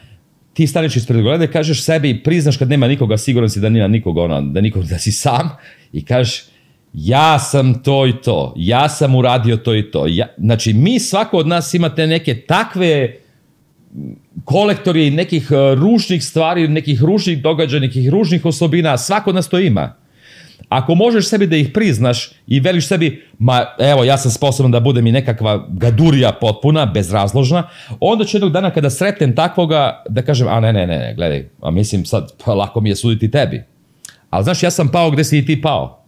ti staneš ispred gleda i kažeš sebi i priznaš kad nema nikoga, siguran si da nema nikoga, da si sam i kažeš ja sam to i to, ja sam uradio to i to. Znači, svako od nas ima te neke takve kolektori nekih ružnih stvari, nekih ružnih događaja, nekih ružnih osobina, svako od nas to ima. Ako možeš sebi da ih priznaš i veliš sebi, ma evo ja sam sposoban da budem i nekakva gadurija potpuna, bezrazložna, onda ću jednog dana kada sretnem takvoga da kažem, a ne, gledaj, a mislim sad lako mi je suditi tebi. Ali znaš, ja sam pao gdje si i ti pao.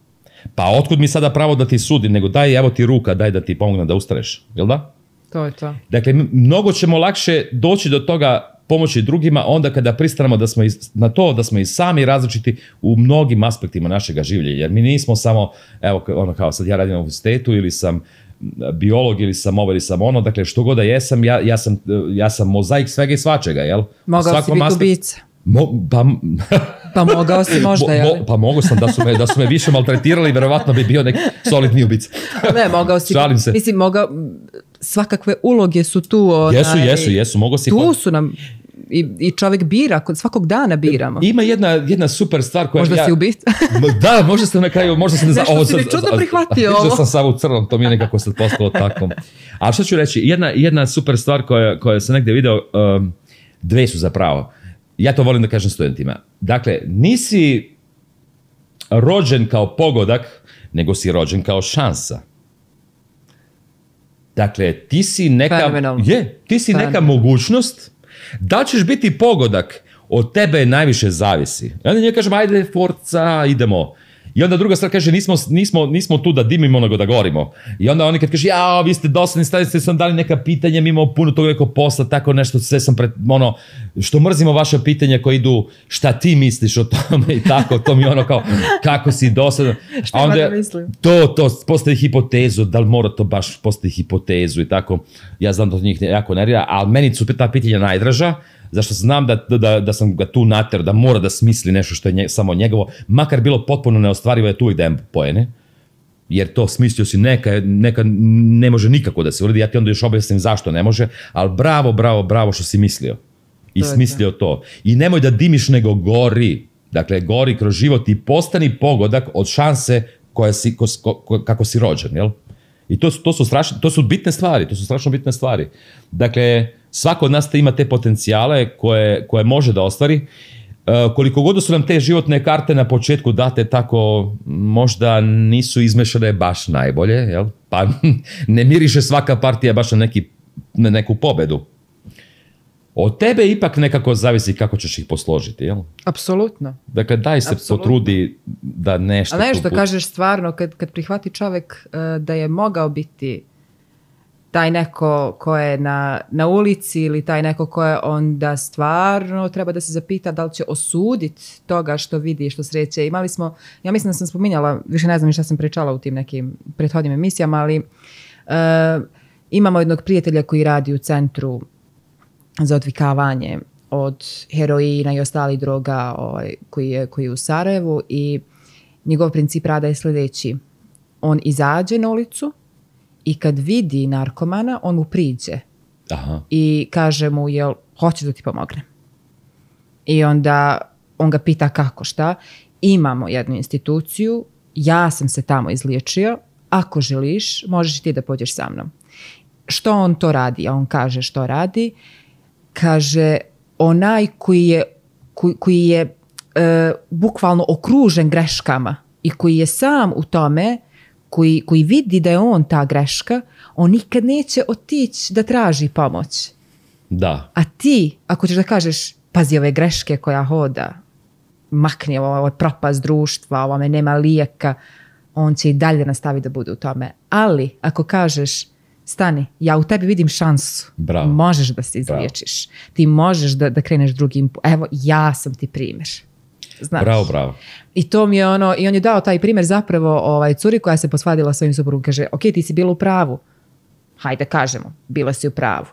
Pa otkud mi sada pravo da ti sudim, nego daj evo ti ruka, daj da ti pomogne da ustaneš, jel da? To je to. Dakle, mnogo ćemo lakše doći do toga pomoći drugima onda kada pristanemo na to da smo i sami različiti u mnogim aspektima našega življenja. Jer mi nismo samo, evo, kao sad ja radim u univerzitetu ili sam biolog ili sam ovo ili sam ono, dakle što god da jesam, ja sam mozaik svega i svačega, jel? Mogao si biti ubica. Pa mogao si možda, jel? Pa mogao sam, da su me više maltretirali, verovatno bi bio neki solidni ubica. Ne, mogao si. Šalim se. Mislim, svakakve uloge su tu. Jesu, mogao si. Tu su nam, i čovjek bira, svakog dana biramo. Ima jedna super stvar koja... Možda si ubica. Da, možda sam na kraju, nešto si mi čudno prihvatio ovo. Možda sam samo u crnom, to mi je nekako sad postalo tako. Ali što ću reći, jedna super stvar koja sam negdje video, dve su zapravo. Ja to volim da kažem studentima. Dakle, nisi rođen kao pogodak, nego si rođen kao šansa. Dakle, ti si neka mogućnost. Da ćeš biti pogodak, od tebe najviše zavisi. I onda njega kažem, ajde, forca, idemo. I onda druga stvar kaže, nismo tu da dimimo, nego da gorimo. I onda oni kad kaže, ja, vi ste dosadni, ste sam dali neka pitanja, mi imamo puno toga nekog posla, tako nešto, sve sam što mrzimo vaše pitanja koji idu, šta ti misliš o tome i tako, to mi kao, kako si dosadan. Šta ima da mislim? To, postavi hipotezu, da li mora to baš postavi hipotezu i tako. Ja znam da to njih jako nervira, ali meni su ta pitanja najdraža, zašto znam da sam ga tu nater, da mora da smisli nešto što je samo njegovo, makar bilo potpuno neostvarivo, je tu uvijek dajem poene, jer to smislio si neka ne može nikako da se uradi, ja ti onda još objasnim zašto ne može, ali bravo što si mislio i smislio to. I nemoj da dimiš, nego gori, dakle gori kroz život i postani pogodak od šanse kako si rođen, jel? I to su bitne stvari, to su strašno bitne stvari. Dakle, svako od nas ima te potencijale koje može da ostvari. Koliko god su nam te životne karte na početku date tako, možda nisu izmešane baš najbolje, jel? Pa ne miriše svaka partija baš na neku pobedu. Od tebe ipak nekako zavisi kako ćeš ih posložiti, jel? Apsolutno. Dakle, daj se potrudi da nešto... A nešto kažeš stvarno, kad prihvati čovjek da je mogao biti taj neko ko je na ulici ili taj neko ko je onda stvarno treba da se zapita da li će osuditi toga što vidi, što sreće. Imali smo, ja mislim da sam spominjala, više ne znam šta sam pričala u tim nekim prethodnim emisijama, ali imamo jednog prijatelja koji radi u centru za odvikavanje od heroina i ostalih droga koji je u Sarajevu i njegov princip rada je sljedeći. On izađe na ulicu i kad vidi narkomana, on mu priđe. Aha. I kaže mu, jel hoćeš da ti pomognem? I onda on ga pita kako, šta. Imamo jednu instituciju, ja sam se tamo izliječio, ako želiš, možeš i ti da pođeš sa mnom. Što on to radi? A on kaže što radi. Kaže, onaj koji je bukvalno okružen greškama i koji je sam u tome, koji vidi da je on ta greška, on nikad neće otići da traži pomoć. Da. A ti, ako ćeš da kažeš, pazi ove greške koja hoda, makni ovo propast društva, ovo me nema lijeka, on će i dalje nastaviti da bude u tome. Ali, ako kažeš, stani, ja u tebi vidim šansu. Bravo. Možeš da se izliječiš. Bravo. Ti možeš da kreneš drugim. Evo, ja sam ti primjer. Znaš. Bravo. I to mi je i on je dao taj primjer zapravo curi koja se posvadila svojim suprugom. Kaže, ok, ti si bila u pravu. Hajde kažemo, bila si u pravu.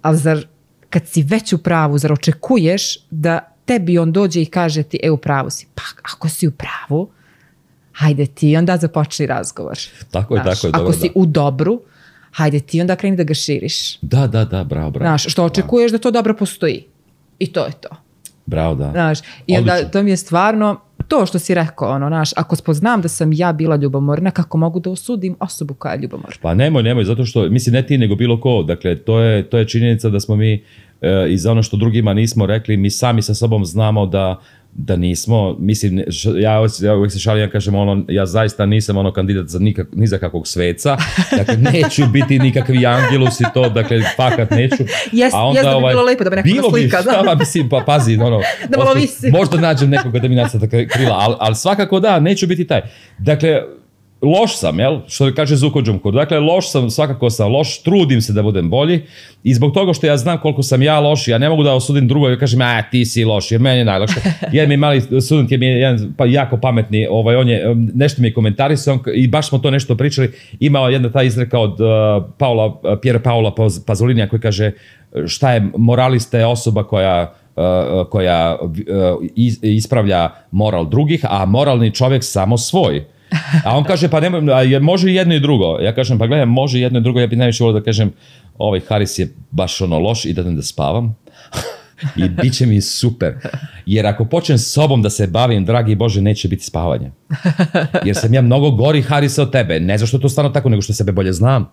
Ali zar, kad si već u pravu, zar očekuješ da tebi on dođe i kaže ti, u pravu si. Pa ako si u pravu, hajde ti onda započni razgovor. Tako je, tako je. Ako si u dobru, hajde ti onda kreni da ga širiš. Da, bravo. Znaš, što očekuješ da to dobro postoji. I to je to. Bravo, da. Znaš, i onda to mi je stvarno to što si rekao, znaš, ako spoznam da sam ja bila ljubomorna, kako mogu da osudim osobu koja je ljubomorna? Pa nemoj, zato što, mislim, ne ti nego bilo ko, dakle, to je činjenica da smo mi i za ono što drugima nismo rekli, mi sami sa sobom znamo da nismo, mislim, ja uvijek se šalim, ja kažem, ja zaista nisam kandidat ni za kakvog sveca, dakle, neću biti nikakvi angelus i to, dakle, fakat neću. Jes da bi bilo lepo da bi neko slika, da. Mislim, pa pazi, da malo visi. Možda nađem nekoga da mi nacrta krila, ali svakako da, neću biti taj. Dakle, loš sam, jel? Što kaže Zuko Džumkur. Dakle, loš sam, svakako sam loš, trudim se da budem bolji i zbog toga što ja znam koliko sam ja loš, ja ne mogu da osudim drugog i kažem, ti si loš, jer meni je najlakše. Jedan mi mali student je jedan jako pametni, on je, nešto mi je komentarisao i baš smo to nešto pričali, imao jedna ta izreka od Piera Paola Pazolinija koji kaže, šta je moralista je osoba koja ispravlja moral drugih, a moralni čovjek samo svoj. A on kaže, pa može jedno i drugo. Ja kažem, pa gledaj, može jedno i drugo. Ja bih najviše volio da kažem, Haris je baš loš, idem da spavam. I bit će mi super. Jer ako počnem s sobom da se bavim, dragi Bože, neće biti spavanje. Jer sam ja mnogo gori Harisa od tebe. Ne zašto to stvarno tako, nego što sebe bolje znam.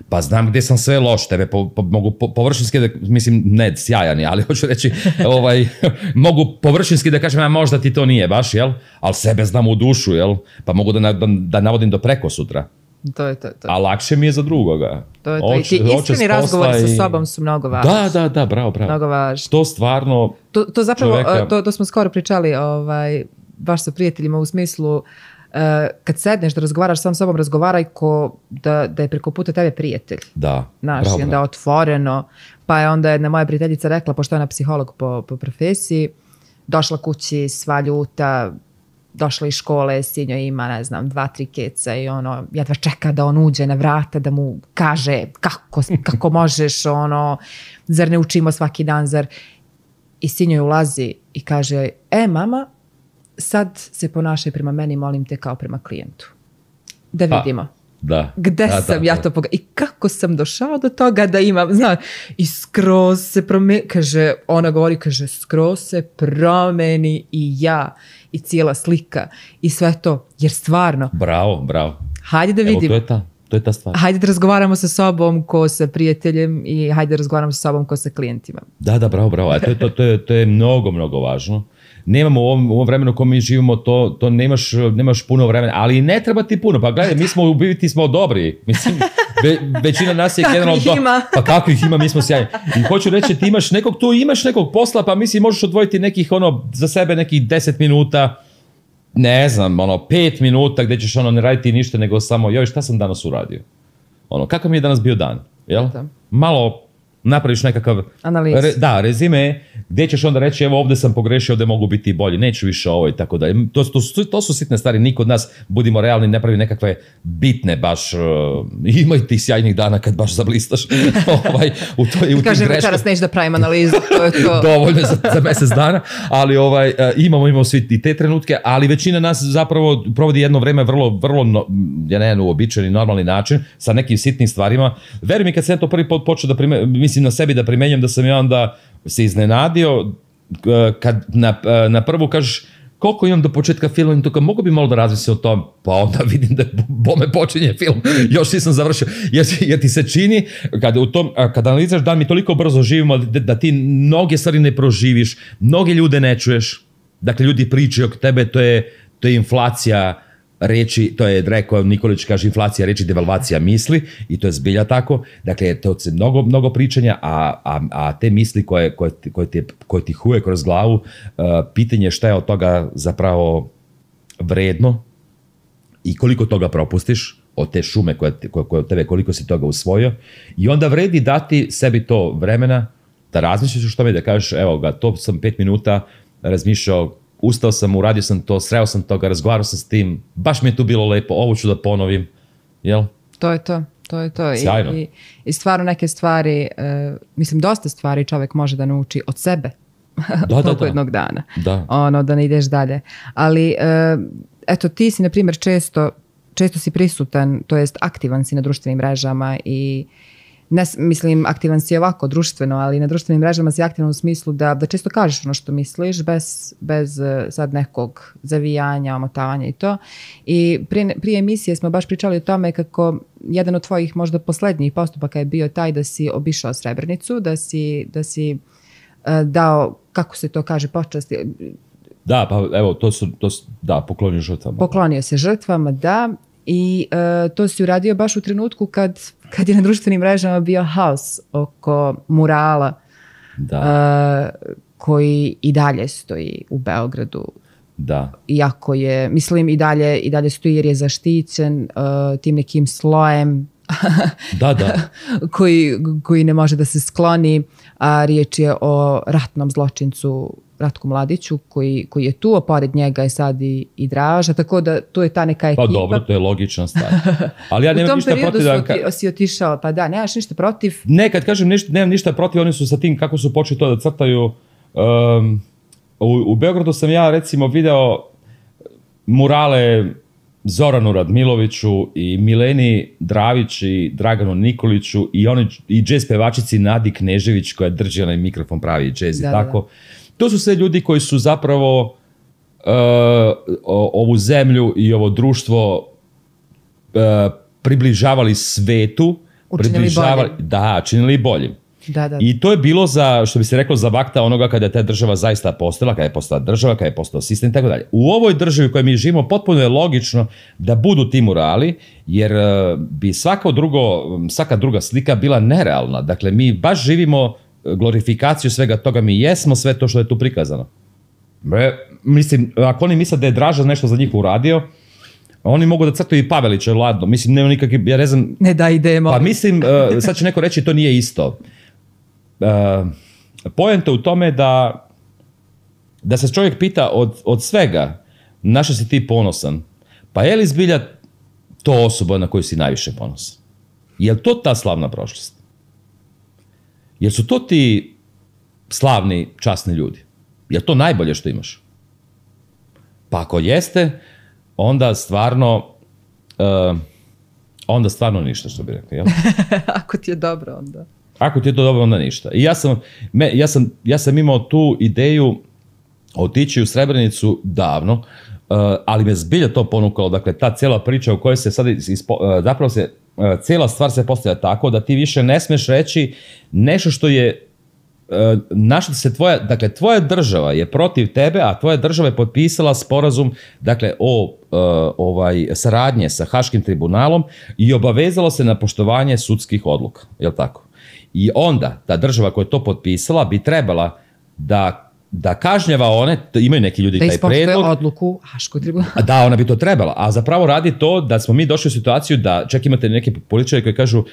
Pa znam gdje sam sve loš, tebe mogu površinski, mislim, ne sjajan, ali hoću reći, mogu površinski da kažem, možda ti to nije baš, jel? Ali sebe znam u dušu, jel? Pa mogu da navodim do preko sutra. To je. A lakše mi je za drugoga. To je. I ti iskreni razgovori sa sobom su mnogo važni. Da, bravo. Mnogo važni. To stvarno... To zapravo, to smo skoro pričali, baš sa prijateljima u smislu, kad sedneš da razgovaraš sam sobom, razgovaraj ko da je preko puta tebe prijatelj. Da, znaš, i onda otvoreno. Pa je onda jedna moja prijateljica rekla, pošto je ona psiholog po profesiji, došla kući sva ljuta, došla iz škole, sinjo ima, ne znam, 2-3 keca i ono, jedva čeka da on uđe na vrata, da mu kaže kako možeš, ono, zar ne učimo svaki dan, zar... I sinjo je ulazi i kaže, mama, sad se ponašaj prema meni, molim te, kao prema klijentu. Da vidimo. Gde sam ja to i kako sam došao do toga da imam, znaš, i skroz se promeni, kaže, ona govori, kaže, skroz se promeni i ja, i cijela slika, i sve to, jer stvarno. Bravo. Hajde da vidimo. Evo, to je ta stvar. Hajde da razgovaramo sa sobom ko sa prijateljem i hajde da razgovaramo sa sobom ko sa klijentima. Da, bravo. To je mnogo, mnogo važno. Nemamo u ovom vremenu u kojem mi živimo, to nemaš puno vremena, ali ne treba ti puno. Pa gledaj, mi smo u biti smo dobri. Mislim, većina nas je generalno... Pa kako ih ima, mi smo sjajni. I hoću reći, ti imaš nekog posla, pa mislim možeš odvojiti nekih, za sebe nekih 10 minuta, ne znam, 5 minuta gdje ćeš ne raditi ništa, nego samo, joj, šta sam danas uradio? Kakav mi je danas bio dan? Jel? Malo napraviš nekakav rezime, gdje ćeš onda reći, evo ovdje sam pogrešio, ovdje mogu biti bolji, neću više ovo i tako dalje. To su sitne stvari, niko od nas, budimo realni, ne pravi nekakve bitne baš, ima i tih sjajnih dana kad baš zablistaš. Kažem, večeras neću da pravim analizu, to je to. Dovoljno za mjesec dana, ali imamo svi i te trenutke, ali većina nas zapravo provodi jedno vreme vrlo, uobičajeni, normalni način, sa nekim sitnim stvarima. Veruj mi, kad sam to prvi put počeo da mislim na sebi da primenjam, da sam ja onda se iznenadio kad na prvu kažeš koliko imam do početka filma i to mogu bi malo da razmislim o tom, pa onda vidim da bome počinje film, još nisam završio, jer ti se čini kad analiziraš dan, mi toliko brzo živimo da ti mnoge stvari ne proživiš, mnoge ljude ne čuješ, dakle ljudi pričaju oko tebe, to je inflacija reči, to je rekao Nikolić, kaže inflacija reči, devalvacija misli, i to je zbilja tako. Dakle, to je mnogo pričanja, a te misli koje ti huje kroz glavu, pitanje šta je od toga zapravo vredno i koliko toga propustiš od te šume koje od tebe, koliko si toga usvojio, i onda vredi dati sebi to vremena da razmišljaš o tome, da kažeš, evo ga, to sam 5 minuta razmišljao, ustao sam, uradio sam to, sreo sam toga, razgovarao sam s tim, baš mi je tu bilo lepo, ovo ću da ponovim, jel? To je to. Sjajno. I stvarno neke stvari, mislim, dosta stvari čovjek može da nauči od sebe. Toliko jednog dana. Da ne ideš dalje. Ali, eto, ti si, na primjer, često si prisutan, to jest aktivan si na društvenim mrežama i ne, mislim, aktivan si ovako društveno, ali na društvenim mrežama si aktivan u smislu da često kažeš ono što misliš bez sad nekog zavijanja, omotavanja i to. I prije emisije smo baš pričali o tome kako jedan od tvojih možda posljednjih postupaka je bio taj da si obišao Srebrenicu, da si dao, kako se to kaže, počasti. Da, pa evo, poklonio žrtvama. Poklonio se žrtvama, da. I to si uradio baš u trenutku kad je na društvenim mrežama bio haos oko murala koji i dalje stoji u Beogradu. Da. Iako je, mislim, i dalje stoji jer je zaštićen tim nekim slojem koji ne može da se skloni, a riječ je o ratnom zločincu Ratku Mladiću koji je tu, a pored njega je sad i Draža, tako da to je ta neka ekipa. Pa dobro, to je logična stvar. Ali ja nemam ništa protiv da... U tom periodu si otišao, pa da, nemaš ništa protiv? Ne, kad kažem nemam ništa protiv, oni su sa tim kako su počeli to da crtaju. U Beogradu sam ja recimo video murale Zoranu Radmiloviću i Mileni Dravić i Draganu Nikoliću i džez pevačici Nadi Knežević koja drži onaj mikrofon, pravi džez i tako. To su sve ljudi koji su zapravo ovu zemlju i ovo društvo približavali svetu. Činili boljim. I to je bilo za, što bi se reklo, za vakta onoga kada je ta država zaista postala, kada je postala država, kada je postao sistem i tako dalje. U ovoj državi u kojoj mi živimo potpuno je logično da budu ti murali, jer bi svaka druga slika bila nerealna. Dakle, mi baš živimo glorifikaciju svega toga, mi jesmo sve to što je tu prikazano. Mislim, ako oni misle da je Draža nešto za njih uradio, Oni mogu da crtaju i Pavelića, ladno. Mislim, nema nikakve, ja ne znam... Ne da idemo. Pa mislim, sad će neko reći to nije isto. Poenta u tome da se čovjek pita od svega na što si ti ponosan, pa je li zbilja to osoba na koju si najviše ponosan? Je li to ta slavna prošlost? Jer su to ti slavni, časni ljudi? Je li to najbolje što imaš? Pa ako jeste, onda stvarno ništa, što bi rekli. Jel? Ako ti je dobro, onda. Ako ti je to dobro, onda ništa. I ja sam imao tu ideju otići u Srebrenicu davno, ali me zbilja to ponukalo. Dakle, ta cijela priča u kojoj se sad zapravo cijela stvar se postavlja tako da ti više ne smeš reći nešto što je na što se tvoja država je protiv tebe, a tvoja država je potpisala sporazum, dakle, o saradnje sa Haškim tribunalom i obavezalo se na poštovanje sudskih odluka, je li tako? I onda ta država koja je to potpisala bi trebala da kažnjava one, imaju neki ljudi taj predlog. Da ispoštuje odluku Haškog tribunala. Da, ona bi to trebala, a zapravo radi to da smo mi došli u situaciju da čak imate neke političare koji kažu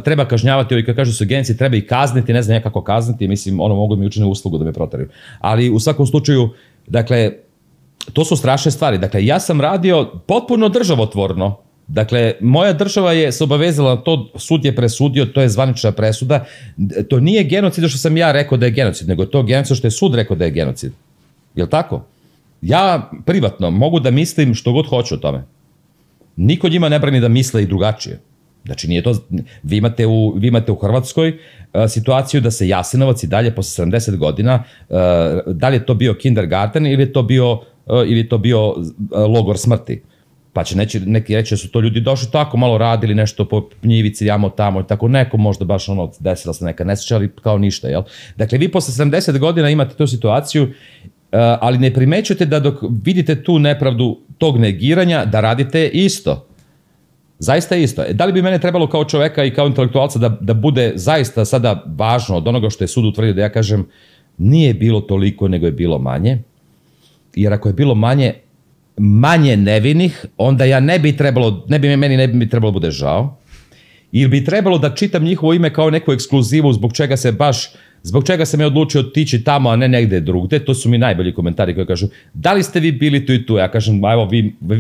treba kažnjavati, ovi koji kažu su genci, treba ih kazniti, ne znam ja kako kazniti, mislim, mogu mi učiniti uslugu da me proteraju. Ali u svakom slučaju, dakle, to su strašne stvari. Dakle, ja sam radio potpuno državotvorno. Dakle, moja država je se obavezala na to, sud je presudio, to je zvanična presuda. To nije genocid što sam ja rekao da je genocid, nego to genocid što je sud rekao da je genocid. Jel' tako? Ja privatno mogu da mislim što god hoću o tome. Niko njima ne brani da misle i drugačije. Znači, nije to... Vi imate u Hrvatskoj situaciju da se Jasenovac i dalje posle 70 godina, da li je to bio kindergarten ili je to bio logor smrti. Pa će neki reći da su to ljudi došli tako, malo radili nešto po njivici, jamo tamo i tako, neko možda baš desila se neka nesreća, ali kao ništa, jel? Dakle, vi posle 70 godina imate tu situaciju, ali ne primećujete da dok vidite tu nepravdu tog negiranja, da radite isto. Zaista isto. Da li bi mene trebalo kao čoveka i kao intelektualca da bude zaista sada važno od onoga što je sud utvrdio, da ja kažem nije bilo toliko, nego je bilo manje, jer ako je bilo manje nevinih, onda ja ne bi trebalo bude žao, ili bi trebalo da čitam njihovo ime kao neku ekskluzivu zbog čega sam ja odlučio otići tamo, a ne negde drugde. To su mi najbolji komentari koji kažu, da li ste vi bili tu i tu? Ja kažem, evo,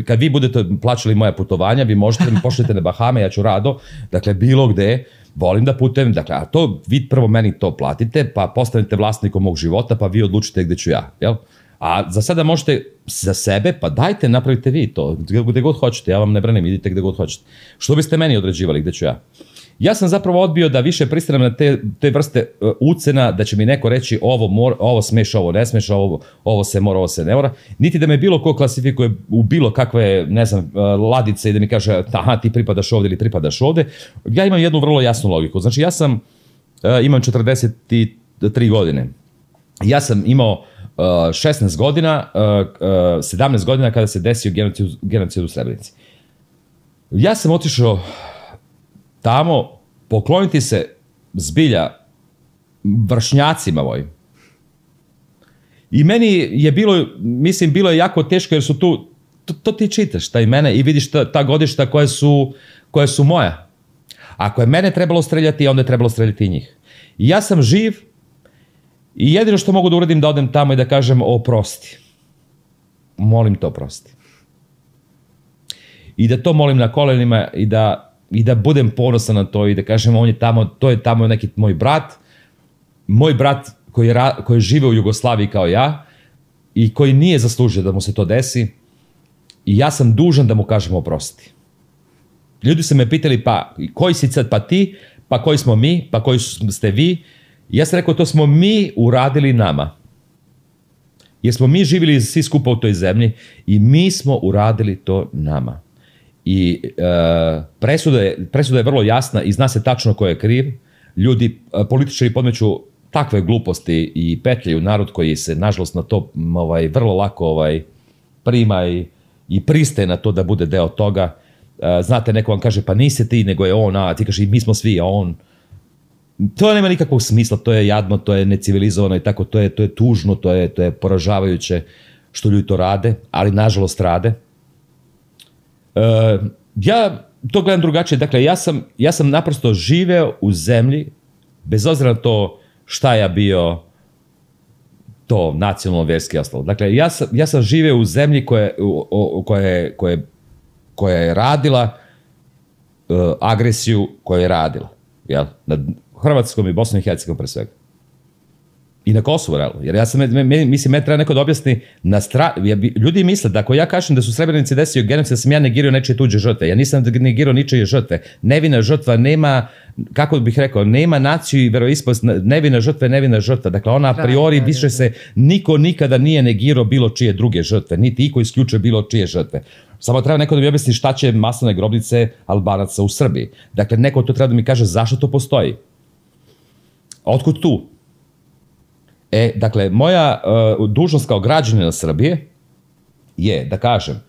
kad vi budete plaćali moja putovanja, vi možete mi pošljete na Bahame, ja ću rado, dakle, bilo gde, volim da putujem, dakle, a to vi prvo meni to platite, pa postanete vlasnikom mog života, pa vi odlučite gde ću ja, jel? A za sada možete za sebe, pa dajte, napravite vi to, gde god hoćete, ja vam ne branim, idite gde god hoćete. Što biste meni određivali, gde ću ja? Ja sam zapravo odbio da više pristanem na te vrste ucena, da će mi neko reći ovo smeš, ovo ne smeš, ovo se mora, ovo se ne mora, niti da me bilo ko klasifikuje u bilo kakve, ne znam, ladice i da mi kaže, aha, ti pripadaš ovde ili pripadaš ovde. Ja imam jednu vrlo jasnu logiku. Znači, imam 43 godine. Ja sam imao 16 godina, 17 godina kada se desio genocid u Srebrenici. Ja sam otišao tamo pokloniti se zbilja vršnjacima mojim. I meni je bilo je jako teško jer su tu, to ti čitaš, ta imena i vidiš ta godišta koja su moja. Ako je mene trebalo streljati, onda je trebalo streljati i njih. I ja sam živ i jedino što mogu da uradim da odem tamo i da kažem oprosti. Molim te oprosti. I da to molim na kolenima i da budem ponosan na to i da kažem on je tamo, to je tamo neki moj brat koji žive u Jugoslaviji kao ja i koji nije zaslužio da mu se to desi i ja sam dužan da mu kažem oprosti. Ljudi su me pitali pa koji si sad pa ti, pa koji smo mi, pa koji ste vi. Ja sam rekao to smo mi uradili nama. Jer smo mi živjeli svi skupa u toj zemlji i mi smo uradili to nama. I presuda je vrlo jasna i zna se tačno ko je kriv. Ljudi, političari podmeću takve gluposti i petljaju narod koji se nažalost na to vrlo lako prima i pristaje na to da bude deo toga. Znate, neko vam kaže pa nisi ti nego je on, a ti kaže mi smo svi, a on. To nema nikakvog smisla, to je jadno, to je necivilizovano i tako, to je tužno, to je poražavajuće što ljudi to rade, ali nažalost rade. Ja to gledam drugačije. Dakle, ja sam naprosto živeo u zemlji, bez obzira na to šta ja bio, to nacionalno, vjerski i ostalo. Dakle, ja sam živeo u zemlji koja je radila agresiju koju je radila. Jel? Nad Hrvatskom i Bosnom i Hercegovinom pre svega. I na Kosovu, realno. Jer ja sam, mislim, me treba neko da objasni ljudi misle da ako ja kažem da su Srebrenici desio genocid, da sam ja negirao nečije tuđe žrtve. Ja nisam negirao ničije žrtve. Nevina žrtva nema, kako bih rekao, nema naciju i veroispovest, nevina žrtva. Dakle, ona a priori više se niko nikada nije negirao bilo čije druge žrtve, niti iko isključuje bilo čije žrtve. Samo treba neko da mi objasni šta će masovne grobnice Albanaca u Srbiji. Dakle, neko to treba da mi kaže zašto to postoji. Otkud tu? Dakle, moja dužnost kao građanina Srbije je da kažem,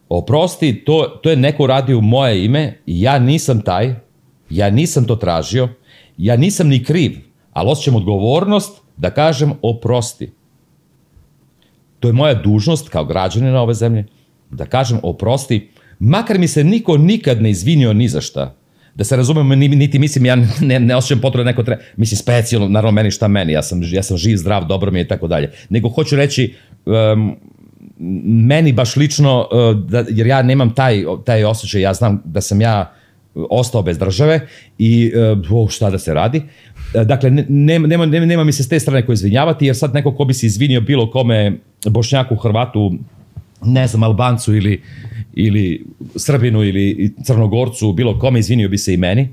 oprosti, to je neko uradio u moje ime i ja nisam taj, ja nisam to tražio, ja nisam ni kriv, ali osjećam odgovornost da kažem oprosti. To je moja dužnost kao građanina ove zemlje, da kažem oprosti, makar mi se niko nikad ne izvinio ni za šta. Da se razumemo, niti mislim, ja ne osjećam potrebu da neko treba, mislim, specijalno, naravno meni šta meni, ja sam živ, zdrav, dobro mi je i tako dalje. Nego hoću reći, meni baš lično, jer ja nemam taj osjećaj, ja znam da sam ja ostao bez države i šta da se radi. Dakle, nema mi se s te strane ko izvinjavati, jer sad neko ko bi se izvinio bilo kome, Bošnjaku, Hrvatu, ne znam, Albancu ili Srbinu ili Crnogorcu, bilo kome, izvinio bi se i meni.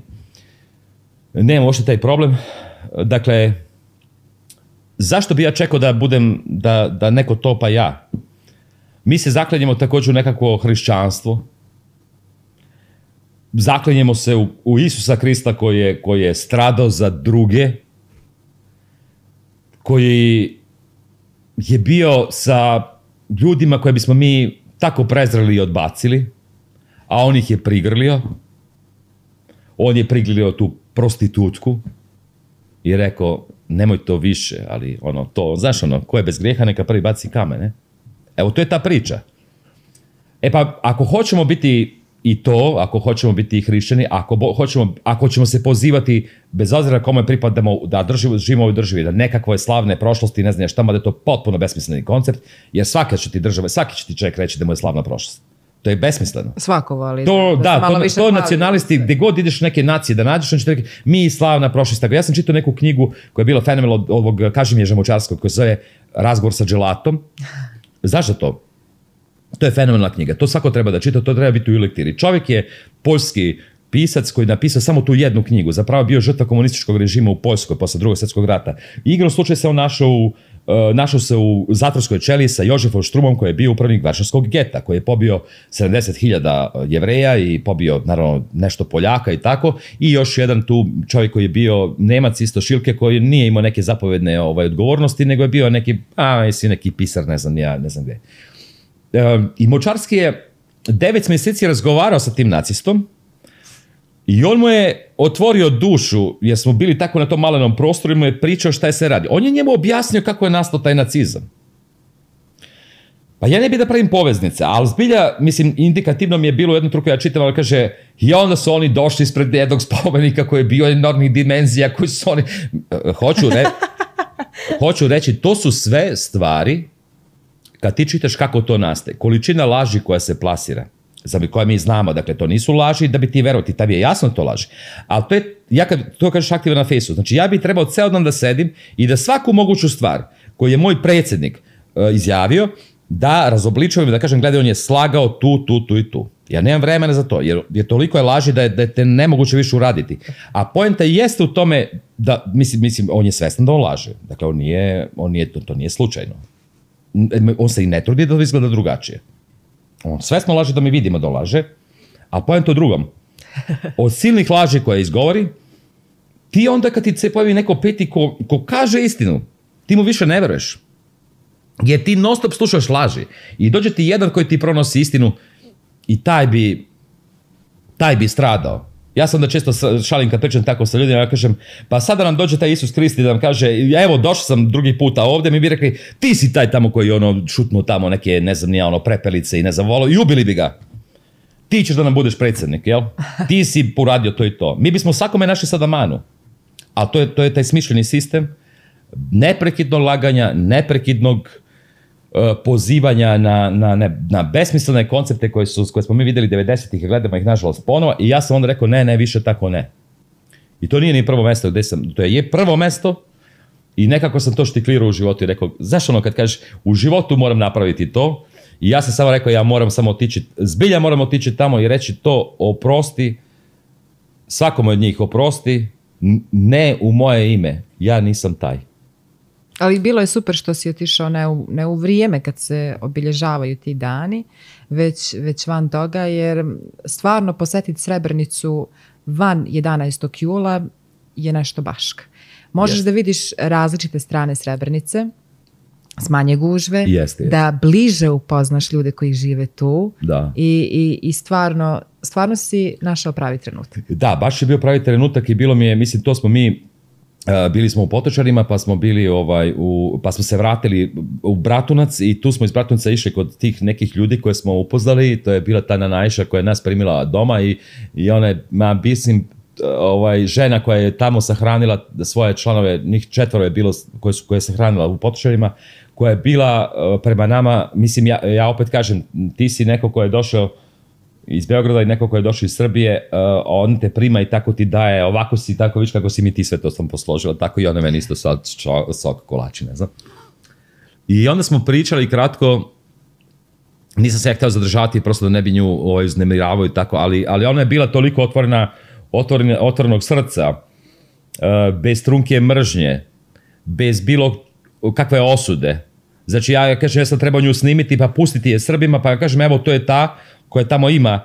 Nemam uopšte taj problem. Dakle, zašto bi ja čekao da neko to pa ja? Mi se zaklanjamo također u nekakvo hrišćanstvo. Zaklanjamo se u Isusa Krista koji je stradao za druge, koji je bio sa ljudima koje bismo mi tako prezreli i odbacili, a on ih je prigrlio. On je prigrlio tu prostitutku i rekao, nemoj to više, ali znaš ko je bez grijeha neka prvi baci kamen, ne? Evo, to je ta priča. Pa, ako hoćemo biti i to, ako hoćemo biti i hrišćani, ako ćemo se pozivati, bez obzira kome pripadamo, da živimo u ovoj državi, da nekakve slavne prošlosti, ne znam šta, da je to potpuno besmisleni koncept, jer svaki će ti čovjek reći da mu je slavna prošlost. To je besmisleno. Svako voli. To nacionalisti, gdje god ideš neke nacije da nađeš, on će ti reći, mi slavna prošlost. Ja sam čitao neku knjigu koja je bila fenomenalna od ovog Kažimira Žamočarskog, koja se zove Razgovor sa dželatom. Zašto to? To je fenomenalna knjiga. To svako treba da čita, to treba biti u lektiri. Čovjek je poljski pisac koji je napisao samo tu jednu knjigu. Zapravo bio žrtva komunističkog režima u Poljskoj posle Drugog svjetskog rata. Igrom slučaj se on našao se u zatvorskoj ćeliji sa Jožefom Štrumom, koji je bio upravnik Varšavskog geta, koji je pobio 70.000 Jevreja i pobio, naravno, nešto Poljaka i tako. I još jedan tu čovjek koji je bio Nemac isto Šilke, koji nije imao neke zapovedne odgovornosti, nego je bio neki pisar, ne znam gdje. I Močarski je 9 mjeseci razgovarao sa tim nacistom i on mu je otvorio dušu, jer smo bili tako na tom malenom prostoru, i mu je pričao šta je se radi. On je njemu objasnio kako je nastao taj nacizam. Pa ja ne bih da pravim poveznice, ali zbilja, mislim, indikativno mi je bilo u jednom truku, ja čitam, ali kaže, i onda su oni došli ispred jednog spomenika koji je bio enormnih dimenzija, koji su oni... Hoću reći, to su sve stvari, kad ti čitaš kako to nastaje, količina laži koja se plasira, za koje mi znamo, dakle, to nisu laži da bi ti verovao, tebi je jasno to laži. Ali to je, ja kad to kažeš aktivan na Facebooku, znači ja bih trebao ceo dan da sedim i da svaku moguću stvar koju je moj predsjednik izjavio, da razobličujem i da kažem, gledaj, on je slagao tu i tu. Ja nemam vremena za to, jer toliko je laži da je te nemoguće više uraditi. A poenta jeste u tome da, mislim, on je svestan da on laže. Dakle, to nije slučajno. On se i ne trudi da izgleda drugačije. On svesno laže da mi vidimo da laže, a poenta u drugom. Od silnih laži koje izgovori, ti onda kad ti se pojavi neko peti ko kaže istinu, ti mu više ne veruješ. Jer ti non stop slušaš laži. I dođe ti jedan koji ti pronosi istinu i taj bi stradao. Ja sam da često šalim kad pričam tako sa ljudima, ja kažem, pa sada nam dođe taj Isus Krist i da nam kaže, evo došao sam drugi puta ovdje, mi bi rekli, ti si taj tamo koji šutnuo tamo neke, ne znam, prepelice i ne znam, volo, i ubili bi ga. ti ćeš da nam budeš predsjednik, jel? Ti si uradio to i to. Mi bismo svakome našli sada manu. Ali to je taj smišljeni sistem neprekidnog laganja, neprekidnog pozivanja na besmislene koncepte koje smo mi vidjeli 90-ih i gledamo ih nažalost ponovo i ja sam onda rekao ne, više tako ne. I to nije ni prvo mjesto gdje sam, to je prvo mjesto i nekako sam to štiklirao u životu i rekao, zašto ono kad kažeš u životu moram napraviti to i ja sam samo rekao ja moram samo otići, zbilja moram otići tamo i reći to oprosti, svakome od njih oprosti, ne u moje ime, ja nisam taj. Ali bilo je super što si otišao ne u vrijeme kad se obilježavaju ti dani, već van toga, jer stvarno posjetiti Srebrenicu van 11. jula je nešto baška. Možeš da vidiš različite strane Srebrenice, s manje gužve, da bliže upoznaš ljude koji žive tu i stvarno si našao pravi trenutak. Da, baš je bio pravi trenutak i bilo mi je, mislim, to smo mi bili smo u Potočarima, pa smo bili pa smo se vratili u Bratunac i tu smo iz Bratunca išli kod tih nekih ljudi koje smo upoznali. To je bila ta Nanajša koja je nas primila doma i ona je, žena koja je tamo sahranila svoje članove, njih 4 je bilo koje je sahranila u Potočarima, koja je bila prema nama, mislim, ja opet kažem, ti si neko ko je došao iz Beograda i neko ko je došao iz Srbije, on te prima i tako ti daje, ovako si, tako viš kako si mi ti sve to sam posložila, tako i ona meni isto sok kolači, ne znam. I onda smo pričali kratko, nisam se ja htio zadržati, prosto da ne bi nju uznemiravao i tako, ali ona je bila toliko otvorenog srca, bez trunke mržnje, bez bilo kakve osude. Znači ja kažem, ja sam trebao nju snimiti pa pustiti je Srbima, pa ja kažem, evo to je ta koja tamo ima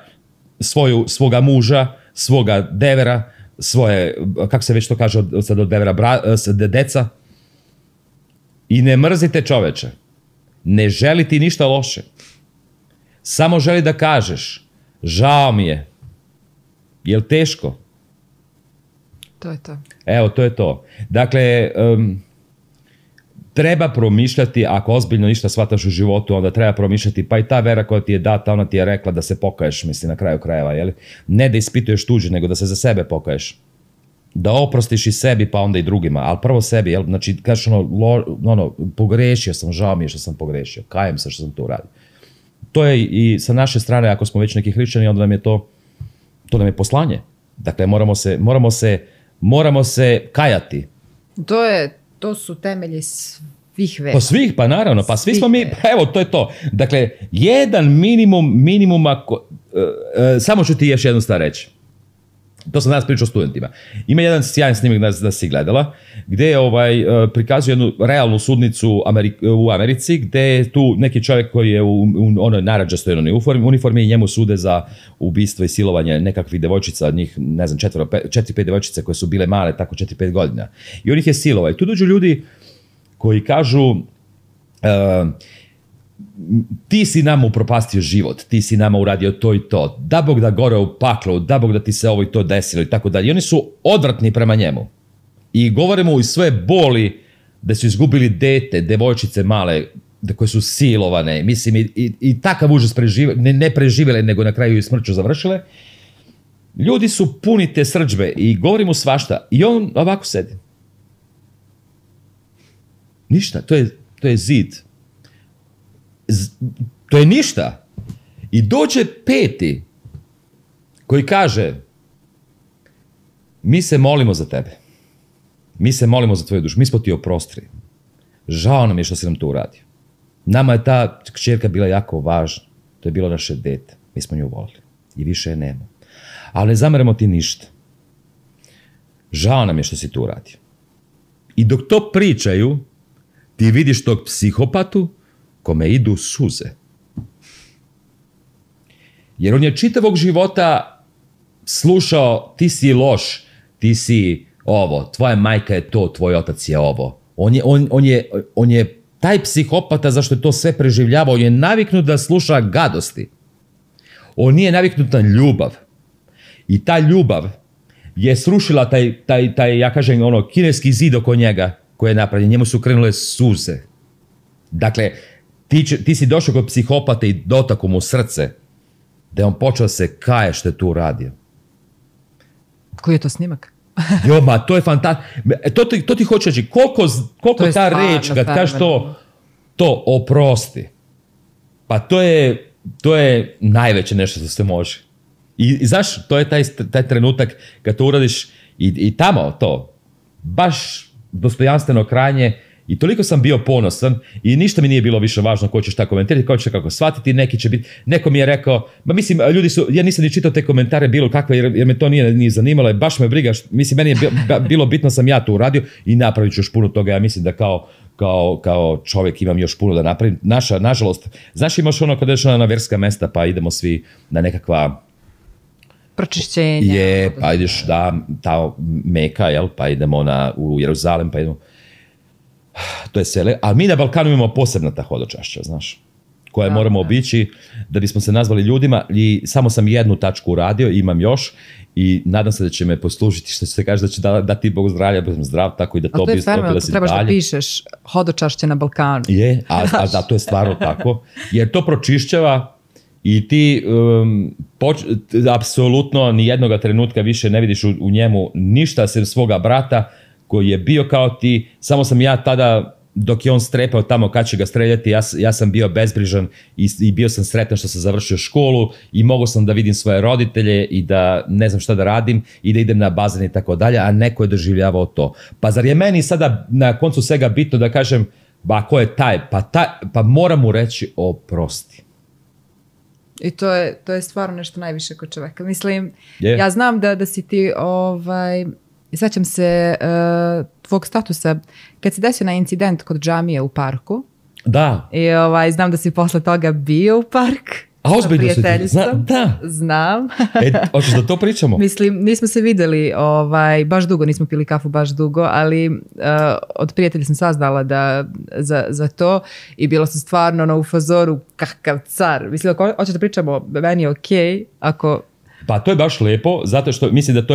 svoga muža, svoga devera, svoje, kako se već to kaže sad od devera, deca. I ne mrzite čoveče. Ne želi ti ništa loše. Samo želi da kažeš, žao mi je. Jel teško? To je to. Evo, to je to. Dakle, treba promišljati, ako ozbiljno ništa shvataš u životu, onda treba promišljati, pa i ta vera koja ti je data, ona ti je rekla da se pokaješ, mislim, na kraju krajeva, jel? Ne da ispituješ tuđe, nego da se za sebe pokaješ. Da oprostiš i sebi, pa onda i drugima, ali prvo sebi, jel? Znači, kažeš pogrešio sam, žao mi je što sam pogrešio, kajem se što sam to uradio. To je i sa naše strane, ako smo već neki hrišćani, onda nam je to nam je poslanje. Dakle, moramo se kajati. To su temelji svih vera. Pa svih, pa naravno, pa svi smo mi, evo, to je to. Dakle, jedan minimuma, samo ću ti još jednu stvar reći. To sam danas pričao studentima. Ima jedan sjajan snimak da si gledala, gdje prikazuje jednu realnu sudnicu u Americi, gdje je tu neki čovjek koji je u onoj narandžastoj uniformi i njemu sude za ubistvo i silovanje nekakvih devojčica, njih, ne znam, 4-5 devojčice koje su bile male, tako 4-5 godina. I on ih je silovao. I tu dođu ljudi koji kažu, ti si nama upropastio život, ti si nama uradio to i to, da Bog da gore u paklu, da Bog da ti se ovo i to desilo i tako dalje. I oni su odvratni prema njemu. I govore mu iz svoje boli da su izgubili dete, devojčice male, koje su silovane, mislim, i takav užas ne preživjele, nego na kraju i smrću završile. Ljudi su puni te srdžbe i govori mu svašta. I on ovako sedi. Ništa, to je zid. To je ništa. I dođe peti koji kaže, mi se molimo za tebe. Mi se molimo za tvoju dušu. Mi smo ti oprostili. Žao nam je što si nam to uradio. Nama je ta kćerka bila jako važna. To je bilo naše dete. Mi smo nju volili. I više je nema. Ali ne zameramo ti ništa. Žao nam je što si to uradio. I dok to pričaju, ti vidiš tog psihopatu kome idu suze. Jer on je čitavog života slušao, ti si loš, ti si ovo, tvoja majka je to, tvoj otac je ovo. On je taj psihopata, zašto je to sve preživljavao, on je naviknut da sluša gadosti. On nije naviknut na ljubav. I ta ljubav je srušila taj ja kažem, kineski zid oko njega koji je napravljen. Njemu su krenule suze. Dakle, ti si došao kod psihopata i dotakao mu srce da je on počeo se kaje što je tu uradio. Koji je to snimak? Jo, ma, to je fantastično. To ti hoće reći, koliko ta reč, kad kažeš to oprosti, pa to je najveće nešto što se može. I znaš, to je taj trenutak kad to uradiš i tamo to, baš dostojanstveno krajnje. I toliko sam bio ponosan i ništa mi nije bilo više važno ko će šta komentirati, ko će kako shvatiti, neki će biti, neko mi je rekao, ma mislim, ljudi su, ja nisam ni čitao te komentare bilo kakve, jer me to nije zanimalo, i baš me briga, mislim, meni je bilo bitno sam ja to uradio i napravit ću još puno toga, ja mislim da kao čovjek imam još puno da napravim. Nažalost, znaš, imaš ono kada ješ na verska mesta pa idemo svi na nekakva pročišćenja. Pa ideš ta Meka, jel, pa idemo u Jeruzalem, pa idemo. To je sele, a mi na Balkanu imamo posebna ta hodočašća, znaš, koje moramo obići da bismo se nazvali ljudima i samo sam jednu tačku uradio, imam još i nadam se da će me poslužiti, što će se kaže da će dati Bog zdravlja, budem zdrav, tako i da to bi stvarno, da si trebaš dalje. Da pišeš hodočašće na Balkanu. Je, a da, to je stvarno tako, jer to pročišćava i ti apsolutno ni jednoga trenutka više ne vidiš u njemu ništa sem svoga brata koji je bio kao ti, samo sam ja tada, dok je on strepao tamo kad će ga streljati, ja sam bio bezbrižan i bio sam sretan što sam završio školu i mogao sam da vidim svoje roditelje i da ne znam šta da radim i da idem na bazen i tako dalje, a neko je doživljavao to. Pa zar je meni sada na koncu svega bitno da kažem, ba ko je taj? Pa moram mu reći oprosti. I to je stvarno nešto najviše kod čoveka. Mislim, ja znam da si ti i sećam se tvog statusa kad se desio na incident kod džamije u parku. Da. I znam da si posle toga bio u park. A ozbiljno si ti? Da. Znam. Hoćeš da to pričamo? Mislim, nismo se videli baš dugo, nismo pili kafu baš dugo, ali od prijatelja sam saznala za to i bilo sam stvarno u fazoru kakav car. Mislim, ako hoćeš da pričamo, meni je okej, ako... Pa to je baš lepo, zato što mislim da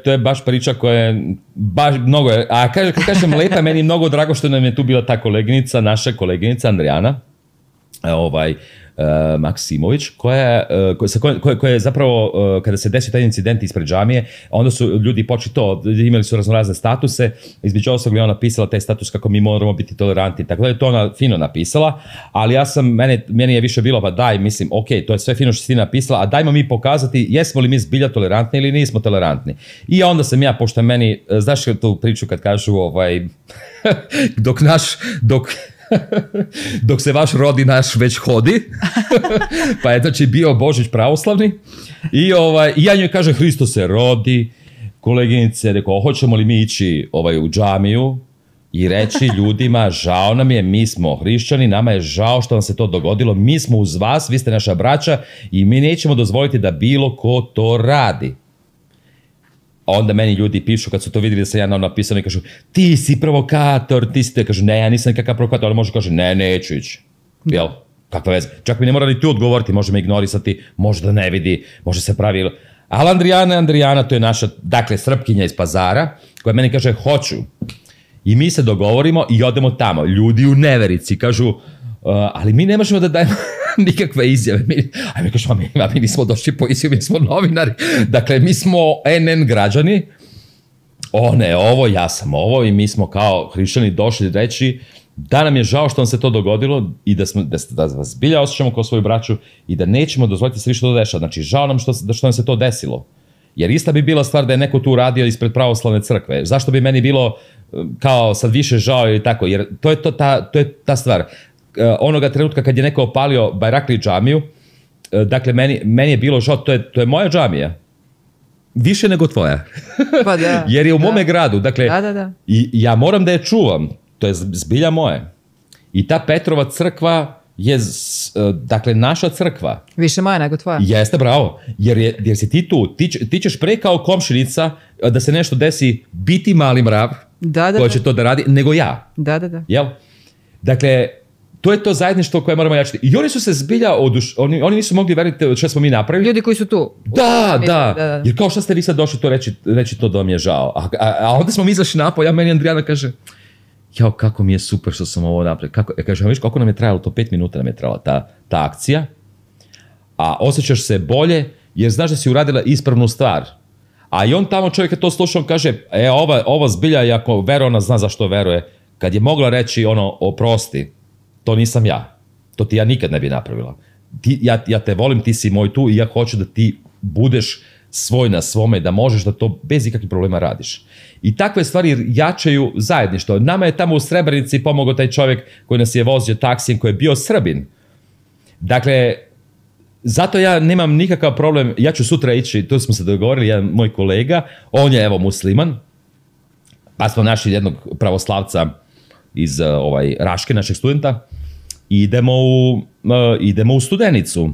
to je baš priča koja je baš mnogo, a kad kažem lepa, meni je mnogo drago što nam je tu bila ta koleginica, naša koleginica Andrijana, Maksimović, koja je zapravo, kada se desio taj incident ispred džamije, onda su ljudi počeli to, imali su raznorazne statuse, između ostalog je ona napisala taj status kako mi moramo biti tolerantni, tako da je to ona fino napisala, ali meni je više bilo, pa daj, mislim, ok, to je sve fino što si ti napisala, a dajmo mi pokazati jesmo li mi zbilja tolerantni ili nismo tolerantni. I onda sam ja, pošto meni, znaš tu priču kad kažu, dok se vaš rodi, naš već hodi, pa je znači bio Božić pravoslavni i ja njoj kažem Hristo se rodi, koleginice, rekao, hoćemo li mi ići u džamiju i reći ljudima, žao nam je, mi smo hrišćani, nama je žao što vam se to dogodilo, mi smo uz vas, vi ste naša braća i mi nećemo dozvoliti da bilo ko to radi. Onda meni ljudi pišu kad su to vidjeli da sam ja napisano i kažu ti si provokator, ti si te, kažu ne, ja nisam nikakav provokator, ali može kaže ne, neću ići. Jel? Kakva veze? Čak mi ne mora ni tu odgovoriti, može me ignorisati, može da ne vidi, može se pravi. Ali Andrijana, to je naša, dakle, Srpkinja iz Pazara, koja meni kaže hoću. I mi se dogovorimo i odemo tamo. Ljudi u neverici kažu, ali mi ne možemo da dajemo nikakve izjave. Mi kažemo, mi nismo došli po izjavu, mi smo novinari. Dakle, mi smo NN građani. Ne, ovo, ja sam ovo i mi smo kao hrišćani došli reći da nam je žao što nam se to dogodilo i da vas zbilja osjećamo kao svoju braću i da nećemo dozvoliti se više to dešava. Znači, žao nam što nam se to desilo. Jer ista bi bila stvar da je neko tu radio ispred pravoslavne crkve. Zašto bi meni bilo kao sad više žao ili tako? Jer to je ta stvar. Onoga trenutka kad je neko opalio Bajrakli džamiju, dakle, meni je bilo žao, to je moja džamija. Više nego tvoja. Pa da. Jer je u mome gradu. Dakle, da. I ja moram da je čuvam. To je zbilja moje. I ta Petrova crkva je, dakle, naša crkva. Više moja nego tvoja. Jeste, bravo. Jer si ti tu. Ti ćeš pre kao komšinica da se nešto desi biti mali mrav koja će to da radi, nego ja. Da. Jel? Dakle, to je to zajedništvo koje moramo jačiti. I oni su se zbilja oni nisu mogli veriti što smo mi napravili. Ljudi koji su tu. Da. Jer kao što ste vi sad došli to reći to da vam je žao. A onda smo mi izašli napolje, a meni Andrijana kaže, jao, kako mi je super što sam ovo napravio. Ja kažem, viš kako nam je trajalo to, 5 minuta nam je trajala ta akcija. a osjećaš se bolje jer znaš da si uradila ispravnu stvar. A i on tamo čovjek je to slušao, on kaže, ova zbilja, i ako veruje, ona zna zašto veruje. Kad je mogla reći oprosti, to nisam ja. To ti ja nikad ne bi napravila. Ja te volim, ti si moj tu i ja hoću da ti budeš svoj na svome, da možeš da to bez ikakvih problema radiš. I takve stvari jačaju zajedništvo. Nama je tamo u Srebrenici pomogao taj čovjek koji nas je vozio taksijem, koji je bio Srbin. Dakle, zato ja nemam nikakav problem, ja ću sutra ići, tu smo se dogovorili, jedan moj kolega, on je musliman, pa smo našli jednog pravoslavca iz Raške, našeg studenta, i idemo u Studenicu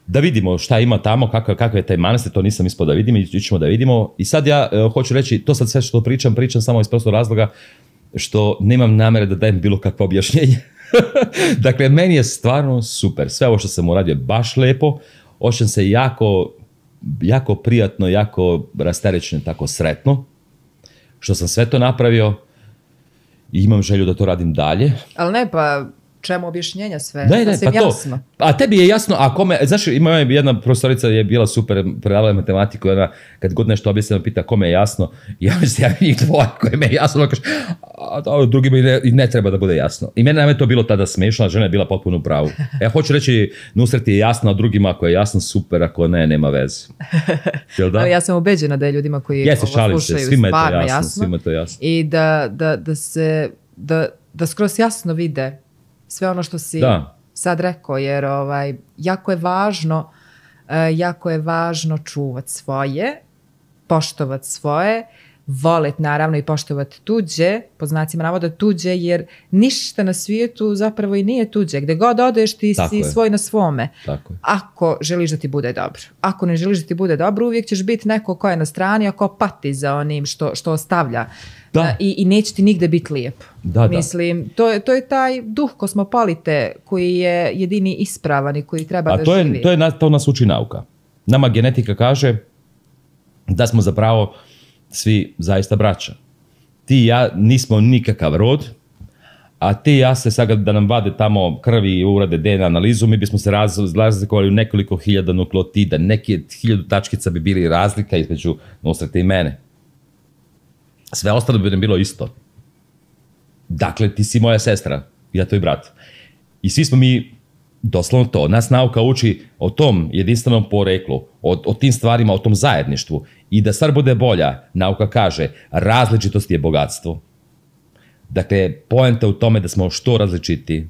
da vidimo šta ima tamo, kakav je taj manastir, to nisam ispao da vidim, ićemo da vidimo. I sad ja hoću reći, to sad sve što pričam samo iz prostog razloga što nemam namere da dajem bilo kakvo objašnjenje. Dakle, meni je stvarno super. Sve ovo što sam uradio je baš lepo. Osjećam se jako prijatno, jako rasterećeno, tako sretno što sam sve to napravio i imam želju da to radim dalje. Ali ne, pa čemu objašnjenja sve? Ne, pa jasno. A tebi je jasno, a kome, znaš, ima jedna profesorica je bila super, predavala matematiku, ona kad god nešto objasnila pita kome je jasno, ja mislim, ja njih dvoje koje me je jasno, ona kaže, a drugima i ne treba da bude jasno. I mene nam je to bilo tada smiješno, a žena je bila potpuno u pravu. Ja hoću reći, Nusret je jasno, a drugima ako je jasno, super, ako ne, nema veze. Jel da? Ali ja sam ubeđena da je ljudima koji ovo slušaju stvarno jasno. Svima je to jasno. I da skroz jasno vide sve ono što si sad rekao, jer jako je važno čuvat svoje, poštovat svoje, volet naravno i poštovat tuđe, po znacima navoda tuđe, jer ništa na svijetu zapravo i nije tuđe. Gde god odeš ti si svoj na svome. Ako želiš da ti bude dobro. Ako ne želiš da ti bude dobro, uvijek ćeš biti neko ko je na strani, a ko pati za onim što ostavlja. I neće ti nigde biti lijep. Mislim, to je taj duh kosmopolite koji je jedini ispravan i koji treba da živi. To nas uči nauka. Nama genetika kaže da smo zapravo svi zaista braća. Ti i ja nismo nikakav rod, a ti i ja se sad da nam vade tamo krvi i urade DNA analizu, mi bismo se razlikovali u nekoliko hiljada nukleotida, neke 1000 tačkica bi bili razlika između Nusreta i mene. Sve ostalo bi nam bilo isto. Dakle, ti si moja sestra, ja tvoj brat. I svi smo mi doslovno to. Nas nauka uči o tom jedinstvenom poreklu, o tim stvarima, o tom zajedništvu. I da stvar bude bolja, nauka kaže, različitost je bogatstvo. Dakle, poenta u tome da smo što različiti.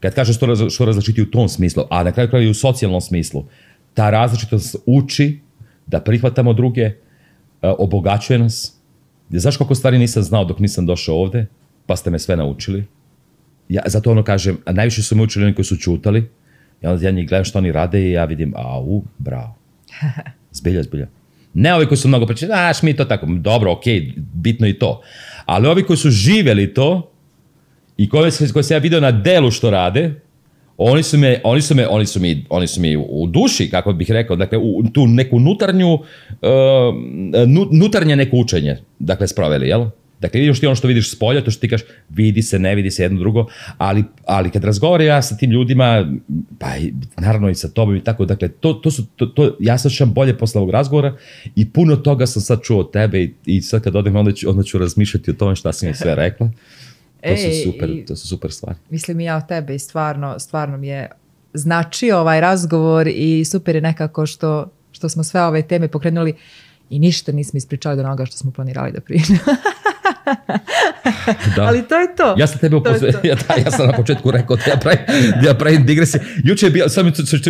Kad kažem što različiti u tom smislu, a na kraju kraju i u socijalnom smislu, ta različitost uči da prihvatamo druge, obogaćuje nas. Znaš koliko stvari nisam znao dok nisam došao ovde, pa ste me sve naučili. Zato kažem, a najviše su me učili oni koji su čutali. Ja njih gledam što oni rade i ja vidim, bravo. Zbilja. Ne ovi koji su mnogo pričali, mi to tako, dobro, okej, bitno i to. Ali ovi koji su živjeli to i koji se ja vidio na delu što rade, oni su mi u duši, kako bih rekao, dakle, u tu neku nutarnje neko učenje, dakle, sproveli, jel? Dakle, vidiš ti ono što vidiš s polja, to što ti kažeš, vidi se, ne vidi se jedno drugo, ali kad razgovaram ja sa tim ljudima, pa naravno i sa tobom i tako, dakle, ja se osjećam bolje posle ovog razgovora i puno toga sam sad čuo od tebe i sad kad odem onda ću razmišljati o tome šta sam mi sve rekla. To su super stvari. Mislim i ja o tebe i stvarno mi je značio ovaj razgovor i super je nekako što smo sve ove teme pokrenuli i ništa nismo ispričali do onoga što smo planirali da pričamo. Ali to je to. Ja sam tebe ja sam na početku rekao da ja pravim digresije. Juče je bilo,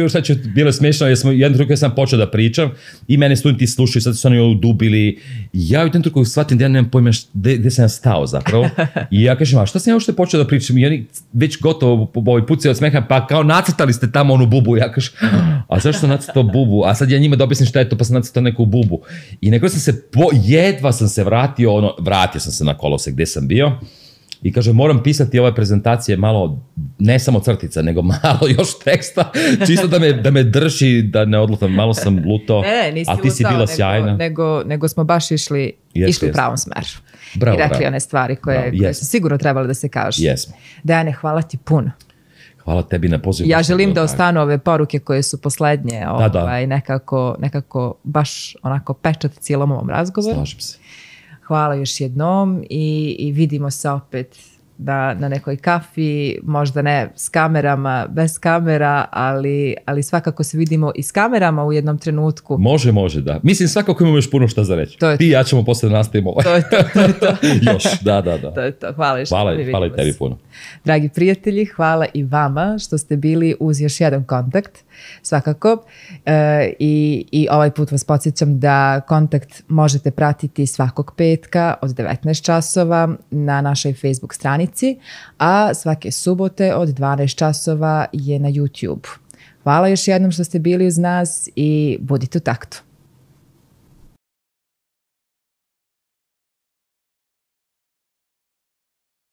sad će bilo smiješno, jedan drugi sam počeo da pričam i mene studenti slušaju, sad su oni udubili. Ja u jednom drugu shvatim da ja nemam pojma gde sam ja stao zapravo. I ja kažem, a šta sam ja uopšte počeo da pričam? I oni već gotovo ovaj pucaju od smeha, pa kao nacrtali ste tamo onu bubu. Ja kažem, a zašto sam nacrtao bubu? A sad ja njima da objasnim šta je to, pa sam nacrtao neku bubu. I nekako jedva sam se vratio sam se na kolosek gde sam bio i kaže, moram pisati ove prezentacije malo, ne samo crtica, nego malo još teksta, čisto da me drži, da ne odlutam, malo sam lutao, a ti si bila sjajna. Nego smo baš išli u pravom smeru. I rekli one stvari koje su sigurno trebale da se kažu. Jesmo. Dejane, hvala ti puno. Hvala tebi na pozivu. Ja želim da ostanu ove poruke koje su poslednje, nekako baš onako pečat cijelom ovom razgovoru. Slažem se. Hvala još jednom i vidimo se opet na nekoj kafi, možda ne s kamerama, bez kamera, ali svakako se vidimo i s kamerama u jednom trenutku. Može, da. Mislim, svakako imamo još puno šta za reći. Ti i ja ćemo posle da nastavimo. To je to. Još, da. To je to. Hvala još. Hvala i tebi puno. Dragi prijatelji, hvala i vama što ste bili uz još jedan kontakt, svakako. I ovaj put vas podsjećam da kontakt možete pratiti svakog petka od 19 časova na našoj Facebook stranici, a svake subote od 12 časova je na YouTube. Hvala još jednom što ste bili uz nas i budite u taktu.